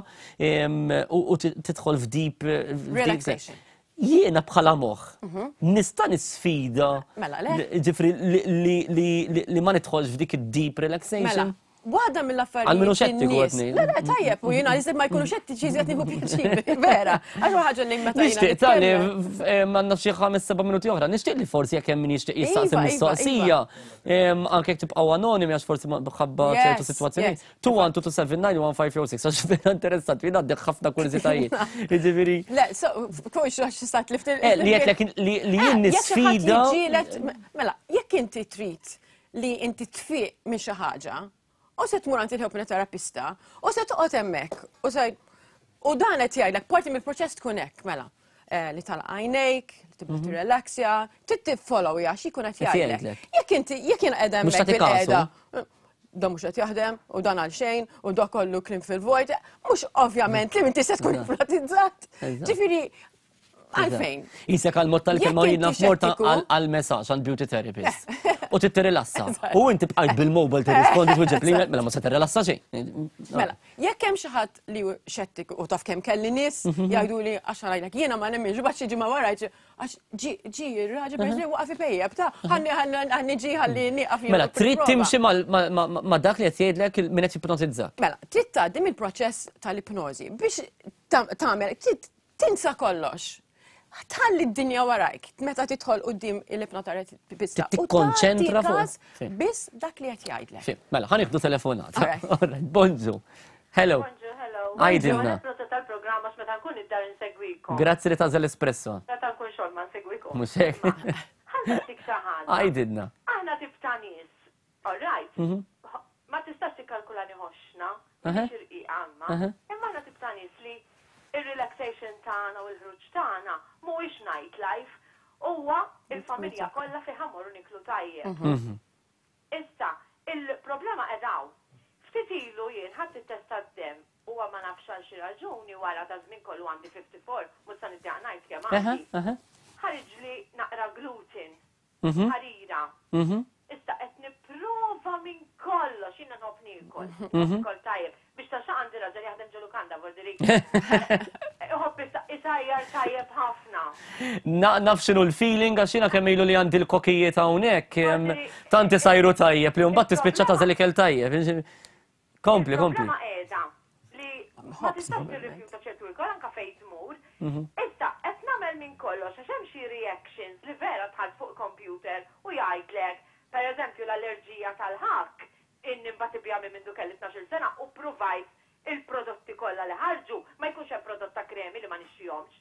u tidħol f'deep relaxation. Jiena bħala moħħ mhm. nista' nisfida mela, ġifri li ma nidħolx f'dik id-deep relaxation. Mela, Waħda mill-affarijiet. Għal minu xettiku għetni. Le, le, tajjeb, u jina jizid ma jkunu xettiċi jizid nieħu pjaċir. Vera, għax ħaġa li meta. Nixtieq tali, għandna xi ħames seba' minuti oħra, nixtieq li forsi jekk hemm min jixtieq jistaqsi iva, iva, mistoqsija, iva. anke jekk tibqgħu anonimi għax forsi ħabba ċertu sitwazzjonijiet. 2 1 2 7 9 1 5 6 għax vera interessanti, jien għandek ħafna kurżitajiet. Jiġifieri. Le, kux għax stat li eh, Li qed li jien eh, nisfida. Mela, jekk inti trid li inti tfiq minn xi ħaġa, u se tmur għand il-ipnoterapista, u se toqgħod hemmhekk, u se u dan qed jgħidlek parti mill-proċess tkun hekk, mela. Eh, li tal għajnejk, li tibda mhm. tirrelaxja, trid tiffollow għax ikun qed jgħidlek. Jekk inti jekk jien qiegħda hemmhekk bil-qiegħda, dan mhux qed jaħdem u dan għal xejn u dak kollu klim fil-vojt, mhux ovvjament li inti se tkun ipnotizzat. Ġifieri Għalfejn? Isek għal-mod tal-kelma jina f'morta għal-messaġġ għal beauty therapist. U trid tirrilassa. U inti bqajt bil-mobile tirrispondi twieġeb l-email, mela ma se tirrilassa xejn. Mela, jekk hemm xi ħadd li hu xettiku u taf kemm kelli nies jgħiduli għax ngħidlek jiena ma nemminx u xi ġimgħa wara għax ġi ġi r-raġel per waqaf ipejjeb ta' ħalli ħalli ġi ħalli nieqaf Mela, trid timxi ma' dak li qed jgħidlek min qed jipnotizzak. Mela, trid tgħaddi mill-proċess tal-ipnożi biex tagħmel trid tinsa kollox. Tħalli d-dinja warajk meta tidħol quddiem il-ipnoterapista. Tikkonċentra fuq. Biss dak li qed jgħidlek. Mela, ħa nieħdu telefonata. Bonġu. Hello. Bonġu, hello. Għidilna. Proset tal-programm għax meta nkun id-dar insegwikom. Grazzi li tagħżel Espresso. Meta nkun xogħol ma nsegwikom. Mhux hekk. Ħa nsaqsik xi ħaġa. Għidilna. Aħna tip ta' nies, all right? Mhm. Ma tistax tikkalkulani ħoxna, mhix irqiqa imma. Imma aħna tip ta' nies li ir-relaxation tagħna u l-ħruġ tagħna mhuwiex night life, huwa il-familja kollha fejn ħa mmorru niklu tajjeb. Issa, il-problema qiegħda hawn. Ftit ilu jien ħadt it-test tad-demm huwa ma nafx għal xi raġuni wara daż-żmien kollu għandi 54, mhux se niddejjaq ngħid kemm għandi. Ħariġli naqra gluten, ħarira. Issa qed nipprova minn kollox, jiena nħobb niekol, nħobb niekol tajjeb. Biex ta' xi għandi raġel jaħdem ġo lukanda vuol dire. Iħobb isajjar tajjeb ħafna. Naf x'inhu l-feeling għax jiena kemm ilu li għandi l-kokijiet hawnhekk, tant isajru tajjeb li mbagħad tispiċċa tagħżel ikel tajjeb. Kompli, kompli. Il-problema qiegħda li ma tistax tirrifjuta ċertu ikel anke fejn tmur. Issa qed nagħmel minn kollox għax hemm xi reactions li vera dħalt fuq computer u jgħidlek, pereżempju l-allerġija tal-ħakk, inni nbati biha minn mindu kelli 12-il sena u ppruvajt il-prodotti kollha li ħarġu, ma jkunx hemm prodott ta' kremi li ma nixtrihomx.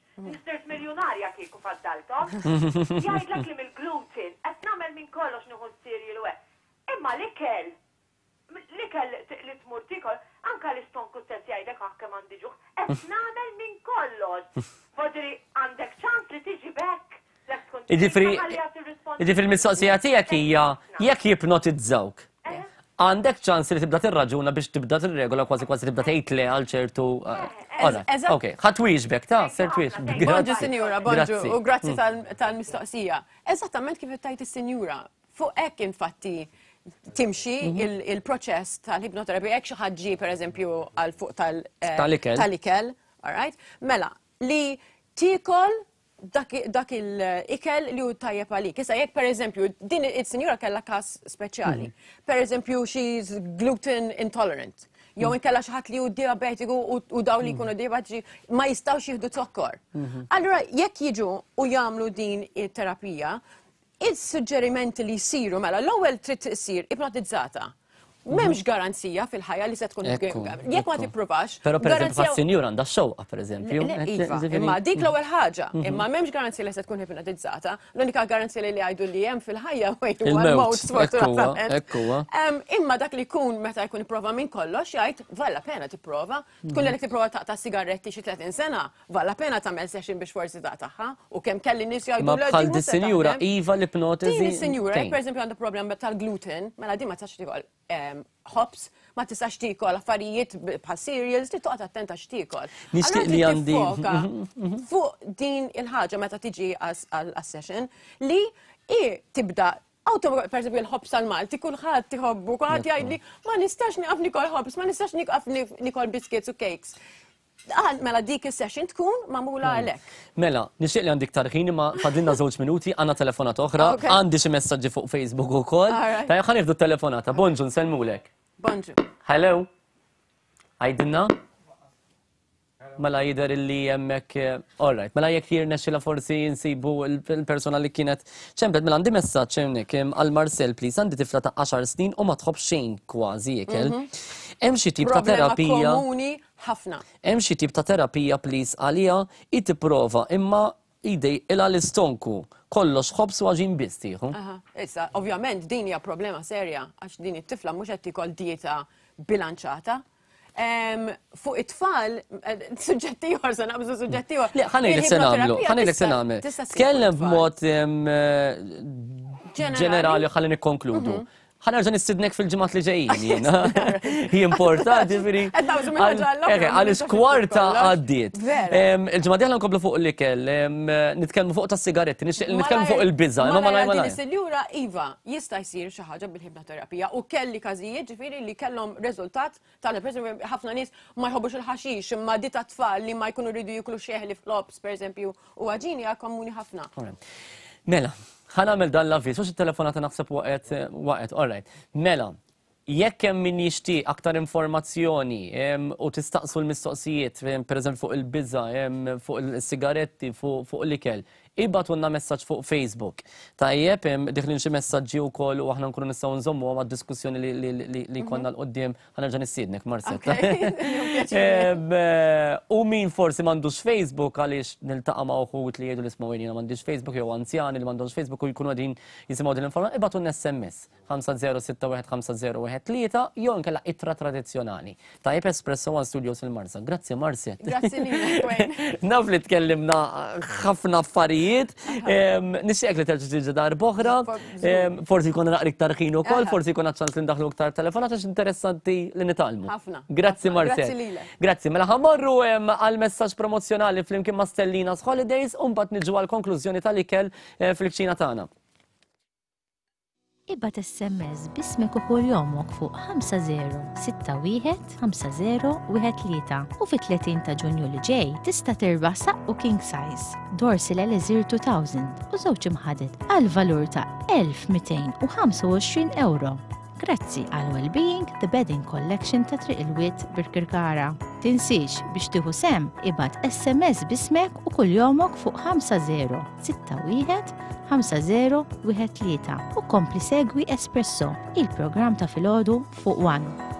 Sirt miljunarja kieku faddalthom. Jgħidlek li mill-gluten, qed nagħmel minn kollox nieħu s-cereal u hekk. Imma l-ikel, l-ikel li tmur tiekol, anke l-istonku stess jgħidlek aħ kemm għandi ġuħ, qed nagħmel minn kollox. Vuol għandek ċans li tiġi back Jiġifieri jiġifieri l-mistoqsija tiegħek hija jekk jipnotizzawk. Għandek ċans li tibda tirraġuna biex tibda tirregola kważi kważi tibda tgħid le għal ċertu. Ok, ħa twieġbek ta' ser twieġbek. Bonġu sinjura, bonġu, u grazzi tal-mistoqsija. Eżattament kif tgħid is-sinjura. Fuq hekk infatti timxi il-proċess tal-ipnoterapija, jekk xi ħadd ġie pereżempju għal fuq tal-ikel. Tal-ikel, all right? Mela, li tiekol dak il-ikel li hu tajjeb għalik. Issa jekk pereżempju din is-sinjura kellha każ speċjali. Pereżempju she's gluten intolerant. Jew inkella xi ħadd li hu diabetiku u dawn li jkunu diabetiċi ma jistgħux jieħdu zokkor. Allura jekk jiġu u jagħmlu din it-terapija, is-suġġerimenti li jsiru mela l-ewwel trid issir ipnotizzata. M'hemmx garanzija fil-ħajja li se tkun jekk ma tippruvax. Però pereżempju bħas-sinjur għandha x-xewqa pereżempju. Iva, imma dik l-ewwel ħaġa, imma m'hemmx garanzija li se tkun ipnotizzata. L-unika garanzija li jgħidu li hemm fil-ħajja huwa l-mewt sfortunatament. Imma dak li jkun meta jkun ipprova minn kollox jgħid vale la pena tipprova. Tkun li tipprova taqta' sigaretti xi 30 sena, vale la pena tagħmel session biex forsi taqtagħha u kemm kelli nies jgħidu Ma bħal dis-sinjura iva l-ipnotiżi. Din is-sinjura, pereżempju għandha problem tal-gluten, mela din ma tistax tiekol ħobż, ma tistax tiekol affarijiet bħal cereals, trid toqgħod attenta x'tiekol. Nixtieq li għandi fuq din il-ħaġa meta tiġi għas-session li i tibda Auto, per esempio, il-ħobż tal-Malti, kulħadd iħobbu, kulħadd jgħidli, ma nistax nieqaf nikol ħobż, ma nistax nieqaf nikol biscuits u cakes. Għal, mela dik is-session tkun magħmula għalhekk. Mela, nixtieq li għandi iktar ħin imma fadlilna żewġ minuti, għandna telefonata oħra, għandi xi messaġġi fuq Facebook ukoll. Tajjeb ħa nieħdu telefonata. Bonġu, nsellmulek. Bonġu. Hello. Għidilna? Mela jidher illi hemmhekk all right. Mela jekk jirnexxilha forsi nsibu l-persuna li kienet ċemplet. Mela għandi messaġġ hawnhekk għal Marcel please għandi tifla ta' 10 snin u ma tħobb xejn kważi ikel. Hemm xi tip ta' terapija. Komuni ħafna. Hemm xi tip ta' terapija please għaliha hi tipprova imma jdejqilha l-istonku. Kollox ħobż u għaġin biss tieħu. Issa, ovvjament din hija problema serja għax din it-tifla mhux qed tiekol dieta bilanċata. Fuq it-tfal, suġġett ieħor se naqbżu suġġett ieħor. Le, ħa ngħidlek se nagħmlu, ħa ngħidlek se nagħmel. Tkellem b'mod ġenerali ħalli nikkonkludu. Ħa nerġa' nistidnek fil-ġimgħat li ġejjin jiena. Jimporta, ġifieri. Għaliex kwarta għaddiet. Il-ġimgħa dieħla nkomplu fuq l-ikel, nitkellmu fuq tas-sigaretti, nixtieq li nitkellmu fuq il-biża', imma malaj malaj. Sinjura Iva, jista' jsir xi ħaġa bil-ħibnoterapija u kelli każijiet ġifieri li kellhom riżultat tal per ħafna nies ma jħobbux il-ħaxix imma di ta' tfal li ma jkunu rridu jiklu xeħli flops pereżempju u għaġini hija komuni ħafna. Mela, ħa nagħmel dan l-avviż, għax it-telefonata naħseb waqgħet, waqgħet, all right. Mela, jekk hemm min jixtieq aktar informazzjoni u tistaqsu l-mistoqsijiet, pereżempju fuq il-biża', fuq il-sigaretti, fuq l-ikel, ibgħatulna messaġġ fuq Facebook. Tajjeb, diħlin xi messaġġi wkoll u aħna nkunu nistgħu nżommuhom għad-diskussjoni li jkollna 'l quddiem Ħa nerġa' nistiednek, Marcetta. U min forsi m'għandux Facebook għaliex niltaqa' ma' uħud li jgħidu li isma' jiena m'għandix Facebook jew anzjani li m'għandhomx Facebook u jkunu qegħdin jisimgħu din l-informazzjoni, ibgħatulna SMS 50615013 jew inkella ittra tradizzjonali. Tajjeb Espresso One Studios il-Marsa. Grazzi Marcet. Grazzi lilek Wayne. Naf li tkellimna ħafna affarijiet. Nixtieqek li terġa' tiġi darb'oħra. Forsi jkun naqra iktar ħin ukoll, forsi jkun ċans li ndaħlu iktar telefonat għax interessanti li nitgħallmu. Ħafna. Grazzi Marcel. Grazzi lilek. Grazzi. Mela ħamorru għal messaġġ promozzjonali flimkien ma' Stellina's Holidays u mbagħad niġu għal konklużjoni tal-ikel eh, fil-kċina tagħna. Ibgħat SMS b'ismek u kuljomok fuq 5061 5013 u fit-30 ta' Ġunju li ġej tista' tirbaħ saqqu king size, Dorsil Elixir 2000 u żewġ imħaded għal valur ta' 1225 ewro. Grazzi għal Wellbeing The Bedding Collection ta' Triq il-Wied Birkirkara. Tinsiex biex tieħu sehem ibgħat SMS b'ismek u kuljomok fuq 5061 5013 u kompli segwi Espresso, il-programm ta' filgħodu fuq One.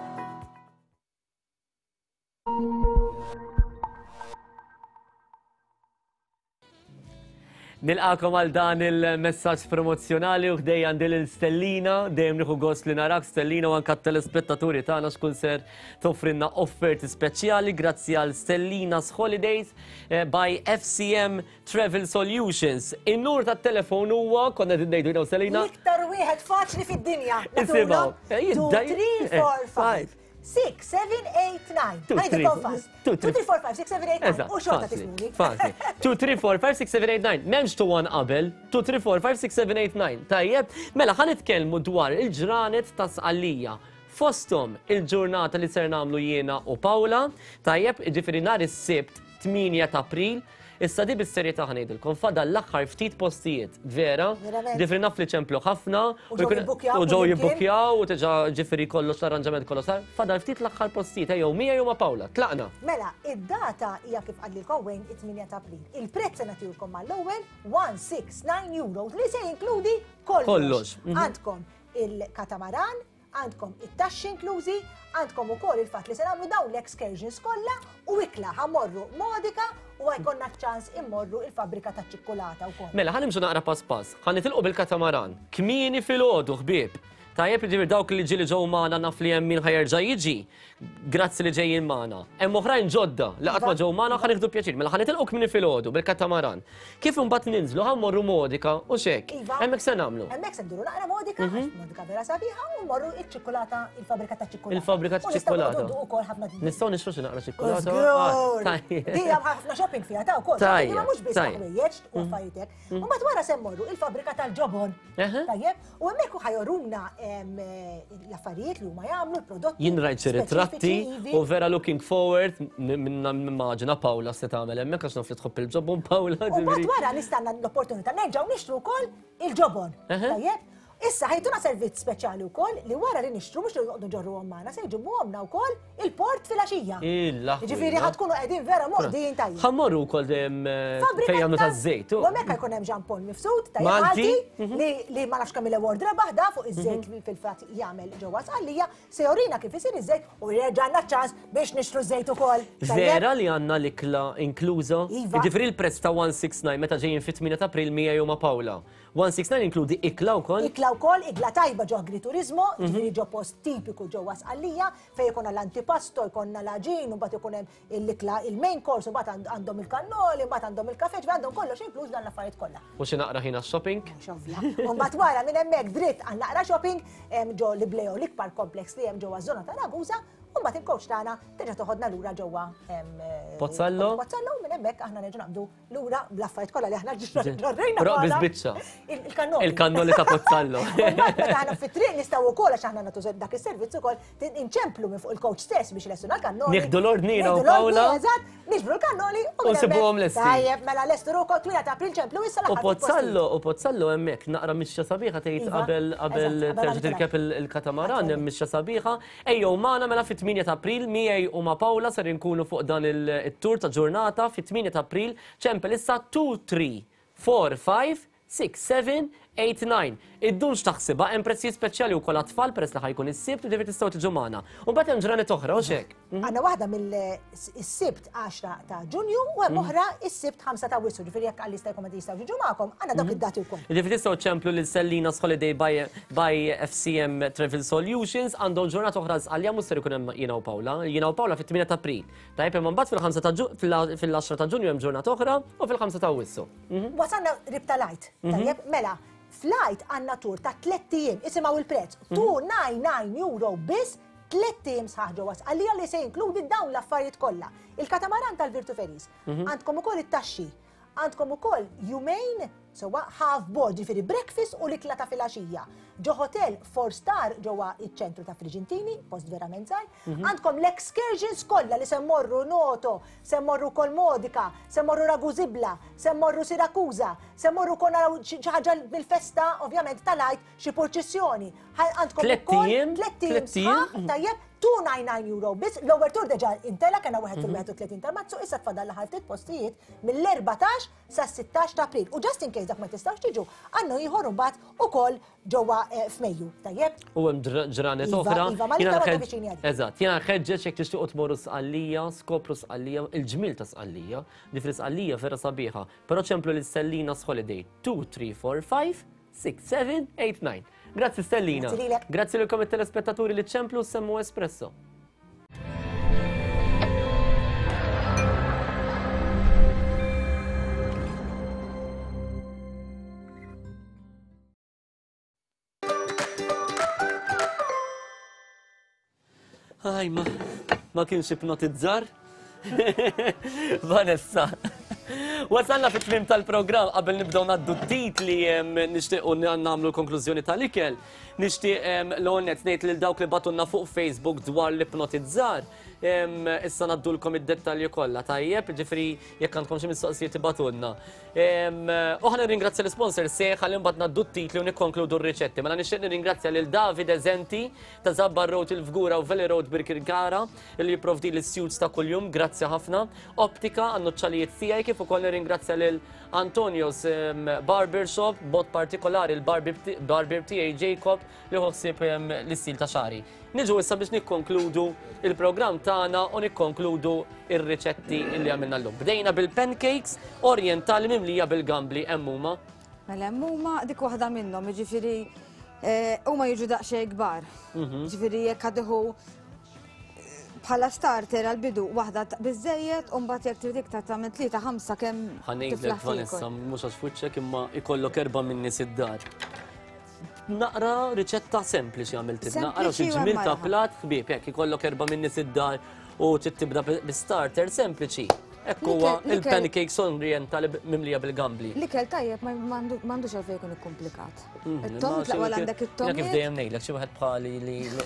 Nilqakom għal dan il-messaġġ promozzjonali u ħdej għandi lil Stellina, dejjem nieħu gost li narak Stellina u anka t-telespettaturi tagħna x'kun ser toffrinna offerti speċjali grazzi għal Stellina's Holidays eh, by FCM Travel Solutions. In-nur tat-telefon huwa konna qegħdin ngħidu jiena u Selina. L-iktar wieħed faċli fid-dinja. Isimgħu. 2, 3, 4, 5. 6, 7, 8, 9. Ħajdu fast. 2, 3, 4, 5, 6, 7, 8, 9. U xorta tifhmuni. Faċli. 2, 3, 4, 5, 6, 7, 8, 9. M'hemmx 2 1 qabel. 2, 3, 4, 5, 6, 7, 8, 9. Tajjeb, mela ħa nitkellmu dwar il-ġranet ta' Sqallija. Fosthom il-ġurnata li ser nagħmlu jiena u Paula, tajjeb, jiġifieri nhar is-Sibt 8 ta' April, Issa di bis-serjetà ħa ngħidilkom, fadal l-aħħar ftit postijiet, vera? Ġifieri naf li ċemplu ħafna u ġew jibbukkjaw u diġà ġifieri kollox l-arranġament kollox sar, fadal ftit l-aħħar postijiet, ejjew miegħi jew ma' Paula, tlaqna. Mela, id-data hija kif qalilkom Wayne it-8 ta' April. Il-prezz se nagħtihulkom mal-ewwel 169 euros li se jinkludi kollox. Kollox. Għandkom il-katamaran, Għandkom it-taxxi inklużi, għandkom ukoll il-fatt li se nagħmlu dawn l-excursions kollha u ikla ħa mmorru Modica u ħa jkollna ċ-ċans immorru il-fabbrika taċ-ċikkulata wkoll. Mela ħa nimxu naqra pass pass. Ħa nitilqu bil-katamaran. Kmieni filgħodu ħbieb. Tajjeb jiġifieri dawk li ġieli ġew magħna naf li hemm min ħa jerġa' jiġi. Grazzi li ġejjin magħna. Hemm oħrajn ġodda li qatt ma ġew magħna ħa nieħdu pjaċir. Mela ħa nitilqu kmieni filgħodu bil-katamaran. Kif imbagħad ninżlu ħa mmorru Modica u x'hekk. Iva. Hemmhekk se nagħmlu. Hemmhekk se nduru naqra Modica, għax Modica vera sabiħa, u mmorru iċ-ċikkulata, il-fabbrika taċ-ċikkulata. Il-fabbrika taċ-ċikkulata. U nistgħu ukoll ħafna. Nistgħu nixtru xi naqra ċikkulata. Żgur. Tajjeb. Di hemm ħafna shopping fiha ta' wkoll. Tajjeb. Imma mhux biss ħwejjeġ u affarijiet hekk. U mbagħad wara se mmorru il-fabbrika tal-ġobon. Tajjeb, u hemmhekk hu ħajoruna l-affarijiet li huma jagħmlu, l-prodotti. Jien rajt xi ritratti u vera looking forward nimmaġina Paula se tagħmel hemmhekk għax naf li tħobb il-ġobon Paula. U mbagħad wara nistanna l-opportunità nerġgħu nixtru wkoll il-ġobon. Tajjeb, Issa ħajtuna servizz speċjali wkoll li wara li nixtru mhux li noqogħdu nġorruhom magħna se jġibuhomna wkoll il-port filgħaxija. Jiġifieri ħa tkunu qegħdin vera moqdijin tajjeb. Ħa mmorru wkoll fejn jagħmlu taż-żejt. U hemmhekk jkun hemm Jean Paul Mifsud tajjeb Malti li ma nafx kemm il-award rebaħ da fuq iż-żejt li fil-fatt jagħmel ġewwa Sqallija, se jorina kif isir iż-żejt u jerġa' għandna ċ-ċans biex nixtru ż-żejt ukoll. Vera li għandna l-ikla inkluża? Iva. Jiġifieri l-prezz ta' 169 meta ġejjin fit-8 ta' April miegħi u ma' Paula. 169 inkludi ikla wkoll? Ikla. Ikla wkoll, ikla tajba ġo agriturizmo, ġifieri ġo post tipiku ġewwa Sqallija, fejn ikollna l-antipasto, jkollna l-għaġin, u mbagħad ikun hemm l-ikla il-main course, u mbagħad għandhom il-kannoli, mbagħad għandhom il-kafè, ġifieri għandhom kollox inkluż dan l-affarijiet kollha. U xi naqra ħin għax-shopping? Mhux ovvja. U mbagħad wara minn hemmhekk dritt għal naqra shopping ġo l-Ibleo l-ikbar complex li hemm ġewwa ż-żona ta' Ragusa, u mbagħad il-coach tagħna terġa' toħodna lura ġewwa Pozzallo. Pozzallo u minn hemmhekk aħna nerġgħu naqbdu Lura bl-affarijiet kollha li aħna ġarrejna. Però biss biċċa. Il-kannoli. Il-kannoli ta' Pozzallo. Meta aħna fit-triq nistgħu wkoll għax aħna nagħtu dak is-servizz ukoll inċemplu minn fuq il-coach stess biex ilestuna l-kannoli. Nieħdu l-ordni jiena u Paola. Eżatt, niġbru l-kannoli u nsibuhom lesti. Tajjeb, mela lestu ruħkom 8 ta' April ċemplu issa l-aħħar. U Pozzallo, u Pozzallo hemmhekk naqra mixja sabiħa tgħid iva, qabel qabel terġa' tirkeb il-katamaran hemm mixja sabiħa. Ejjew magħna mela fit-8 ta' April miegħi u ma' Paola ser inkunu fuq dan it-tour ta' ġurnata fit-8 ta' April ċempel issa 2 3 4 5 6 7 8 9. Iddumx taħsibha hemm prezzijiet speċjali wkoll għat-tfal peress li ħa jkun is-Sibt jiġifieri tistgħu tiġu magħna. U mbagħad hemm ġranet oħra hux hekk? Għandna waħda mill-Sibt 10 ta' Ġunju u hemm oħra is-Sibt 5 ta' Awwissu, ġifieri jekk għal jista' jkun ma jistgħux jiġu magħkom, għandna dawk id-dati wkoll. Ġifieri tistgħu ċemplu lil Sellina's Holiday by, by FCM Travel Solutions għandhom ġurnata oħra Sqallija mhux ser ikun hemm jiena u Paola. Jiena u Paola fit-8 ta' April. Tajjeb imma mbagħad fil-5 ta' fil-10 ta' Ġunju hemm ġurnata oħra u fil-5 ta' Awwissu. Wasalna qrib tal-Għid. Tajjeb, mela, fl-Għid għandna tur ta' tlett ijiem, isimgħu il-prezz, 299 euro biss tlett ijiem sħaħ ġewwa Sqallija li se jinkludi dawn l-affarijiet kollha. Il-katamaran tal-Virtu Ferries, għandkom ukoll it-taxxi, għandkom ukoll jumejn sewwa half board, ġifieri breakfast u l-ikla ta' filgħaxija. Ġo hotel four star ġewwa iċ-ċentru ta' Frigintini, post verament żgħir. Għandkom l-excursions kollha li se mmorru Noto, se mmorru wkoll Modica, se mmorru Ragusibla, se mmorru Siracusa, se mmorru wkoll naraw xi ħaġa mill-festa ovvjament tal-Għid, xi purċissjoni. Għandkom ukoll tlett ijiem sħaħ, tajjeb, 299 euro biss, l-ewwel tur deġa intela kellna wieħed fil-31 ta' Marzu, issa tfadal l-aħħar ftit postijiet mill-14 sas-16 ta' April. U just in case dak ma tistgħux tiġu, għandna ieħor imbagħad ukoll ġewwa f'Mejju, tajjeb? U hemm ġranet Iva, oħra. iva, ma l-iktar waħda viċini għalik. Eżatt, jiena nħeġġeġ jekk tixtiequ tmorru Sqallija, skopru Sqallija, il-ġmiel ta' Sqallija, ġifieri Sqallija vera sabiħa, però ċemplu lil Stellina's Holiday 2 3 4 5 6 7 8 9. Grazzi Stellina. Grazzi lilek. Grazzi lilkom it-telespettaturi li ċemplu semmu Espresso. Aj, ma, ma kienx ipnotizzar. Vanessa. Wasalna fit tmim tal-programm qabel nibdew naddu t-titli nixtiequ nagħmlu l-konklużjoni tal-ikel. Nixtieq l-għonet ngħid lil dawk li batunna fuq Facebook dwar l-ipnotizzar. Issa naddulkom id-dettalji kollha, tajjeb, ġifri jekk għandkom xi mistoqsijiet ibatunna. U ħa nirringrazzja l-sponsor seħ ħalli mbagħad naddu t-titli u nikkonkludu r-riċetti. Mela nixtieq nirringrazzja lil David Eżenti ta' Zabbar Road il-Fgura u Valley Road Birkirkara li jipprovdi l-suits ta' kuljum, grazzi ħafna. Optika għan-nuċċalijiet tiegħi kif ukoll nirringrazzja lil Antonio's Barbershop, b'mod partikolari l-barber tiegħi Jacob li ħu ħsieb l-istil ta' xagħri. Niġu issa biex nikkonkludu il-programm tagħna u nikkonkludu ir-riċetti li għamilna llum. Bdejna bil-pancakes orientali mimlija bil-gambli hemm huma. Mela hemm huma dik waħda minnhom, jiġifieri eh, huma jiġu daqsxejn kbar. Mhm. Jiġifieri jekk għadiħu eh, bħala starter għal-bidu waħda biżejjed u mbagħad jekk trid iktar tagħmel tlieta ħamsa kemm. Ħanejlek Vanessa mhux għax fuċċek imma ikollok erba' minn nies id-dar. Naqra riċetta sempliċi għamiltilna. Naqra xi ġmil ta' plat ħbieb, jekk ikollok erba' minn nies id-dar u trid tibda bi-starter sempliċi. Hekk huwa il-pancakes orientali mimlija bil-gambli. L-ikel tajjeb m'għandux għalfejn jkun ikkumplikat. Mhm, It-tom tlaqwa għandek it-tom. Kif dejjem ngħidlek xi wieħed bħali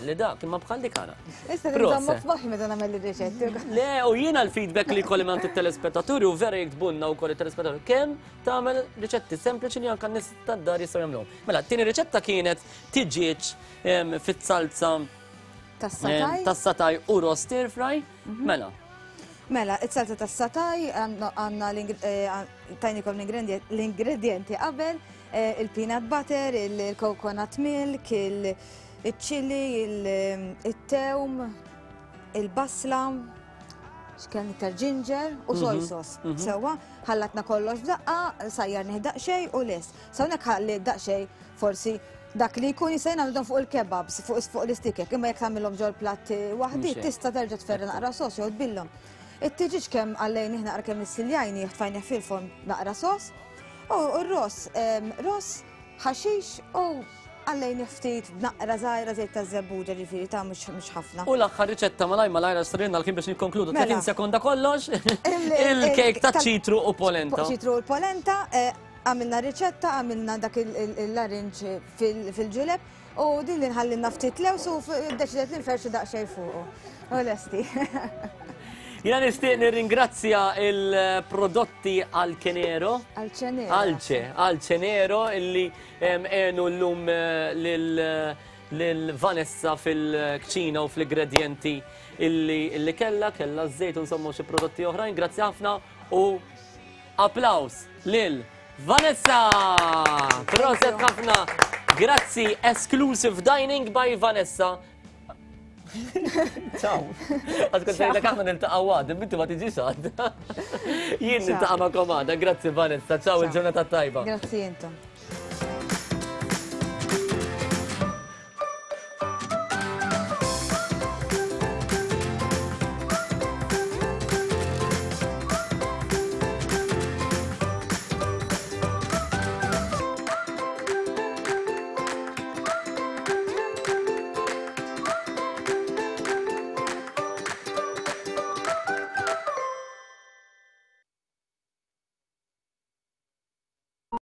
li dak, imma bħal dik ara. Issa nżommok f'moħħi meta nagħmel ir-riċetti. Le, u jiena l-feedback li jkolli minn it-telespettaturi u vera jiktbulna wkoll it-telespettaturi kemm tagħmel riċetti sempliċi li anke n-nies tad-dar jistgħu jagħmluhom. Mela, t-tieni riċetta kienet tiġieġ fit-salza tas-sataj u roast stir fry. Mhm. Mela. Mela, it-salza tas-sataj għandna eh, tajnikom l-ingredienti qabel, eh, il-peanut butter, il-coconut milk, il-chili, il-tewm, il-basla, x'kien iktar ginger u soy mhm, sauce. Mhm. Sewwa, ħallatna kollox f'daqqa, sajjarnih daqsxejn u lest. Sa hawnhekk ħalli daqsxejn forsi Dak li jkun jista' jingħamilhom fuq il-kebabs, fuq fuq l-istikek, imma jekk tagħmilhom ġol-platt waħdi tista' terġa' tferra naqra sos jew tbillhom. It-tiġiġ kemm għallejnih naqra kemm issiljajnih tfajnih fil-forn naqra sos. U r-ross, ross, ħaxix u għallejnih ftit b'naqra żgħira żejt taż-żebbuġa ġifieri ta' mhux ħafna. U l-aħħar riċetta malaj malajr għax sarilna l-ħin biex nikkonkludu 30 mela. sekonda kollox. Il-kejk ta' ċitru u polenta. Ċitru u polenta, eh, Għamilna riċetta, għamilna dak il-larinġ fil-ġuleb u din li nħallinna ftit lews u ddeċidet li nferxu daqsxejn fuqu. U lesti. Jina nishtiq nirringrazzja il-prodotti Alcenero. Alcenero. Alce, Alcenero illi għenu l-lum eh, lil Vanessa fil-kċina u fl-ingredienti illi kella, kella z-zejt insomma xi prodotti oħrajn. Grazzi ħafna u Applaws lil Vanessa! Proset ħafna! Grazzi, Exclusive Dining by Vanessa. Ciao. Għad kont ngħidlek aħna niltaqgħu għad, inti ma tiġix għad. Jien niltaqa' magħkom għada. Grazzi Vanessa, ciao il-ġurnata tajba. Grazzi intom.